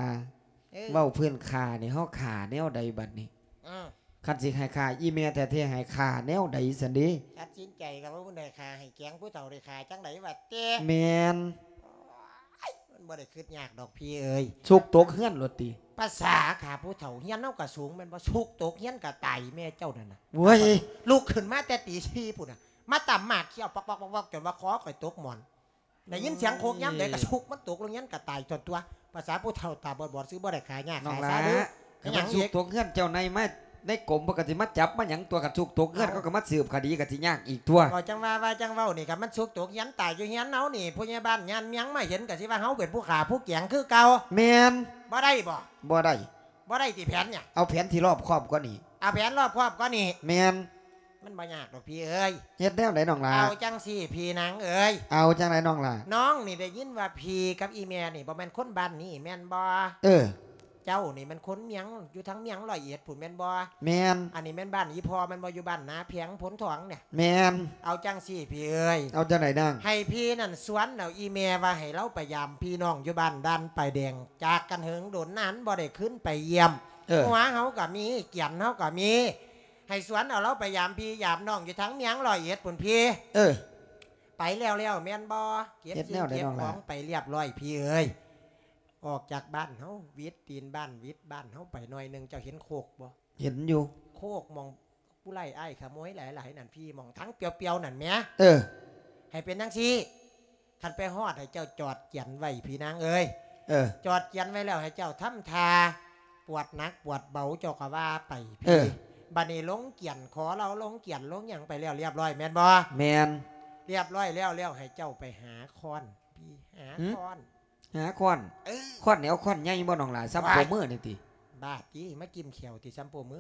ເອີ ເວົ້າພື້ນຂ້ານີ້ ເຮົາຂ້າແນວໃດບັດນີ້? ອືມ ຄັນຊິໃຫ້ຂ້າອີ່ແມ່ແທ້ໆ ໃຫ້ຂ້າແນວໃດຊັ້ນເດ? ຕັດສິນໃຈກັນວ່າ ເພິ່ນໃຫ້ຂ້າໃຫ້ແກງ ຜູ້ເຖົ້າໄດ້ຂ້າຈັ່ງໃດວ່າແຕ່. ແມ່ນ. ໂອ້ຍ ມັນບໍ່ໄດ້ຄິດຍາກດອກພີ່ເອີຍ ຊຸກຕົກເຮືອນໂລດຕິ. ພາສາຂ້າຜູ້ເຖົ້າ ເຮືອນເຮົາກໍສູງແມ່ນບໍ່? ຊຸກຕົກເຮືອນກໍຕາຍແມ່ເຈົ້ານັ້ນນະ. ໂອ້ຍ ລຸກຂຶ້ນມາແຕ່ຕີສີ່ພຸ້ນນະ ມາຕຳໝາກຂຽວປອກໆໆໆ ຈົນວ່າຄໍຂ້ອຍຕົກໝອນ. ໄດ້ຍິນສຽງໂຄກຍາມໃດກໍຊຸກມັນຕົກລົງເຮືອນກໍຕາຍໂຕຕົວະ. ພາສາຜູ້ເຖົ້າຕາບອດໆ ຊື່ບໍ່ໄດ້ຂາຍຍາກ ນ້ອງຫຼ້າ ຂາຍຊາເດີ. ຄັນມັນຊຸກຕົກເຮືອນເຈົ້າໃນມາ ໃນກົມເພິ່ນກໍຊິມາຈັບມາຫຍັງຕົວະ. ຄັນຊຸກຕົກເຮືອນ ເອົາ ເຂົາກໍມາສືບຄະດີກໍຊິຍາກອີກຕົວະ. ເວົ້າຈັ່ງວ່າ ວ່າຈັ່ງເວົ້ານີ້ ຄັນມັນຊຸກຕົກເຮືອນຕາຍຢູ່ເຮືອນເຮົານີ້ ຜູ້ໃຫຍ່ບ້ານຍານມຽງມາເຫັນກໍຊິວ່າເຮົາເປັນຜູ້ຂ້າຜູ້ແກງຄືເກົ່າ. ແມ່ນ. ບໍ່ໄດ້ບໍ? ບໍ່ໄດ້. ບໍ່ໄດ້ຕິແຜນຫຍັງ? ເອົາແຜນທີ່ລອບຄອບກວ່ານີ້. ເອົາແຜນລອບຄອບກວ່ານີ້. ແມ່ນ. ມັນບໍ່ຍາກດອກພີ່ເອີຍ. ເຮັດແນວໃດນ້ອງຫຼ້າ? ເອົາຈັ່ງຊີ້ພີ່ນາງເອີຍ. ເອົາຈັ່ງໃດນ້ອງຫຼ້າ? ນ້ອງນີ້ໄດ້ຍິນວ່າພີ່ກັບອີ່ແມ່ນີ້ບໍ່ແມ່ນຄົນບ້ານນີ້ແມ່ນບໍ່? ເອີ ເຈົ້ານີ້ແມ່ນຄົນມຽງ ຢູ່ທາງມຽງຮ້ອຍເອັດພຸ້ນແມ່ນບໍ່? ແມ່ນ. ອັນນີ້ແມ່ນບ້ານອີ່ພໍ່ແມ່ນບໍ່? ຢູ່ບ້ານນາແພງໂພນທອງນີ້. ແມ່ນ. ເອົາຈັ່ງຊີ້ພີ່ເອີຍ. ເອົາຈັ່ງໃດນາງ? ໃຫ້ພີ່ນັ້ນຊວນເອົາອີ່ແມ່ວ່າໃຫ້ລາວໄປຢາມພີ່ນ້ອງຢູ່ບ້ານດ່ານປາຍແດງ ຈາກກັນເຫິງດົນນານບໍ່ໄດ້ຄືນໄປຢ້ຽມ. ເອີ ຫົວເຮົາກໍມີ ກຽນເຮົາກໍມີ ໃຫ້ຊວນເອົາລາວໄປຢາມພີ່ຢາມນ້ອງຢູ່ທາງເມຍງຮ້ອຍເອັດພຸ້ນພີ່. ເອີ ໄປແລ້ວໆແມ່ນບໍ່? ເກັບສິ່ງເກັບຂອງໄປລຽບລ້ອຍພີ່ເອີຍ. ອອກຈາກບ້ານເຮົາ ຫວິດຕີນບ້ານ ຫວິດບ້ານເຮົາໄປໜ້ອຍໜຶ່ງ ເຈົ້າເຫັນໂຄກບໍ່? ເຫັນຢູ່. ໂຄກໝ່ອງຜູ້ຮ້າຍອ້າຍຂະໂມຍຫຼາຍໆນັ້ນພີ່ ໝ່ອງທາງປ່ຽວໆນັ້ນແໝ. ເອີ ໃຫ້ເປັນຈັ່ງຊີ້ ຄັນໄປຮອດໃຫ້ເຈົ້າຈອດກຽນໄວ້ພີ່ນາງເອີຍ. ເອີ ຈອດກຽນໄວ້ແລ້ວໃຫ້ເຈົ້າທຳທ່າ ປວດໜັກປວດເບົາເຈົ້າກໍວ່າໄປ. ເອີ ພີ່ ບັດນີ້ລົງກຽນ ຂໍລາວລົງກຽນລົງຫຍັງໄປແລ້ວລຽບລ້ອຍແມ່ນບໍ່? ແມ່ນ. ລຽບລ້ອຍແລ້ວ ແລ້ວໃຫ້ເຈົ້າໄປຫາຄ້ອນພີ່ ຫາ ຫືມ? ຄ້ອນ. ຫາຄ້ອນ. ເອີ ຄ້ອນນີ້ເອົາຄ້ອນໃຫຍ່ບໍ່ນ້ອງຫຼ້າ? ສ່ຳໂປ້ມືນີ້ຕິ? ບ້າຕິ ມາກິ້ມແຂ້ວຕິ ສ່ຳໂປ້ມື.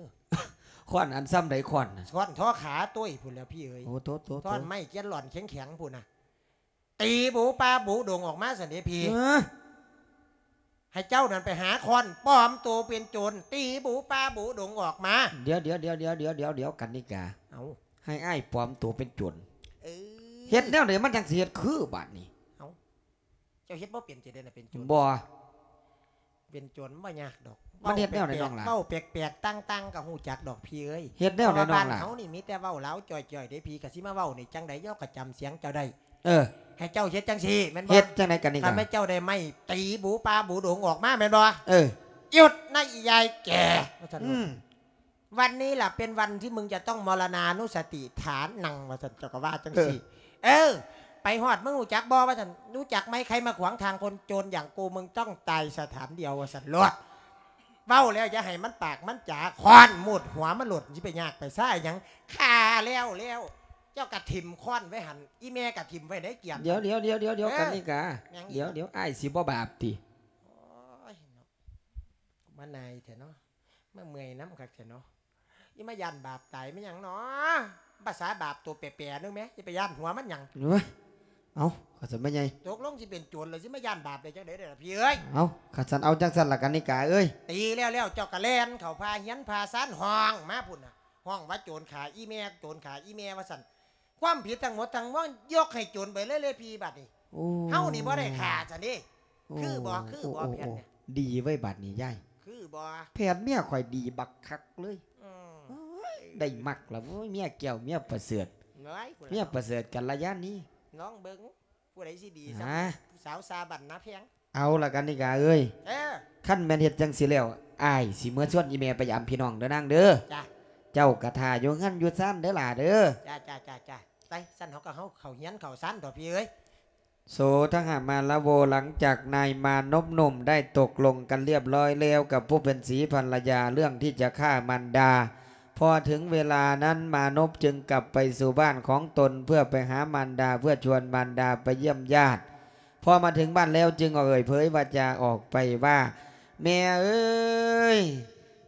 ຄ້ອນອັນສ່ຳໃດຄ້ອນນະ? ຄ້ອນທໍຂາໂຕ້ຍພຸ້ນແຫຼ້ວພີ່ເອີຍ. ໂອ້ ໂທ້ໆໆ ທ່ອນໄມ້ກຽນຫຼອນແຂງໆພຸ້ນນະ. ຕີບູປາບູດົງອອກມາຊັ້ນເດພີ່. ເອີ ໃຫ້ເຈົ້ານັ້ນໄປຫາຄ້ອນ ປອມໂຕເປັນໂຈນ ຕີບູປາບູດົງອອກມາ. ດຽວໆໆໆ ກັນນິກາ ເອົ້າ ໃຫ້ອ້າຍປອມໂຕເປັນໂຈນ. ເອີ ເຮັດແນວໃດມັນຈັ່ງຊິເຮັດຄືບາດນີ້? ເອົ້າ ເຈົ້າເຮັດບໍ່ເປັນ ຈະໄດ້ນະເປັນໂຈນ. ບໍ່ ເປັນໂຈນບໍ່ຍາກດອກ. ມັນເຮັດແນວໃດນ້ອງຫຼ້າ? ເວົ້າແປກໆຕ່າງໆກໍຮູ້ຈັກດອກພີ່ເອີຍ. ເຮັດແນວໃດນ້ອງຫຼ້າ? ເພາະວ່າບ້ານເຮົານີ້ມີແຕ່ເວົ້າລາວຈ່ອຍໆເດ້ພີ່ ກໍຊິມາເວົ້ານີ້ຈັ່ງໃດ ເຮົາກໍຈຳສຽງເຈົ້າໄດ້. ເອີ ໃຫ້ເຈົ້າເຮັດຈັ່ງຊີ້ແມ່ນບໍ່? ເຮັດຈັ່ງໃດກັນນີ້? ຄັນແມ່ນເຈົ້າໄດ້ໄມ້ຕີບູປາບູດົງອອກມາແມ່ນບໍ່? ເອີ ຢຸດນະອີ່ຍາຍແກ່ ວ່າຊັ້ນ. ອືມ ວັນນີ້ລະເປັນວັນທີ່ມຶງຈະຕ້ອງມໍລະນານຸສະຕິຖານັງ ວ່າຊັ້ນ ເຈົ້າກໍວ່າຈັ່ງຊີ້. ເອີ ເອີ ໄປຮອດ ມຶງຮູ້ຈັກບໍ່ ວ່າຊັ້ນ. ຮູ້ຈັກໄໝ ໃຄມາຂວາງທາງຄົນໂຈນຢ່າງກູ ມຶງຕ້ອງຕາຍສະຖານດຽວ ວ່າຊັ້ນໂລດ. ເວົ້າແລ້ວຢ່າໃຫ້ມັນປາກມັນຈາ ຄ້ອນໝູດຫົວມັນໂລດ. ຊິໄປຍາກໄປຊ້າຫຍັງ ຂ້າແລ້ວແລ້ວ ເຈົ້າກະຖິ້ມຄ້ອນໄວ້ຫັ້ນ ອີ່ແມ່ກະຖິ້ມໄວ້ໃນກຽນ. ດຽວໆໆໆ ເອີ ກັນນິກາ ຫຍັງອີກ? ດຽວໆ ອ້າຍຊິບໍ່ບາບຕິ? ໂອ້ຍ ມານາຍແທ້ເນາະ ມາເມື່ອຍນຳຄັກແທ້ເນາະ. ອີ່ມາຢ້ານບາບຕາຍແມ່ນຫຍັງເນາະ? ພາສາບາບໂຕແປໆໜຶ່ງແມ ຊິໄປຢ້ານຫົວມັນຫຍັງ? ເອີຍ ເອົ້າ ຂ້າສັນແມ່ໃຫຍ່ ຕົກລົງຊິເປັນໂຈນແລ້ວ ຊິມາຢ້ານບາບໄດ້ຈັ່ງໃດເດລະພີ່ເອີຍ? ເອົ້າ ຂ້າສັນເອົາຈັ່ງຊັ້ນລະກັນນິກາເອີຍ. ຕີແລ້ວໆ ເຈົ້າກະແລ່ນເຂົ້າພາເຮືອນພາຊານ ຮ້ອງມາພຸ້ນນະ ຮ້ອງວ່າໂຈນຂ້າອີ່ແມ່ ໂຈນຂ້າອີ່ແມ່ ວ່າຊັ້ນ. ຄວາມຜິດທັງໝົດທັງມວນຍົກໃຫ້ໂຈນໄປເລີຍເລີຍພີ່ ບາດນີ້. ໂອ້ ເຮົານີ້ບໍ່ໄດ້ຂ້າຊັ້ນເດ. ໂອ້ ຄືບໍ່ ຄືບໍ່ ໂອ້ ແຜນນີ້? ໂອ້ ດີເວີຍ ບາດນີ້ຍາຍ ຄືບໍ່? ແຜນເມຍຂ້ອຍດີບັກຄັກເລີຍ. ອືມ ໂອ້ຍ ໄດ້ມັກລະເວີຍ ເມຍແກ້ວເມຍປະເສີດ. ເມຍປະເສີດກັນລະຍານນີ້ ລອງເບິ່ງ ຜູ້ໃດຊິດີສ່ຳ ຫາ ສາວຊາບັນນາແພງ. ເອົາລະກັນນິກາເອີຍ ເອີ ຄັນແມ່ນເຮັດຈັ່ງຊີ້ແລ້ວ ອ້າຍຊິເມືອຊວນອີ່ແມ່ໄປຢາມພີ່ນ້ອງເດີນາງເດີ. ຈ້າ ເຈົ້າກະຖ້າຢູ່ເຮືອນຢູ່ຊານເດີຫຼ້າເດີ. ຈ້າ ຈ້າ ຈ້າ ຈ້າ ໄປ ຊັ້ນເຮົາກໍເຮົາເຂົ້າເຮືອນເຂົ້າຊານດອກພີ່ເອີຍ. ໂສທະຫະມາລະໂວ ຫຼັງຈາກນາຍມານົບໜຸ່ມໄດ້ຕົກລົງກັນລຽບຮ້ອຍແລ້ວກັບຜູ້ເປັນສີພັນລະຍາ ເລື່ອງທີ່ຈະຂ້າມານດາ, ພໍເຖິງເວລານັ້ນມານົບຈຶ່ງກັບໄປສູ່ບ້ານຂອງຕົນ ເພື່ອໄປຫາມານດາ ເພື່ອຊວນມານດາໄປຢ້ຽມຍາດ. ພໍມາເຖິງບ້ານແລ້ວຈຶ່ງເອີ່ຍເຜີຍວາຈາອອກໄປວ່າ ແມ່ເອີຍ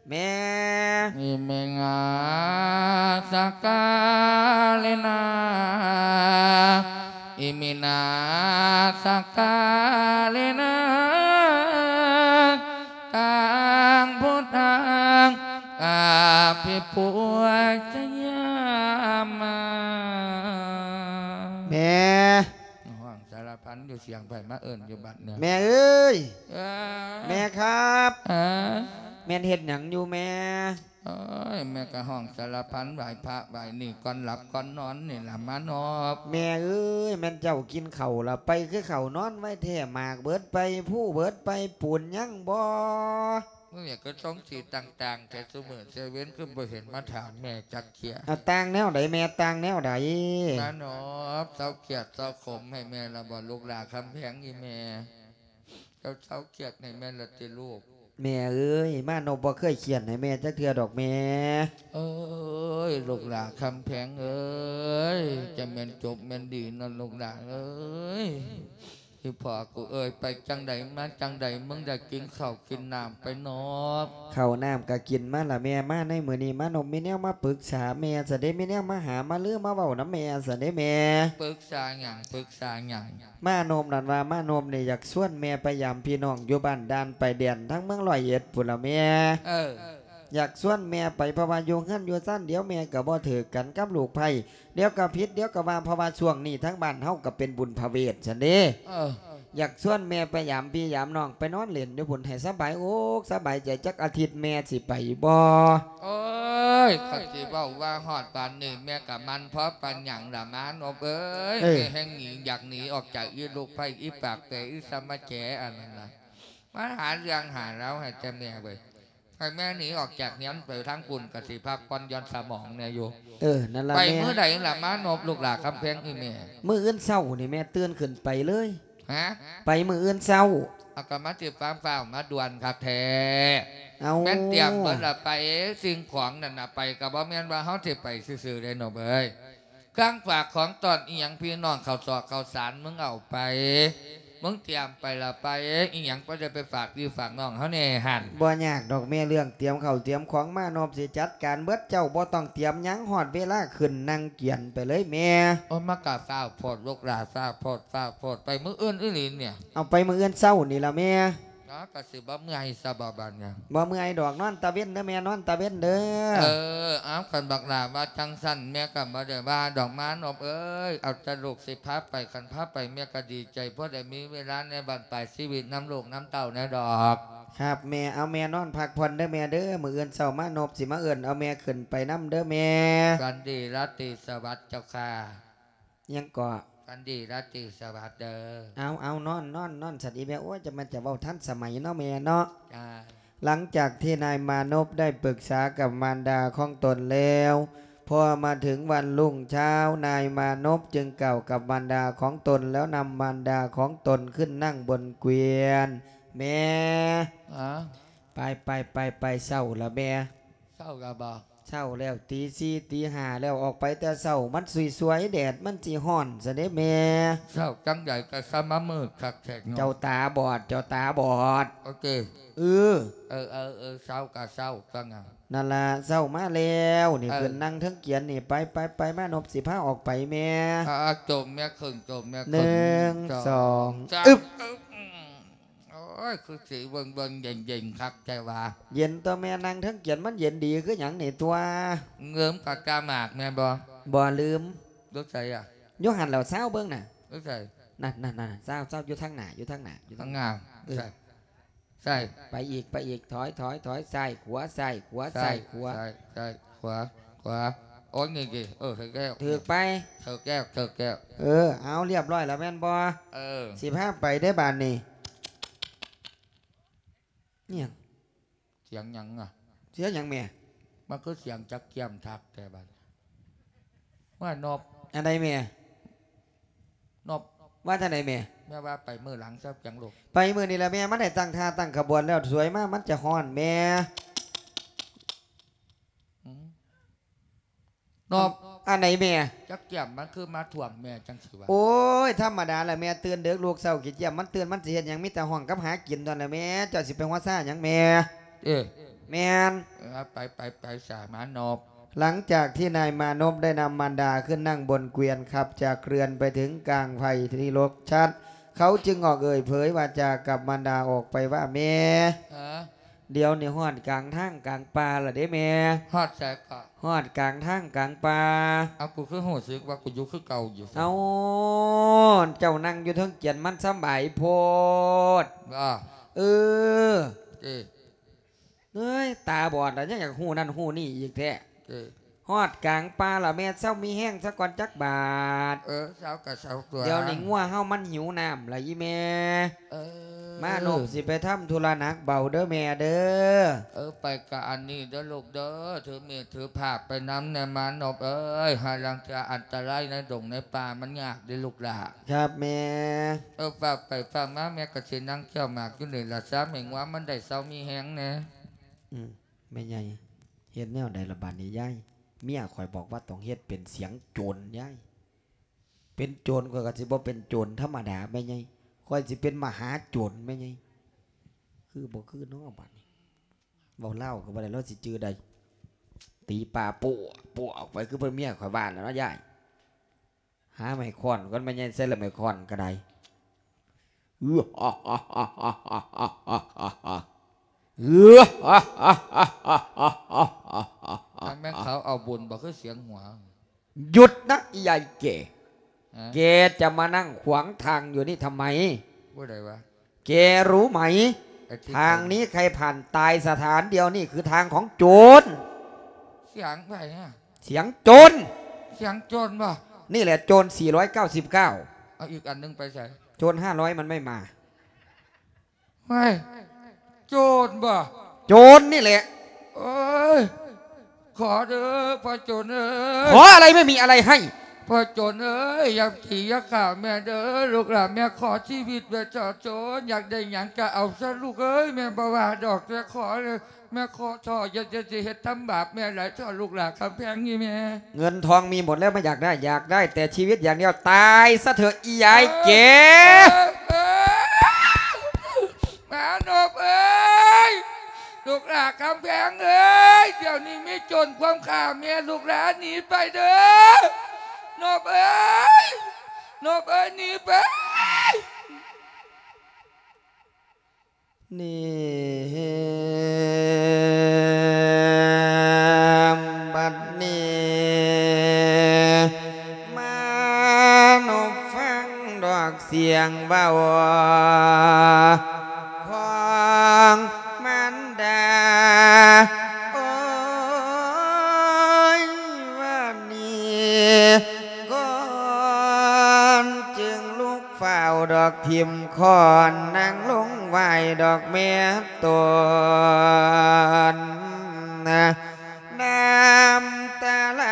ແມ່ Iminā sakkārenā, iminā sakkārenā, taṃ buddhaṃ abhipūjayāma. ແມ່ ຮ້ອງສາລະພັນຢູ່ ສຽງໃຜມາເອີ້ນຢູ່ບັດນີ້? ແມ່ເອີຍ ເອີ ແມ່ຄັບ ເອີ ແມ່ນເຮັດຫຍັງຢູ່ແມ່? ໂອ້ຍ ແມ່ກໍຮ້ອງສາລະພັນ ໄຫວ້ພະໄຫວ້ນີ້ ກ່ອນຫຼັບກ່ອນນອນນີ້ລະມານົບ. ແມ່ເອີຍ ແມ່ນເຈົ້າກິນເຂົ້າລະໄປ ຄືເຂົ້ານອນໄວແທ້ ໝາກເບີດໄປ ພູເບີດໄປ ປູນຍັງບໍ່? ມື້ນີ້ກໍສົ່ງສີຕ່າງໆ ແຕ່ຊຸມື້ແຕ່ເວັນ ຄືບໍ່ເຫັນມາຖາມແມ່ຈັກເທື່ອ. ເອົາ ຕ່າງແນວໃດແມ່ ຕ່າງແນວໃດ? ມານົບ ເຊົາຄຽດເຊົາຂົມໃຫ້ແມ່ລະບໍ່ລູກຫຼ້າຄຳແພງອີ່ແມ່? ເຈົ້າເຊົາຄຽດໃຫ້ແມ່ລະຕິລູກ? ແມ່ເອີຍ ມານົບບໍ່ເຄີຍຄຽດໃຫ້ແມ່ຈັກເທື່ອດອກແມ່. ເອີຍ ລູກຫຼ້າຄຳແພງເອີຍ ຈະແມ່ນຈົບແມ່ນດີເນາະລູກຫຼ້າເອີຍ. ອີ່ພໍ່ກູເອີຍ ໄປຈັ່ງໃດມາຈັ່ງໃດ ມຶງໄດ້ກິນເຂົ້າກິນນ້ຳໄປນໍ? ເຂົ້ານ້ຳກະກິນມາລະແມ່ ມາໃນມື້ນີ້ມານົບມີແນວມາປຶກສາແມ່ຊັ້ນເດ້ ມີແນວມາຫາມາລືມາເວົ້ານຳແມ່ຊັ້ນເດ້ແມ່. ປຶກສາຫຍັງ? ປຶກສາຫຍັງ? ມານົບນັ້ນວ່າ ມານົບນີ້ຢາກຊວນແມ່ໄປຢາມພີ່ນ້ອງຢູ່ບ້ານດ່ານປາຍແດນ ທາງເມືອງຮ້ອຍເອັດພຸ້ນລະແມ່. ເອີ ຢາກຊວນແມ່ໄປ ເພາະວ່າຢູ່ເຮືອນຢູ່ຊານດຽວແມ່ກໍບໍ່ຖືກກັນກັບລູກໃພ້ ດຽວກໍຜິດ ດຽວກໍວ່າ ເພາະວ່າຊ່ວງນີ້ທາງບ້ານເຮົາກໍເປັນບຸນພະເວດຊັ້ນເດ້. ເອີ ຢາກຊວນແມ່ໄປຢາມພີ່ຢາມນ້ອງ ໄປນອນຫຼິ້ນຢູ່ພຸ້ນໃຫ້ສະບາຍອົກສະບາຍໃຈ ຈັກອາທິດແມ່ຊິໄປບໍ່? ໂອ້ຍ ຄັນຊິເວົ້າວ່າຮອດປານນີ້ ແມ່ກໍໝັ່ນພໍປານຫຍັງລະມານົບເອີຍ. ເອີ ແມ່ແຮ່ງໜີ ຢາກໜີອອກຈາກອີລູກໃພ້ ອີປາກແປ ອີສະມະແຈອັນນັ້ນນະ ມາຫາເລື່ອງຫາລາວໃຫ້ແຕ່ແມ່ເວີຍ. ໃຫ້ແມ່ໜີອອກຈາກເຮືອນໄປທາງພຸ້ນ ກະຊິພັກຜ່ອນຢ່ອນສະໝອງແດ່ຢູ່. ເອີ ນັ້ນລະ ໄປມື້ໃດລະມານົບ ລູກຫຼ້າຄຳແພງອີ່ແມ່? ມື້ອື່ນເຊົ້ານີ້ແມ່ຕື່ນຂຶ້ນໄປເລີຍ. ຮະ? ໄປມື້ອື່ນເຊົ້າ. ເອົາ ກະມາຊິຟ້າວມາດ່ວນຄັກແທ້. ເອົາ ແມ່ນຕຽມເບິດລະໄປ ສິ່ງຂອງນັ້ນນະ ໄປກະບໍ່ແມ່ນວ່າເຮົາຊິໄປຊື່ໆເດ້ນົບເອີຍ. ເຄື່ອງຝາກຂອງຕ້ອນອີ່ຫຍັງ ພີ່ນ້ອງ ເຂົ້າສອກເຂົ້າສານ ມຶງເອົາໄປ ມຶງຕຽມໄປລະໄປ. ອີ່ຫຍັງບໍ່ໄດ້ໄປຝາກພີ່ຝາກນ້ອງເຮົາແດ່ຫັ້ນ? ບໍ່ຍາກດອກແມ່ ເລື່ອງຕຽມເຂົ້າຕຽມຂອງ ມານົບຊິຈັດການເບິດ ເຈົ້າບໍ່ຕ້ອງຕຽມຫຍັງ ຮອດເວລາຂຶ້ນນັ່ງກຽນໄປເລີຍແມ່. ໂອ້ຍ ມັນກະຟ້າວໂພດ ລູກຫຼ້າ ຟ້າວໂພດ ຟ້າວໂພດ ໄປມື້ອື່ນອີ່ຫຼີນີ້. ເອົາ ໄປມື້ອື່ນເຊົ້ານີ້ລະແມ່. ເນາະ ກໍຊິບໍ່ເມື່ອຍຊະບໍ່ບາດນີ້? ບໍ່ເມື່ອຍດອກ ນອນຕາເວັນເດີແມ່ ນອນຕາເວັນເດີ. ເອີ ເອົາ ຄັນບັກຫຼ້າວ່າຈັ່ງຊັ້ນ ແມ່ກໍບໍ່ໄດ້ວ່າດອກມານົບເອີຍ. ເອົາແຕ່ລູກຊິພາໄປ ຄັນພາໄປແມ່ກໍດີໃຈ ພໍໄດ້ມີເວລາໃນບັ້ນປາຍຊີວິດນຳລູກນຳເຕົ້າແດ່ດອກ. ຄັບແມ່. ເອົາ ແມ່ນອນພັກຜ່ອນເດີແມ່ເດີ ມື້ອື່ນເຊົ້າມານົບຊິມາເອີ້ນເອົາແມ່ຂຶ້ນໄປນຳເດີແມ່. ຝັນດີລາຕີສະຫວັດເຈົ້າຂ້າ. ຫຍັງເກາະ? ຝັນດີລາຕີສະຫວັດເດີ. ເອົາ ເອົາ ນອນ ນອນ ນອນ ສັນອີແມ່. ໂອ້ຍ ຈະແມ່ນຈະເວົ້າທັນສະໄໝເນາະແມ່ເນາະ. ຈ້າ. ຫຼັງຈາກທີ່ນາຍມານົບໄດ້ປຶກສາກັບມານດາຂອງຕົນແລ້ວ, ພໍມາເຖິງວັນລຸ້ງເຊົ້າ, ນາຍມານົບຈຶ່ງກ່າວກັບມານດາຂອງຕົນ ແລ້ວນຳມານດາຂອງຕົນຂຶ້ນນັ່ງບົນກວຽນ. ແມ່. ອາ? ໄປ ໄປ ໄປ ໄປ ເຊົ້າລະແມ່. ເຊົ້າລະບໍ? ເຊົ້າແລ້ວ ຕີສີ່ ຕີຫ້າແລ້ວ ອອກໄປແຕ່ເຊົ້າ ມັນສວຍໆ ແດດມັນຊິຮ້ອນຊະເດ້ແມ່. ເຊົ້າຈັ່ງໃດກໍຊະມາມືດຄັກແທ້ເນາະ. ເຈົ້າຕາບອດ ເຈົ້າຕາບອດ. ໂອເຄ. ເອີ ເອີ ເອີ ເອີ ເຊົ້າກໍເຊົ້າ ວ່າຫຍັງ? ນັ້ນລະ ເຊົ້າມາແລ້ວນີ້. ເອີ ຂຶ້ນນັ່ງເທິງກຽນນີ້ ໄປ ໄປ ໄປ ມານົບຊິພາອອກໄປແມ່. ອາ ໂຈມແມ່ຂຶ້ນ ໂຈມແມ່ຂຶ້ນ. ໜຶ່ງ ສອງ ສາມ ອຶບ. ອືມ. ໂອ້ຍ ຄືຊິເບິ່ງໆ ເຢັນໆ ຄັກແທ້ວ່າ. ເຢັນຕົວະແມ່ ນັ່ງເທິງກຽນມັນເຢັນດີຄືຫຍັງນີ້ຕົວະ. ລືມກະກາໝາກແມ່ນບໍ່? ບໍ່ລືມ. ຢູ່ໃສອະ? ຢູ່ຫັ້ນແຫຼ້ວ ຊາວເບິ່ງນະ. ຢູ່ໃສ? ນັ້ນໆໆ ຊາວ ຊາວ ຢູ່ທາງໜ້າ ຢູ່ທາງໜ້າ ຢູ່ທາງໜ້າ. ເອີ ໃສ? ໃສ? ໄປອີກ ໄປອີກ ຖອຍ ຖອຍ ຖອຍ ຊ້າຍ ຂວາ ຊ້າຍ ຂວາ ຊ້າຍ ຂວາ ຊ້າຍ ຂວາ ຂວາ. ໂອ້ຍ ນີ້ຕິ ເອີ ຖືກແລ້ວ ຖືກໄປ ຖືກແລ້ວ ຖືກແລ້ວ. ເອີ ເອົາ ລຽບຮ້ອຍແລ້ວແມ່ນບໍ່? ເອີ ຊິພາໄປເດ້ບາດນີ້. ອີ່ຫຍັງ? ສຽງຫຍັງອະ? ສຽງຫຍັງແມ່? ມັນຄືສຽງຈັກກ້ຽມທັກແທ້ບັດ. ວ່ານົບ ອັນໃດແມ່? ນົບ ວ່າຈັ່ງໃດແມ່? ແມ່ວ່າໄປມື້ຫຼັງຊະຈັ່ງລູກ. ໄປມື້ນີ້ລະແມ່ ມັນໄດ້ຕັ້ງທ່າຕັ້ງຂະບວນແລ້ວ ສວຍມາມັນຈະຮ້ອນແມ່. ອືມ ນົບ ອັນໃດແມ່? ຈັກກ້ຽມມັນຄືມາທ້ວງແມ່ຈັ່ງຊີ້ວະ? ໂອ້ຍ ທຳມະດາລະແມ່ ຕື່ນເດິກລູກເຊົ້າ ຂີ້ກ້ຽມມັນຕື່ນ ມັນຊິເຮັດຫຍັງ ມີແຕ່ຮ້ອງກັບຫາກິນເທົ່ານັ້ນລະແມ່. ເຈົ້າຊິໄປຫົວຊາຫຍັງແມ່? ເອີ ແມ່ນ ເອີ ໄປ ໄປ ໄປສາມານົບ. ຫຼັງຈາກທີ່ນາຍມານົບໄດ້ນຳມານດາຂຶ້ນນັ່ງບົນເກວຽນ ຂັບຈາກເຮືອນໄປເຖິງກາງໄພທີ່ລົກຊັດ ເຂົາຈຶ່ງອອກເອີ່ຍເຜີຍວາຈາກັບມານດາອອກໄປວ່າ ແມ່ ຮະ? ດຽວນີ້ຮອດກາງທາງກາງປ່າລະເດ້ແມ່. ຮອດໃສເກາະ? ຮອດກາງທາງກາງປ່າ. ເອົາ ກູຄືຮູ້ສຶກວ່າກູຢູ່ຄືເກົ່າຢູ່. ເອົາ ເຈົ້ານັ່ງຢູ່ເທິງກຽນມັນສຳບາຍໂພດ. ເອີ ເອີ ເອີຍ ຕາບອດລະຍັງຢາກຮູ້ນັ້ນຮູ້ນີ້ອີກແທ້. ເອີ ຮອດກາງປ່າລະແມ່ ເຊົາມີແຮງຊະກ່ອນຈັກບາດ. ເອີ ເຊົາກະເຊົາຕົວະ. ດຽວນີ້ງົວເຮົາມັນຫິວນ້ຳລະອີ່ແມ່. ເອີ ມານົບຊິໄປທຳທຸລະໜັກເບົາເດີແມ່ເດີ. ເອີ ໄປກະອັນນີ້ເດີລູກເດີ ຖືມີດຖືພາບໄປນຳແດ່ມານົບເອີຍ ຫາລາງເທື່ອອັນຕະລາຍໃນດົງໃນປ່າມັນຍາກເດ້ລູກຫຼ້າ. ຄັບແມ່. ເອີ ຝາກໄປຝາກມາ ແມ່ກະຊິນັ່ງແຂ້ວໝາກຢູ່ນີ້ລະຊະ ແມ່ງົວມັນໄດ້ເຊົາມີແຮງແດ່. ອືມ ແມ່ໃຫຍ່ ເຮັດແນວໃດລະບາດນີ້ຍາຍ? ເມຍຂ້ອຍບອກວ່າຕ້ອງເຮັດເປັນສຽງໂຈນຍາຍ. ເປັນໂຈນຂ້ອຍກໍຊິບໍ່ເປັນໂຈນທຳມະດາແມ່ໃຫຍ່ ຂ້ອຍຊິເປັນມະຫາໂຈນແມ່ໃຫຍ່. ຄືບໍ່ຄືນໍບາດນີ້ ເວົ້າລາວກໍບໍ່ໄດ້ ລາວຊິຈື່ໃດ. ຕີປາໂປ້ໂປ້ອອກໄປ ຄືເພິ່ນເມຍຂ້ອຍວ່າແລ້ວເນາະຍາຍ. ຫາໄມ້ຄ້ອນກ່ອນແມ່ໃຫຍ່ ໃສ່ລະໄມ້ຄ້ອນກໍໄດ້. ອັນແມ່ນເຂົາເອົາບຸນບໍ່ ຄືສຽງຫົວ? ຢຸດນະ ອີຍາຍແກ່. ຮະ? ແกจะมานั่งขวางทางอยู่นี่ทำไม? ຜູ້ໃດວະ? แกรู้ไหม ไอ้ที่ ทางนี้ใครผ่านตายสถานเดียว นี่คือทางของโจร. ສຽງໃຜອະ? เสียงโจร. ສຽງໂຈນບໍ່? นี่แหละโจร สี่ร้อยเก้าสิบเก้า. ເອົາອີກອັນໜຶ່ງໄປໃສ? โจร ห้าร้อย มันไม่มา. ເຮີ້ຍ ໂຈນບໍ່? โจรนี่แหละ. ໂອ້ຍ ຂໍເດີພໍ່ໂຈນເອີຍ. ขออะไร ไม่มีอะไรให้. ພໍ່ໂຈນເອີຍ ຢ່າຕີຢ່າຂ້າແມ່ເດີ ລູກຫຼານແມ່ຂໍຊີວິດແມ່ເທາະໂຈນ ຢາກໄດ້ຫຍັງກະເອົາຊະລູກເອີຍ ແມ່ບໍ່ວ່າດອກ ແຕ່ຂໍເດີ ແມ່ຂໍເທາະ ຢ່າ ຢ່າຊິເຮັດທຳບາບແມ່ຫຼາຍເທາະ ລູກຫຼານຄຳແພງນີ້ແມ່. เงินทองมีหมดแล้ว ไม่อยากได้ อยากได้แต่ชีวิตอย่างเดียว ตายซะเถอะ อียายแก่. ມານົບເອີຍ ລູກຫຼານຄຳແພງເອີຍ ດຽວນີ້ມີໂຈນຄວາມຂ້າແມ່ ລູກຫຼານໜີໄປເດີ ນົບເອີຍ ນົບເອີຍ ໜີໄປ. ນີ້ ບັດນີ້ ມານົບຟັງດອກສຽງເວົ້າຂອງມັນດາ ໂອ້ຍ ວ່ານີ້ກ່ອນ ຈຶ່ງລຸກ ຟ້າວດອກຖິ້ມຄ້ອນ ນັ່ງລົງໄຫວ້ດອກແມ່ຕົນ ນ້ຳຕາໄຫຼ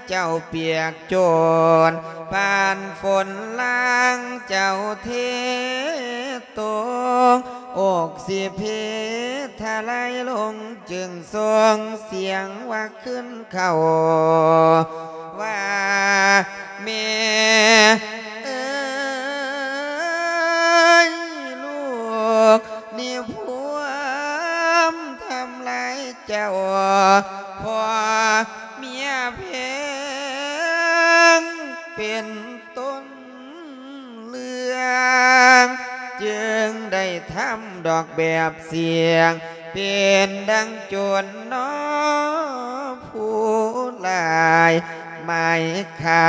ເຈົ້າປຽກໂຈນ ປານຝົນລາງເຈົ້າເທຕົກ ອົກຊິເພທະໄຫຼລົງ ຈຶ່ງສົ່ງສຽງວ່າ ຂຶ້ນເຂົ້າວ່າ ແມ່ເອີຍ ລູກນີ້ພວມທຳລາຍເຈົ້າ ພໍ່ເມຍແພງເປັນຕົ້ນ ເລື່ອງ ຈຶ່ງໄດ້ທຳດອກແບບສຽງ ເປັນດັ່ງໂຈນໜໍ ຜູ້ຫຼາຍໝາຍຂ້າ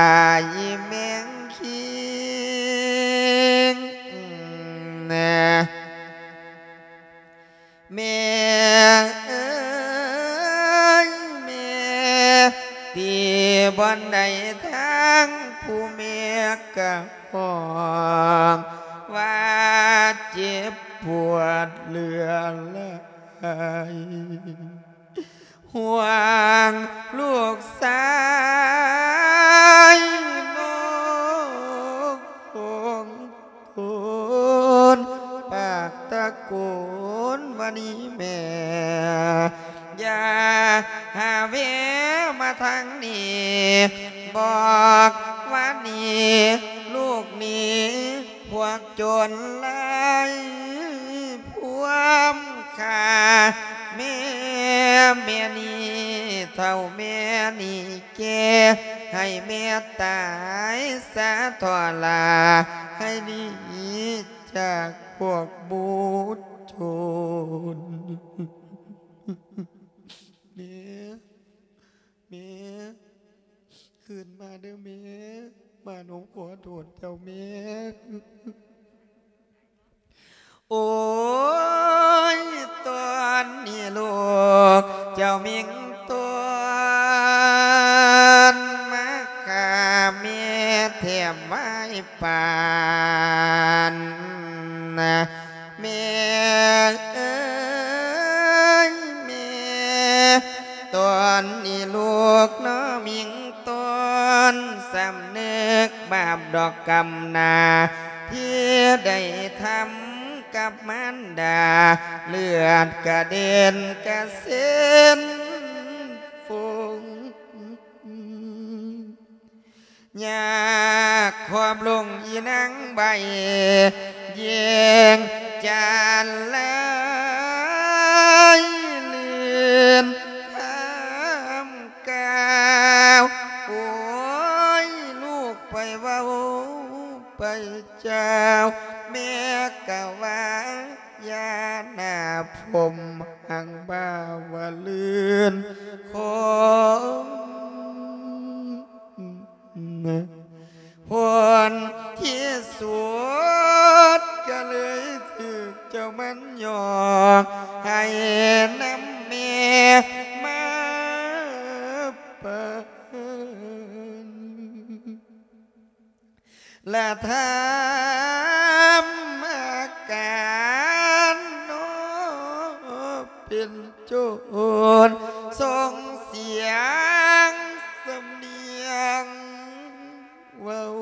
ອີແມງຄີງ ແມ່ເອີຍແມ່ ທີ່ບ່ອນໃດທາງຜູ້ແມ່ກະຮ້ອງວ່າເຈັບປວດເຫຼືອແລະ ຍ ຫ່ວງລູກຊາຍນ້ອງຄົນ ປາກຕະໂກນວ່ານີ້ແມ່ ຢ່າຫາແວມາທາງນີ້ ບອກວ່ານີ້ ລູກໜີພວກໂຈນລາຍພວມຂ້າແມ່ ແມ່ນີ້ເຖົ້າແມ່ນີ້ ແກ່ໃຫ້ແມ່ຕາຍສາທໍລາ ໃຫ້ໜີຈາກພວກບຸດໂຈນ. ແມ່ ແມ່ ຄືນມາເດີແມ່ ມານົບຂໍໂທດເຈົ້າແມ່. ໂອ້ຍ ຕອນນີ້ລູກເຈົ້າມິງຕອນ ມາຂ້າແມ່ແທບວາຍປານ ແມ່ເອີຍແມ່ ຕອນນີ້ລູກນ້ອງມິງຕອນ ສຳນຶກບາບດອກກຳນາ ທີ່ໄດ້ທຳກັບມານດາ ເລືອດກະເດັນກະເຊັນຟົງ ຍາກຂອບລົງອີນາງໃບ ແຍງຈານລາຍລື່ນ ຫ້າມກ່າວ ໂອ້ຍ ລູກໄປເວົ້າໄປຈາວ ແມ່ກະວ່າຢ່າໜ້າພົມຫັງບ່າວະລື່ນ ຂອງ ຜົນທີ່ສຸດກະເລີຍຖືກເຈົ້າມັນຫຍອກ ໃຫ້ນຳແມ່ມາປານ ລະທຳອາການນອກເປັນໂຈນ ສົ່ງສຽງສຳນຽງເວົ້າ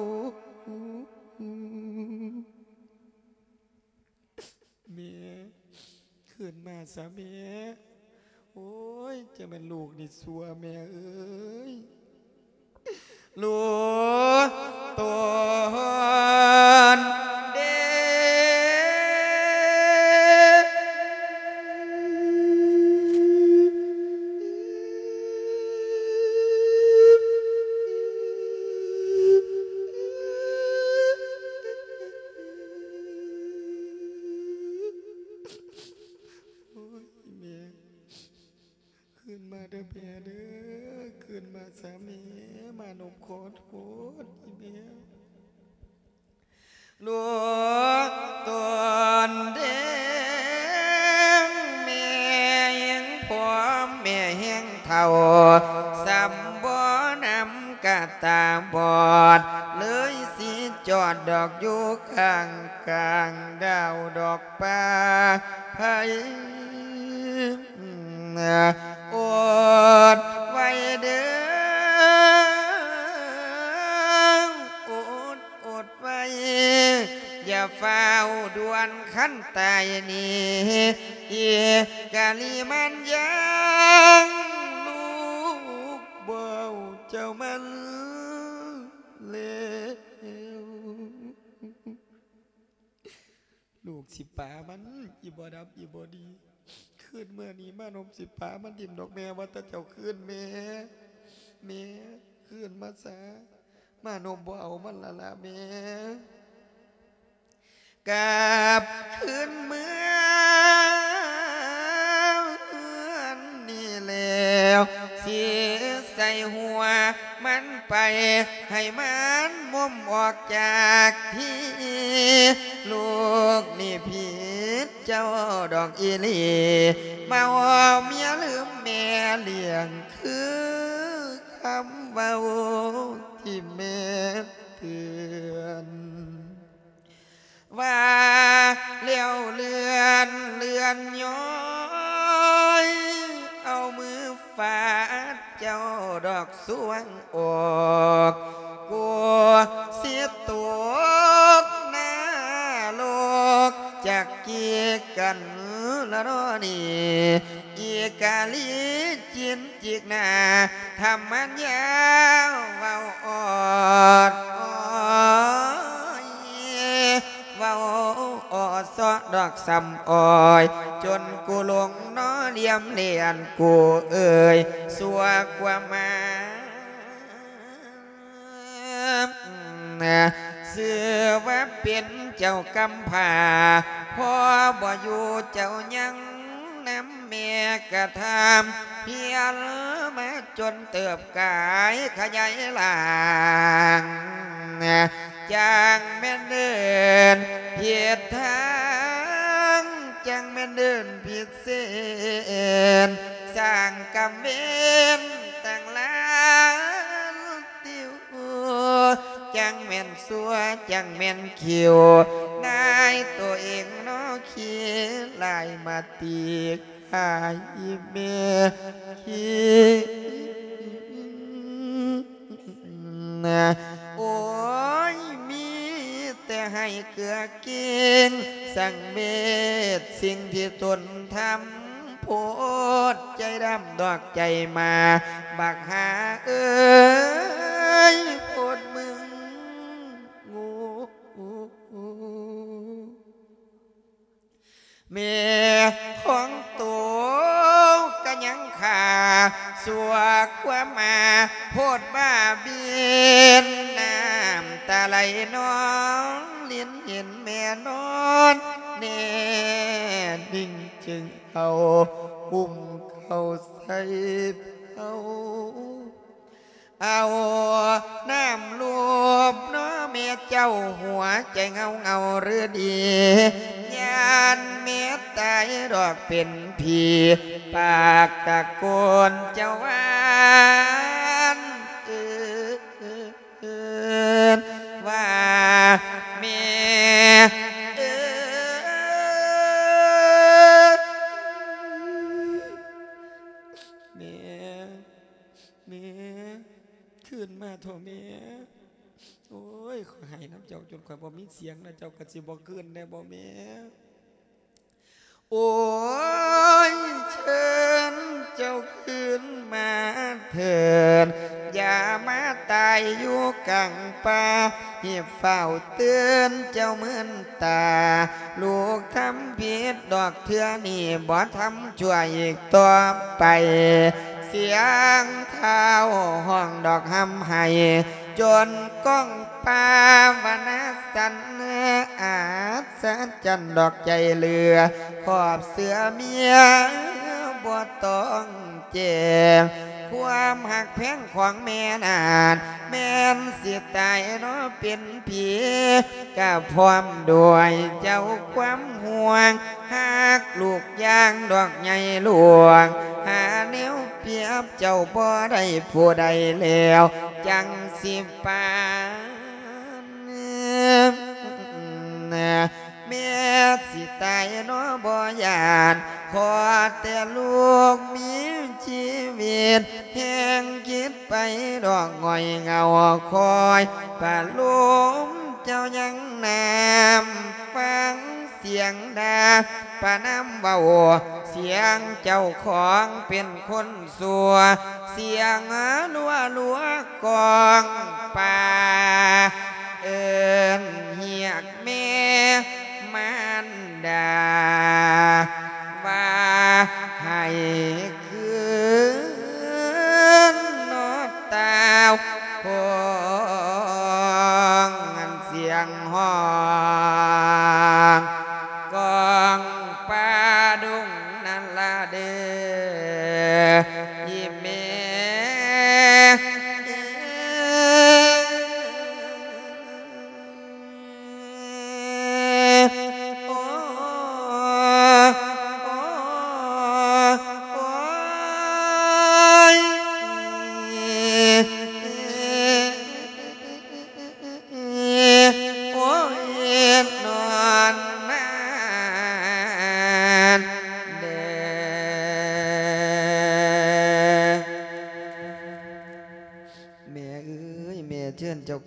ແມ່ ຄືນມາຊະແມ່ ໂອ້ຍ ຈັ່ງແມ່ນລູກນີ້ຊົ່ວແມ່ເອີຍ ລູກຕົນເດ້. ໂອ້ຍ ອີ່ແມ່ ຄືນມາເດີແມ່ເດີ ຄືນມາຊະແມ່ ມານົບຂໍໂທດອີ່ແມ່. ລູກຕົນເດ້ງ ແມ່ແຮງຜອມ ແມ່ແຮງເຖົ້າ ສ່ຳບໍ່ນຳກະຕາບອດ ເລີຍຊິຈອດດອກຢູ່ຂ້າງກາງດາວດອກປາໄພ. ອົດໄວ້ເດີ ອົດ ອົດໄວ້ ຢ່າຟ້າວດ່ວນ ຄັນຕາຍນີ້ ອີກະລີມັນຍັງ ລູກບໍ່ເອົາເຈົ້າມັນແລ້ວ. ລູກຊິປາມັນ ອີ່ບໍ່ດັບ ອີ່ບໍ່ດີ ຄືນເມື່ອນີ້ມານົບຊິປາມັນຖິ້ມດອກແມ່ ວ່າແຕ່ເຈົ້າຄືນແມ່ ແມ່ຄືນມາຊະ ມານົບບໍ່ເອົາມັນລະລະແມ່. ກັບຄືນເມືອເຮືອນນີ້ແລ້ວ ຊິໃສ່ຫົວມັນໄປ ໃຫ້ມັນມຸມອອກຈາກທີ່ ລູກນີ້ຜິດເຈົ້າດອກອີ່ຫຼີ ມາເອົາເມຍລືມແມ່ລ້ຽງ ຄືຄຳເວົ້າທີ່ແມ່ເຕືອນ ວ່າແລ້ວເລື່ອນ ເລື່ອນຍ້ອນ ກກີກັນລະເນາະນີ້ ອີກາລີຈິນຈິກໜ້າ ທຳມັນຍາວເວົ້າອອດອອຍ ເວົ້າອອດເຊາະດອກສຳອອຍ ຈົນກູຫຼົງເນາະລຽມລຽນກູເອີຍ ຊົ່ວກວ່າມາ ຊື່ວ່າເປັນເຈົ້າກຳພ້າ ພໍ່ບໍ່ຢູ່ເຈົ້າຍັງນຳແມ່ກະທຳ ຮຽນມາຈົນເຕີບກາຍຂະຫຍາຍລ່າງ ຈັ່ງແມ່ນເດີນຜິດທາງ ຈັ່ງແມ່ນເດີນຜິດເສັ້ນ ສ້າງກຳເວນຕັ້ງຫຼາຍ ຕິວ ຈັ່ງແມ່ນຊົ່ວ ຈັ່ງແມ່ນຂິວ ນາຍໂຕເອງເນາະຂີ້ຫຼາຍມາຕີກາຍແມ່ຂີ້ ໂອ້ຍ ມີແຕ່ໃຫ້ເກືອເກງ ສັງເວດສິ່ງທີ່ຕົນທຳ ໂພດໃຈດຳດອກໃຈໝາ ບັກຫ່າເອີຍ ໂພດມຶງໂງ່ ແມ່ຂອງໂຕກະຍັງຂ້າ ຊົ່ວກວ່າໝາ ໂພດບ້າບິນ ນ້ຳຕາໄຫຼນອງລິນ ເຫັນແມ່ນອນແນ່ນິ່ງ ຈຶ່ງເອົາກຸ້ມເຂົ້າໃສ່ເພົາ ເອົານ້ຳລູບເນາະແມ່ເຈົ້າ ຫົວໃຈເຫງົາເຫງົາເຫຼືອດີ ຢ້ານແມ່ຕາຍດອກເປັນຜີ ປາກຕະໂກນເຈົ້າຫວານ ເອີ້ນວ່າແມ່ເອີຍ ແມ່ ແມ່ ຄືນມາເຖາະແມ່ ໂອ້ຍ ຂ້ອຍໄຫ້ນຳເຈົ້າຈົນຂ້ອຍບໍ່ມີສຽງແລ້ວ ເຈົ້າກໍຊິບໍ່ຄືນແດ່ບໍ່ແມ່? ໂອ້ຍ ເຊີນເຈົ້າຄືນມາເທີນ ຢ່າມາຕາຍຢູ່ກາງປ່າ ຮີບຟ້າວເຕືອນເຈົ້າມື່ນຕາ ລູກທຳຜິດດອກເທື່ອນີ້ ບໍ່ທຳຊົ່ວອີກຕໍ່ໄປ ສຽງທ້າວຮ້ອງດອກຮ່ຳໄຫ້ ຈົນກ້ອງປ່າວະນາສັ່ນ ອັດສະຈັນດອກໃຈເຫຼືອ ຄອບເສື້ອເມຍບໍ່ຕ້ອງແຈ້ງ ຄວາມຮັກແພງຂອງແມ່ນັ້ນ ແມ່ນຊິຕາຍເນາະເປັນຜີ ກະພ້ອມດ້ວຍເຈົ້າຄວາມຫ່ວງ ຮັກລູກຢ່າງດອກໃຫຍ່ຫຼວງ ຫາແນວປຽບເຈົ້າບໍ່ໄດ້ຜູ້ໃດແລ້ວ ຈັ່ງຊິປານ ແມ່ຊິຕາຍເນາະບໍ່ຢ້ານ ຂໍແຕ່ລູກມີຊີວິດ ແຮງຄິດໄປດອກງ່ອຍເຫງົາ ຄອຍປະໂລມເຈົ້າຍັງນາມ ຟັງສຽງດາປະນາມເວົ້າ ສຽງເຈົ້າຂອງເປັນຄົນ ຊົ່ວ ສຽງລັວໆກ້ອງປ່າ ເອີ້ນຮຽກແມ່ມານດາ ວ່າໃຫ້ຄືນເນາະຕາວຂອງ ອັນສຽງຮ້ອງ ກ້ອງປ່າດົງນັ້ນລະເດີ ອີ່ແມ່ ໂອ້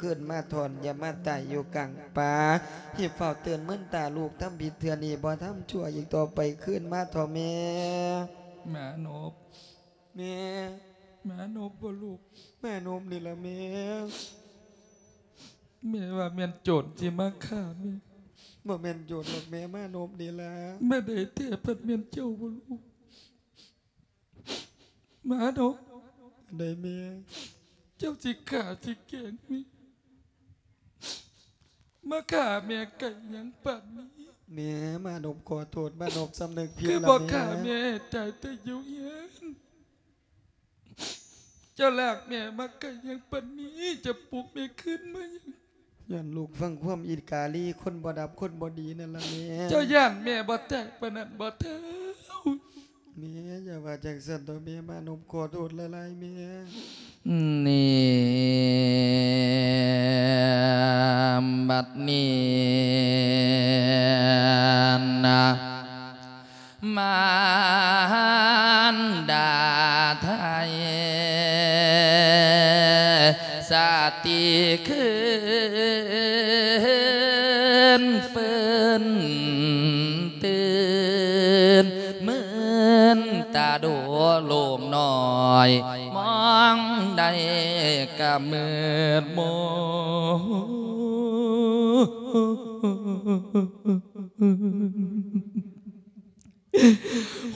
ຄືນມາທ້ອນ ຢ່າມາຕາຍຢູ່ກາງປ່າ. ຮີບຟ້າວເຕີນເມີນຕາລູກ ທຳຜິດເທື່ອນີ້ບໍ່ທຳຊົ່ວອີກຕໍ່ໄປ. ຄືນມາເຖາະແມ່. ມານົບ. ແມ່. ມານົບບໍ່ລູກ? ມານົບນີ້ລະແມ່. ແມ່ວ່າແມ່ນໂຈນຊິມາຂ້າແມ່. ບໍ່ແມ່ນໂຈນດອກແມ່ ມານົບນີ້ລະ. ມາໄດ້ແທ້ ພັດແມ່ນເຈົ້າບໍ່ລູກ? ມານົບ. ໄດ້ແມ່. ເຈົ້າຊິຂ້າຊິແກງແມ່? ມາຂ້າແມ່ໄກຫຍັງປານນີ້? ແມ່ ມານົບຂໍໂທດ ມານົບສຳນຶກຜິດລະແມ່. ຄືບໍ່ຂ້າແມ່ໃຫ້ຕາຍແຕ່ຢູ່ເຮືອນ? ເຈົ້າລາກແມ່ມາໄກຫຍັງປານນີ້? ຈະປຸກແມ່ຄືນມາຫຍັງ? ຍ້ອນລູກຟັງຄວາມອີກາລີ ຄົນບໍ່ດັບຄົນບໍ່ດີນັ້ນລະແມ່. ເຈົ້າຢ້ານແມ່ບໍ່ແຕກປານນັ້ນບໍ່ເຖົ້າ? ແມ່ ຢ່າວ່າຈັ່ງຊັ້ນເຖາະແມ່. ມານົບຂໍໂທດຫຼາຍໆແມ່. ນີ້ ບັດນີ້ນະ ມານດາໄທ ສະຕິຄືນຟື້ນຕື່ນ ມື່ນຕາດູລູກນ້ອຍ ມອງໃດກະມືດມົນ.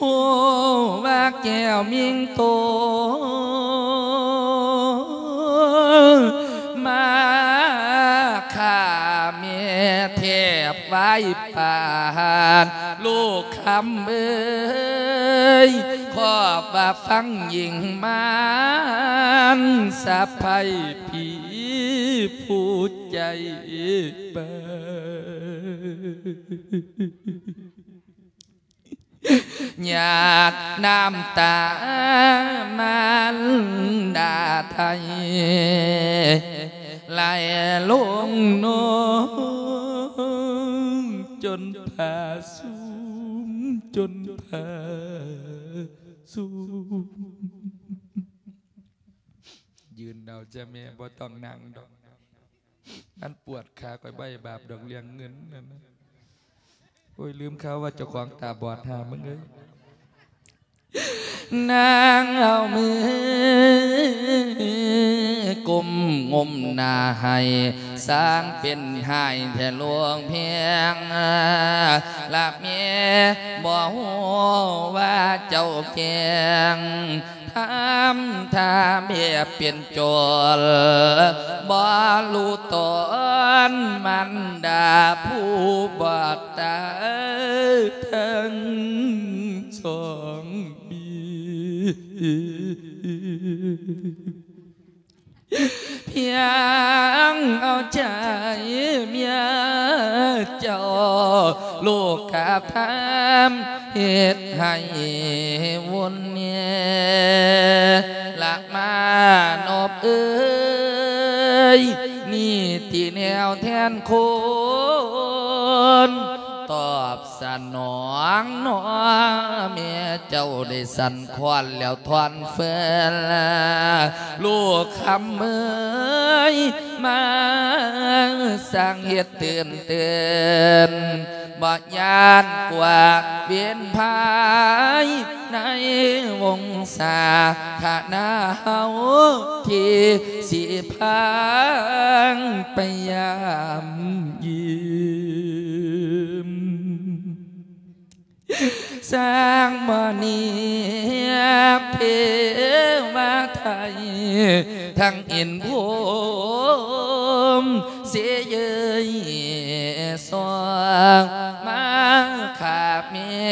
ຮູ້ວ່າແກ້ວມິງໂຕ ມາຂ້າແມ່ແທບໄຫວ້ປານ ລູກຄຳເອີຍ ຂອບວ່າຟັງຍິງມານ ສະໃພ້ຜີຜູ້ໃຈບາງ. ຫຍາດນ້ຳຕາມານດາໄທ ໄຫຼລົງນອງ ຈົນຜ້າຊຸ່ມ ຈົນຜ້າຊຸ່ມ. ຢືນເອົາຈ້າແມ່ ບໍ່ຕ້ອງນັ່ງດອກ. ມັນປວດຂາຂ້ອຍ ບໍ່ໃຫ້ບາບດອກເລື່ອງເງິນນັ້ນນະ. ໂອ້ຍ ລືມຂ່າວວ່າເຈົ້າຂອງຕາບອດ ຫາມຶງເອີຍ. ນາງເອົາມືກຸມງຸມໜ້າໃຫ້ ຊ່າງເປັນຮ້າຍແທ້ຫຼວງແພງ ລະແມ່ບໍ່ຮູ້ວ່າເຈົ້າແກ້ງ ທຳທ່າແບບເປັນໂຈນ ບໍ່ຮູ້ຕອນມານດາຜູ້ບໍ່ຕາຍທັງສອງບີ. ພຽງເອົາໃຈເມຍເຈົ້າ ລູກກະພາມເຮັດໃຫ້ວຸ່ນແນ່ ລະມານົບເອີຍ ນີ້ຕິແນວແທນຄົນ ຕອບສະໜອງໜໍ ແມ່ເຈົ້າໄດ້ສັ່ນຄ້ອນແລ້ວທ້ອນເຟີນ ລູກຄຳເອີຍ ມາສ້າງເຫດຕື່ນເຕີນ ບໍ່ຢ້ານກວ່າເວນພາຍ ໃນວົງສາຄະນະເຮົາ ທີ່ຊິພາໄປຢາມຢ້ຽມ ສ້າງມະນີເພວາໄທ ທັງອິນພົມ ເສຍເຍີຍຊອງ ມາຂ້າແມ່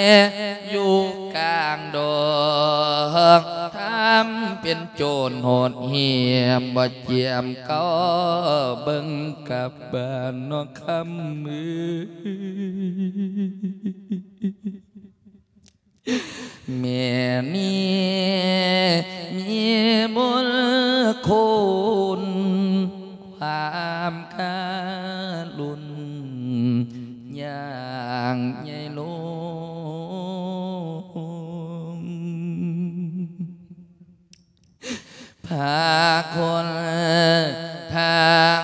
ຢູ່ກາງດອກ ທຳເປັນໂຈນໂຫດຫ້ຽມ ບໍ່ຈຽມເກົ່າເບິ່ງກັບບ້ານນອກຄຳເອີຍ. ແມ່ນີ້ມີບຸນຄຸນ ຄວາມກະລຸນຢ່າງໃຫຍ່ຫຼວງ ພາຄົນທາງ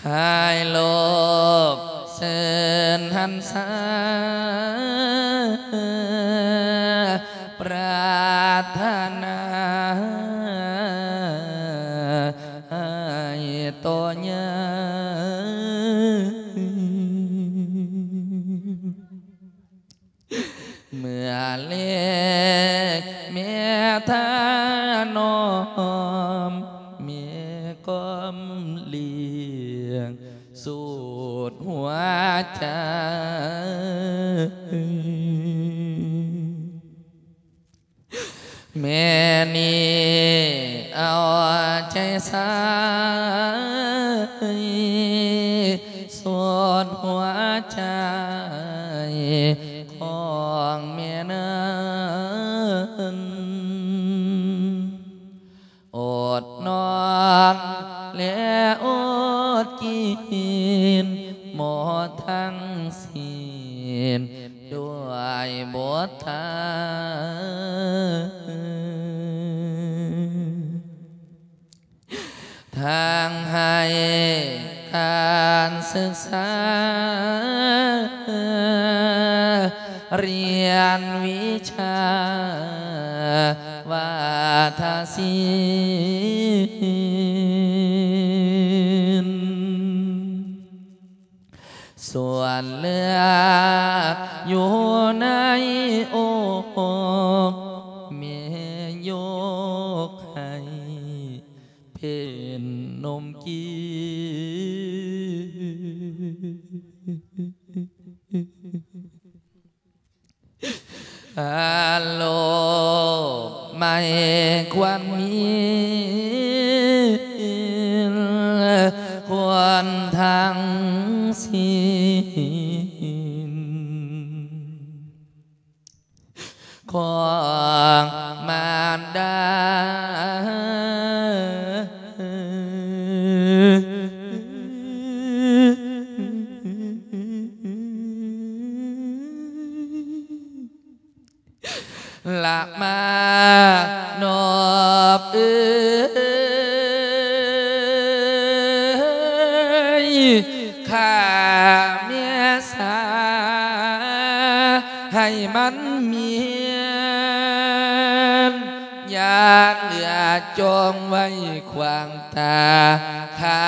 ໃຫ້ໂລກຊື່ນຫັນສາ ປາດຖະໜາໃຫ້ໂຕໃຫຍ່ ເມື່ອເລັກແມ່ທານອມ ແມ່ກອມລ້ຽງສຸດຫົວໃຈ ແມ່ນີ້ເອົາໃຈໃສ່ ສຸດຫົວໃຈຂອງແມ່ນັ້ນ ອົດນອນ ແລະ ອົດກິນ ໝົດທັງສິ້ນ ດ້ວຍບົດທາ ທັງໃຫ້ການສຶກສາ ຮຽນວິຊາວາທະສິນ ສ່ວນເລືອດຢູ່ໃນອົກ ແມ່ຍົກໃຫ້ເປັນນົມກິນ ອາໂລມໃໝ່ຄວນມີ ຄວນທັງສິ້ນ ຂອງມານດາ ລະມານອບເອີຍ ຂ້າແມ່ສາໃຫ້ມັນມີ ຍາເຫຼືອຈົ່ງໄວ້ຂວາງຕາ ຂ້າ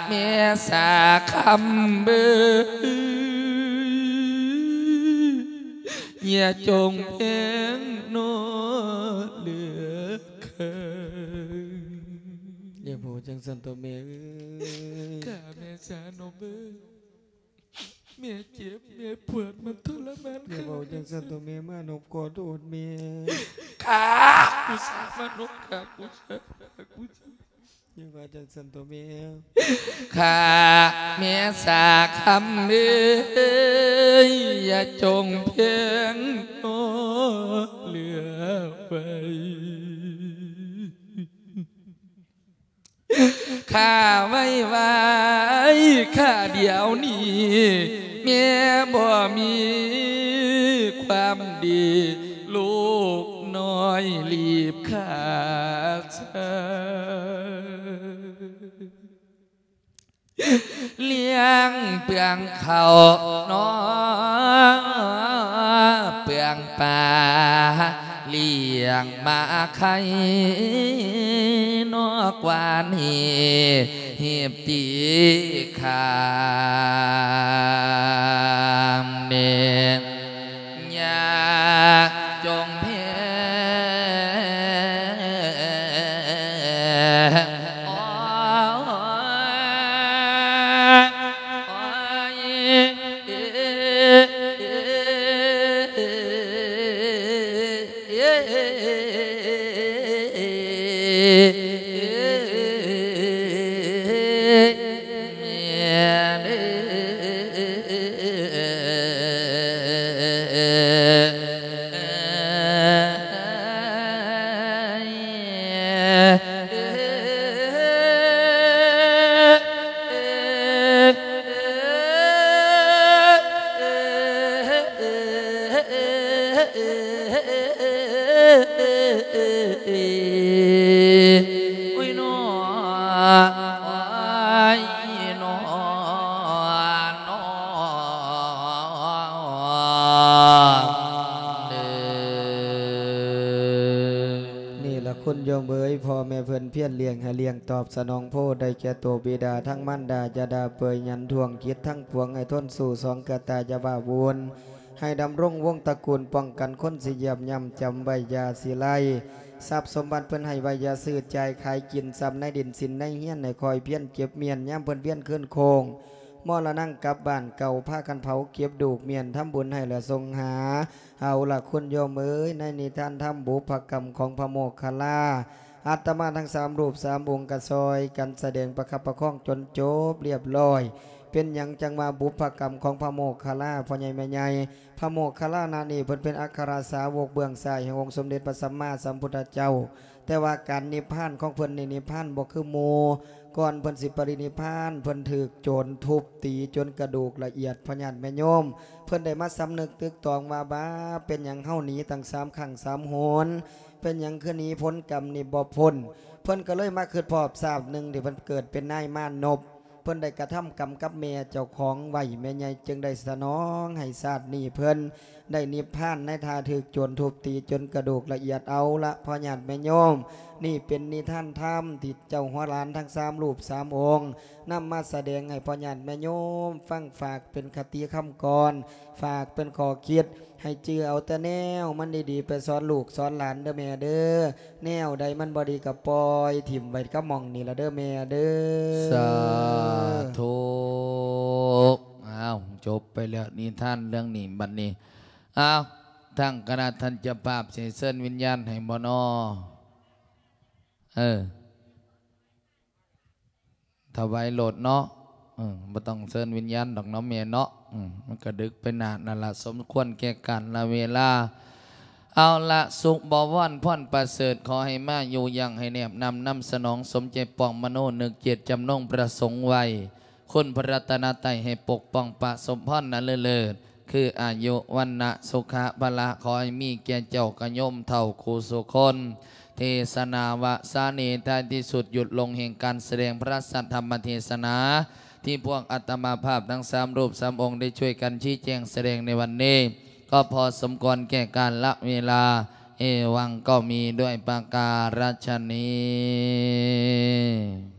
ແມ່ສາຄຳເບີ ຢ່າຈົ່ງແພງນໍເຫຼືອຂ້າ. ຢ່າເວົ້າຈັ່ງຊັ້ນໂຕແມ່ເອີຍ ຂ້າແມ່ສານົມເອີຍ ແມ່ເຈັບ ແມ່ປວດ ມັນທໍລະມານ ຢ່າເວົ້າຈັ່ງຊັ້ນໂຕແມ່ ມານົບຂໍໂທດແມ່ ຂ້າ ກູສາມານົບ ຂ້າ ກູສາ ຂ້າ ກູສາ ຢ່າວ່າຈັ່ງຊັ້ນໂຕແມ່ ຂ້າແມ່ສາຄຳເອີຍ ຢ່າຈົ່ງແພງນໍເຫຼືອໄວ້ ຂ້າໄວ້ວາຍ ຂ້າດຽວນີ້ ແມ່ບໍ່ມີຄວາມດີ ລູກນ້ອຍລີບຂາດສາ ລ້ຽງເປືອງເຂົ້ານອ ເປືອງປາ ລ້ຽງໝາໄຂ່ນອກວານ ຮີບຕີຄາມເນ ຢ່າຈົ່ງແພງ ໂອ້ຍ ໂອ້ຍ ເອີ ເອີ ເອີ ເອີ ເອີ ເອີ ເອີ ແມ່ເອີ. ໂຍມເອີຍ ພໍ່ແມ່ເພິ່ນພຽນລ້ຽງໃຫ້ລ້ຽງຕອບສະໜອງໂພ ໄດ້ແກ່ໂຕບິດາທັງມານດາ ຢ່າດ່າເປີຍຫຍັນທວງ ຈິດທັງປວງໃຫ້ທົນສູ້ ສອງກະຕາຢ່າວາວຸນ ໃຫ້ດຳລົງວົງຕະກູນ ປ້ອງກັນຄົນຊິຢຽບຍ່ຳ ຈຳໄວ້ຢ່າຊິໄລ່ ຊັບສົມບັດເພິ່ນໃຫ້ໄວ້ ຢ່າຊື້ຈ່າຍຂາຍກິນ ຊັບໃນດິນສິນໃນເຮືອນ ໃຫ້ຄອຍພຽນເກັບມ້ຽນ ຍາມເພິ່ນວຽນຄືນໂຄ້ງ ມໍລະນັງກັບບ້ານເກົ່າ ພາກັນເຜົາເກັບດູກມ້ຽນ ທຳບຸນໃຫ້ແລະສົ່ງຫາ. ເອົາລະ ຄຸນໂຍມເອີຍ ໃນນິທານທຳບຸບພະກຳຂອງພະໂມກຄະລາ ອາດຕະມາທັງສາມຮູບສາມອົງກະຊ່ອຍກັນສະແດງປະຄັບປະຄອງຈົນຈົບລຽບລ້ອຍ. ເປັນຫຍັງຈັ່ງວ່າບຸບພະກຳຂອງພະໂມກຄະລາ ພໍ່ໃຫຍ່ແມ່ໃຫຍ່? ພະໂມກຄະລານະນີ້ ເພິ່ນເປັນອັກຄະລະສາວົກເບື້ອງຊ້າຍແຫ່ງອົງສົມເດັດພະສຳມາສຳພຸດທະເຈົ້າ ແຕ່ວ່າການນິບພານຂອງເພິ່ນນີ້ ນິບພານບໍ່ຄືໝູ່. ກ່ອນເພິ່ນຊິປະລິນິບພານ ເພິ່ນຖືກໂຈນທຸບຕີຈົນກະດູກລະອຽດ ພໍ່ຍາດແມ່ໂຍມ. ເພິ່ນໄດ້ມາສຳນຶກຕຶກຕອງວ່າ ບາ ເປັນຫຍັງເຮົາໜີຕັ້ງສາມຄັ້ງສາມຫົນ? ເປັນຫຍັງຄືໜີຜົນກຳນີ້ບໍ່ພົ້ນ? ເພິ່ນກໍເລີຍມາຄິດພໍ້ຊາດໜຶ່ງທີ່ເພິ່ນເກີດເປັນນາຍມານົບ ເພິ່ນໄດ້ກະທຳກຳກັບແມ່ເຈົ້າຂອງໄວ້ ແມ່ໃຫຍ່ຈຶ່ງໄດ້ສະໜອງໃຫ້ຊາດນີ້ເພິ່ນໄດ້ນິບພານໃນທ່າຖືກໂຈນທຸບຕີຈົນກະດູກລະອຽດ. ເອົາລະ ພໍ່ຍາດແມ່ໂຍມ ນີ້ເປັນນິທານທຳທີ່ເຈົ້າຫົວຫຼານທັງສາມຮູບສາມອົງ ນຳມາສະແດງໃຫ້ພໍ່ຍາດແມ່ໂຍມຟັງ ຝາກເປັນຄະຕິຄຳກອນ ຝາກເປັນຂໍ້ຄິດ ໃຫ້ຈື່ເອົາແຕ່ແນວມັນດີໆ ໄປສອນລູກສອນຫຼານເດີແມ່ເດີ. ແນວໃດມັນບໍ່ດີກໍປ່ອຍຖິ້ມໄວ້ກັບໝ່ອງນີ້ລະເດີແມ່ເດີ. ສາທຸ. ອ້າວ ຈົບໄປແລ້ວນິທານເລື່ອງນີ້. ບັດນີ້ ອ້າວ ທາງຄະນະທ່ານເຈົ້າພາບຊິເຊີນວິນຍານໃຫ້ບໍ່ນໍ? ເອີ ຖວາຍໂລດເນາະ. ເອີ ບໍ່ຕ້ອງເຊີນວິນຍານດອກເນາະແມ່ເນາະ. ເອີ ມັນກະດຶກໄປນານນັ້ນລະ ສົມຄວນແກ່ການລະເວລາ. ເອົາລະ ສຸກບໍວອນພອນປະເສີດ ຂໍໃຫ້ມາຢູ່ຍັງ ໃຫ້ແນບນຳນຳສະໜອງ ສົມໃຈປອງມະໂນນຶກເຈດຈຳນົງປະສົງໄວ້. ຄຸນພະລັດຕະນະໄຕໃຫ້ປົກປ້ອງປະສົມພອນອັນເລີດເລີດ ຄືອາຍຸ ວັນນະ ສຸຂະ ພະລະ ຂໍໃຫ້ມີແກ່ເຈົ້າກະໂຍມເຖົ້າຄູ່ສູ່ຄົນ. ເທສະນາວະສານີ ທ້າຍທີ່ສຸດ ຢຸດລົງແຫ່ງການສະແດງພະສັດທຳມະເທສະນາ ທີ່ພວກອາດຕະມາພາບທັງສາມຮູບສາມອົງໄດ້ຊ່ວຍກັນຊີ້ແຈງສະແດງໃນວັນນີ້ ກໍພໍສົມຄວນແກ່ການລະເວລາ. ເອວັງກໍມີດ້ວຍປະການະຊະນີ້.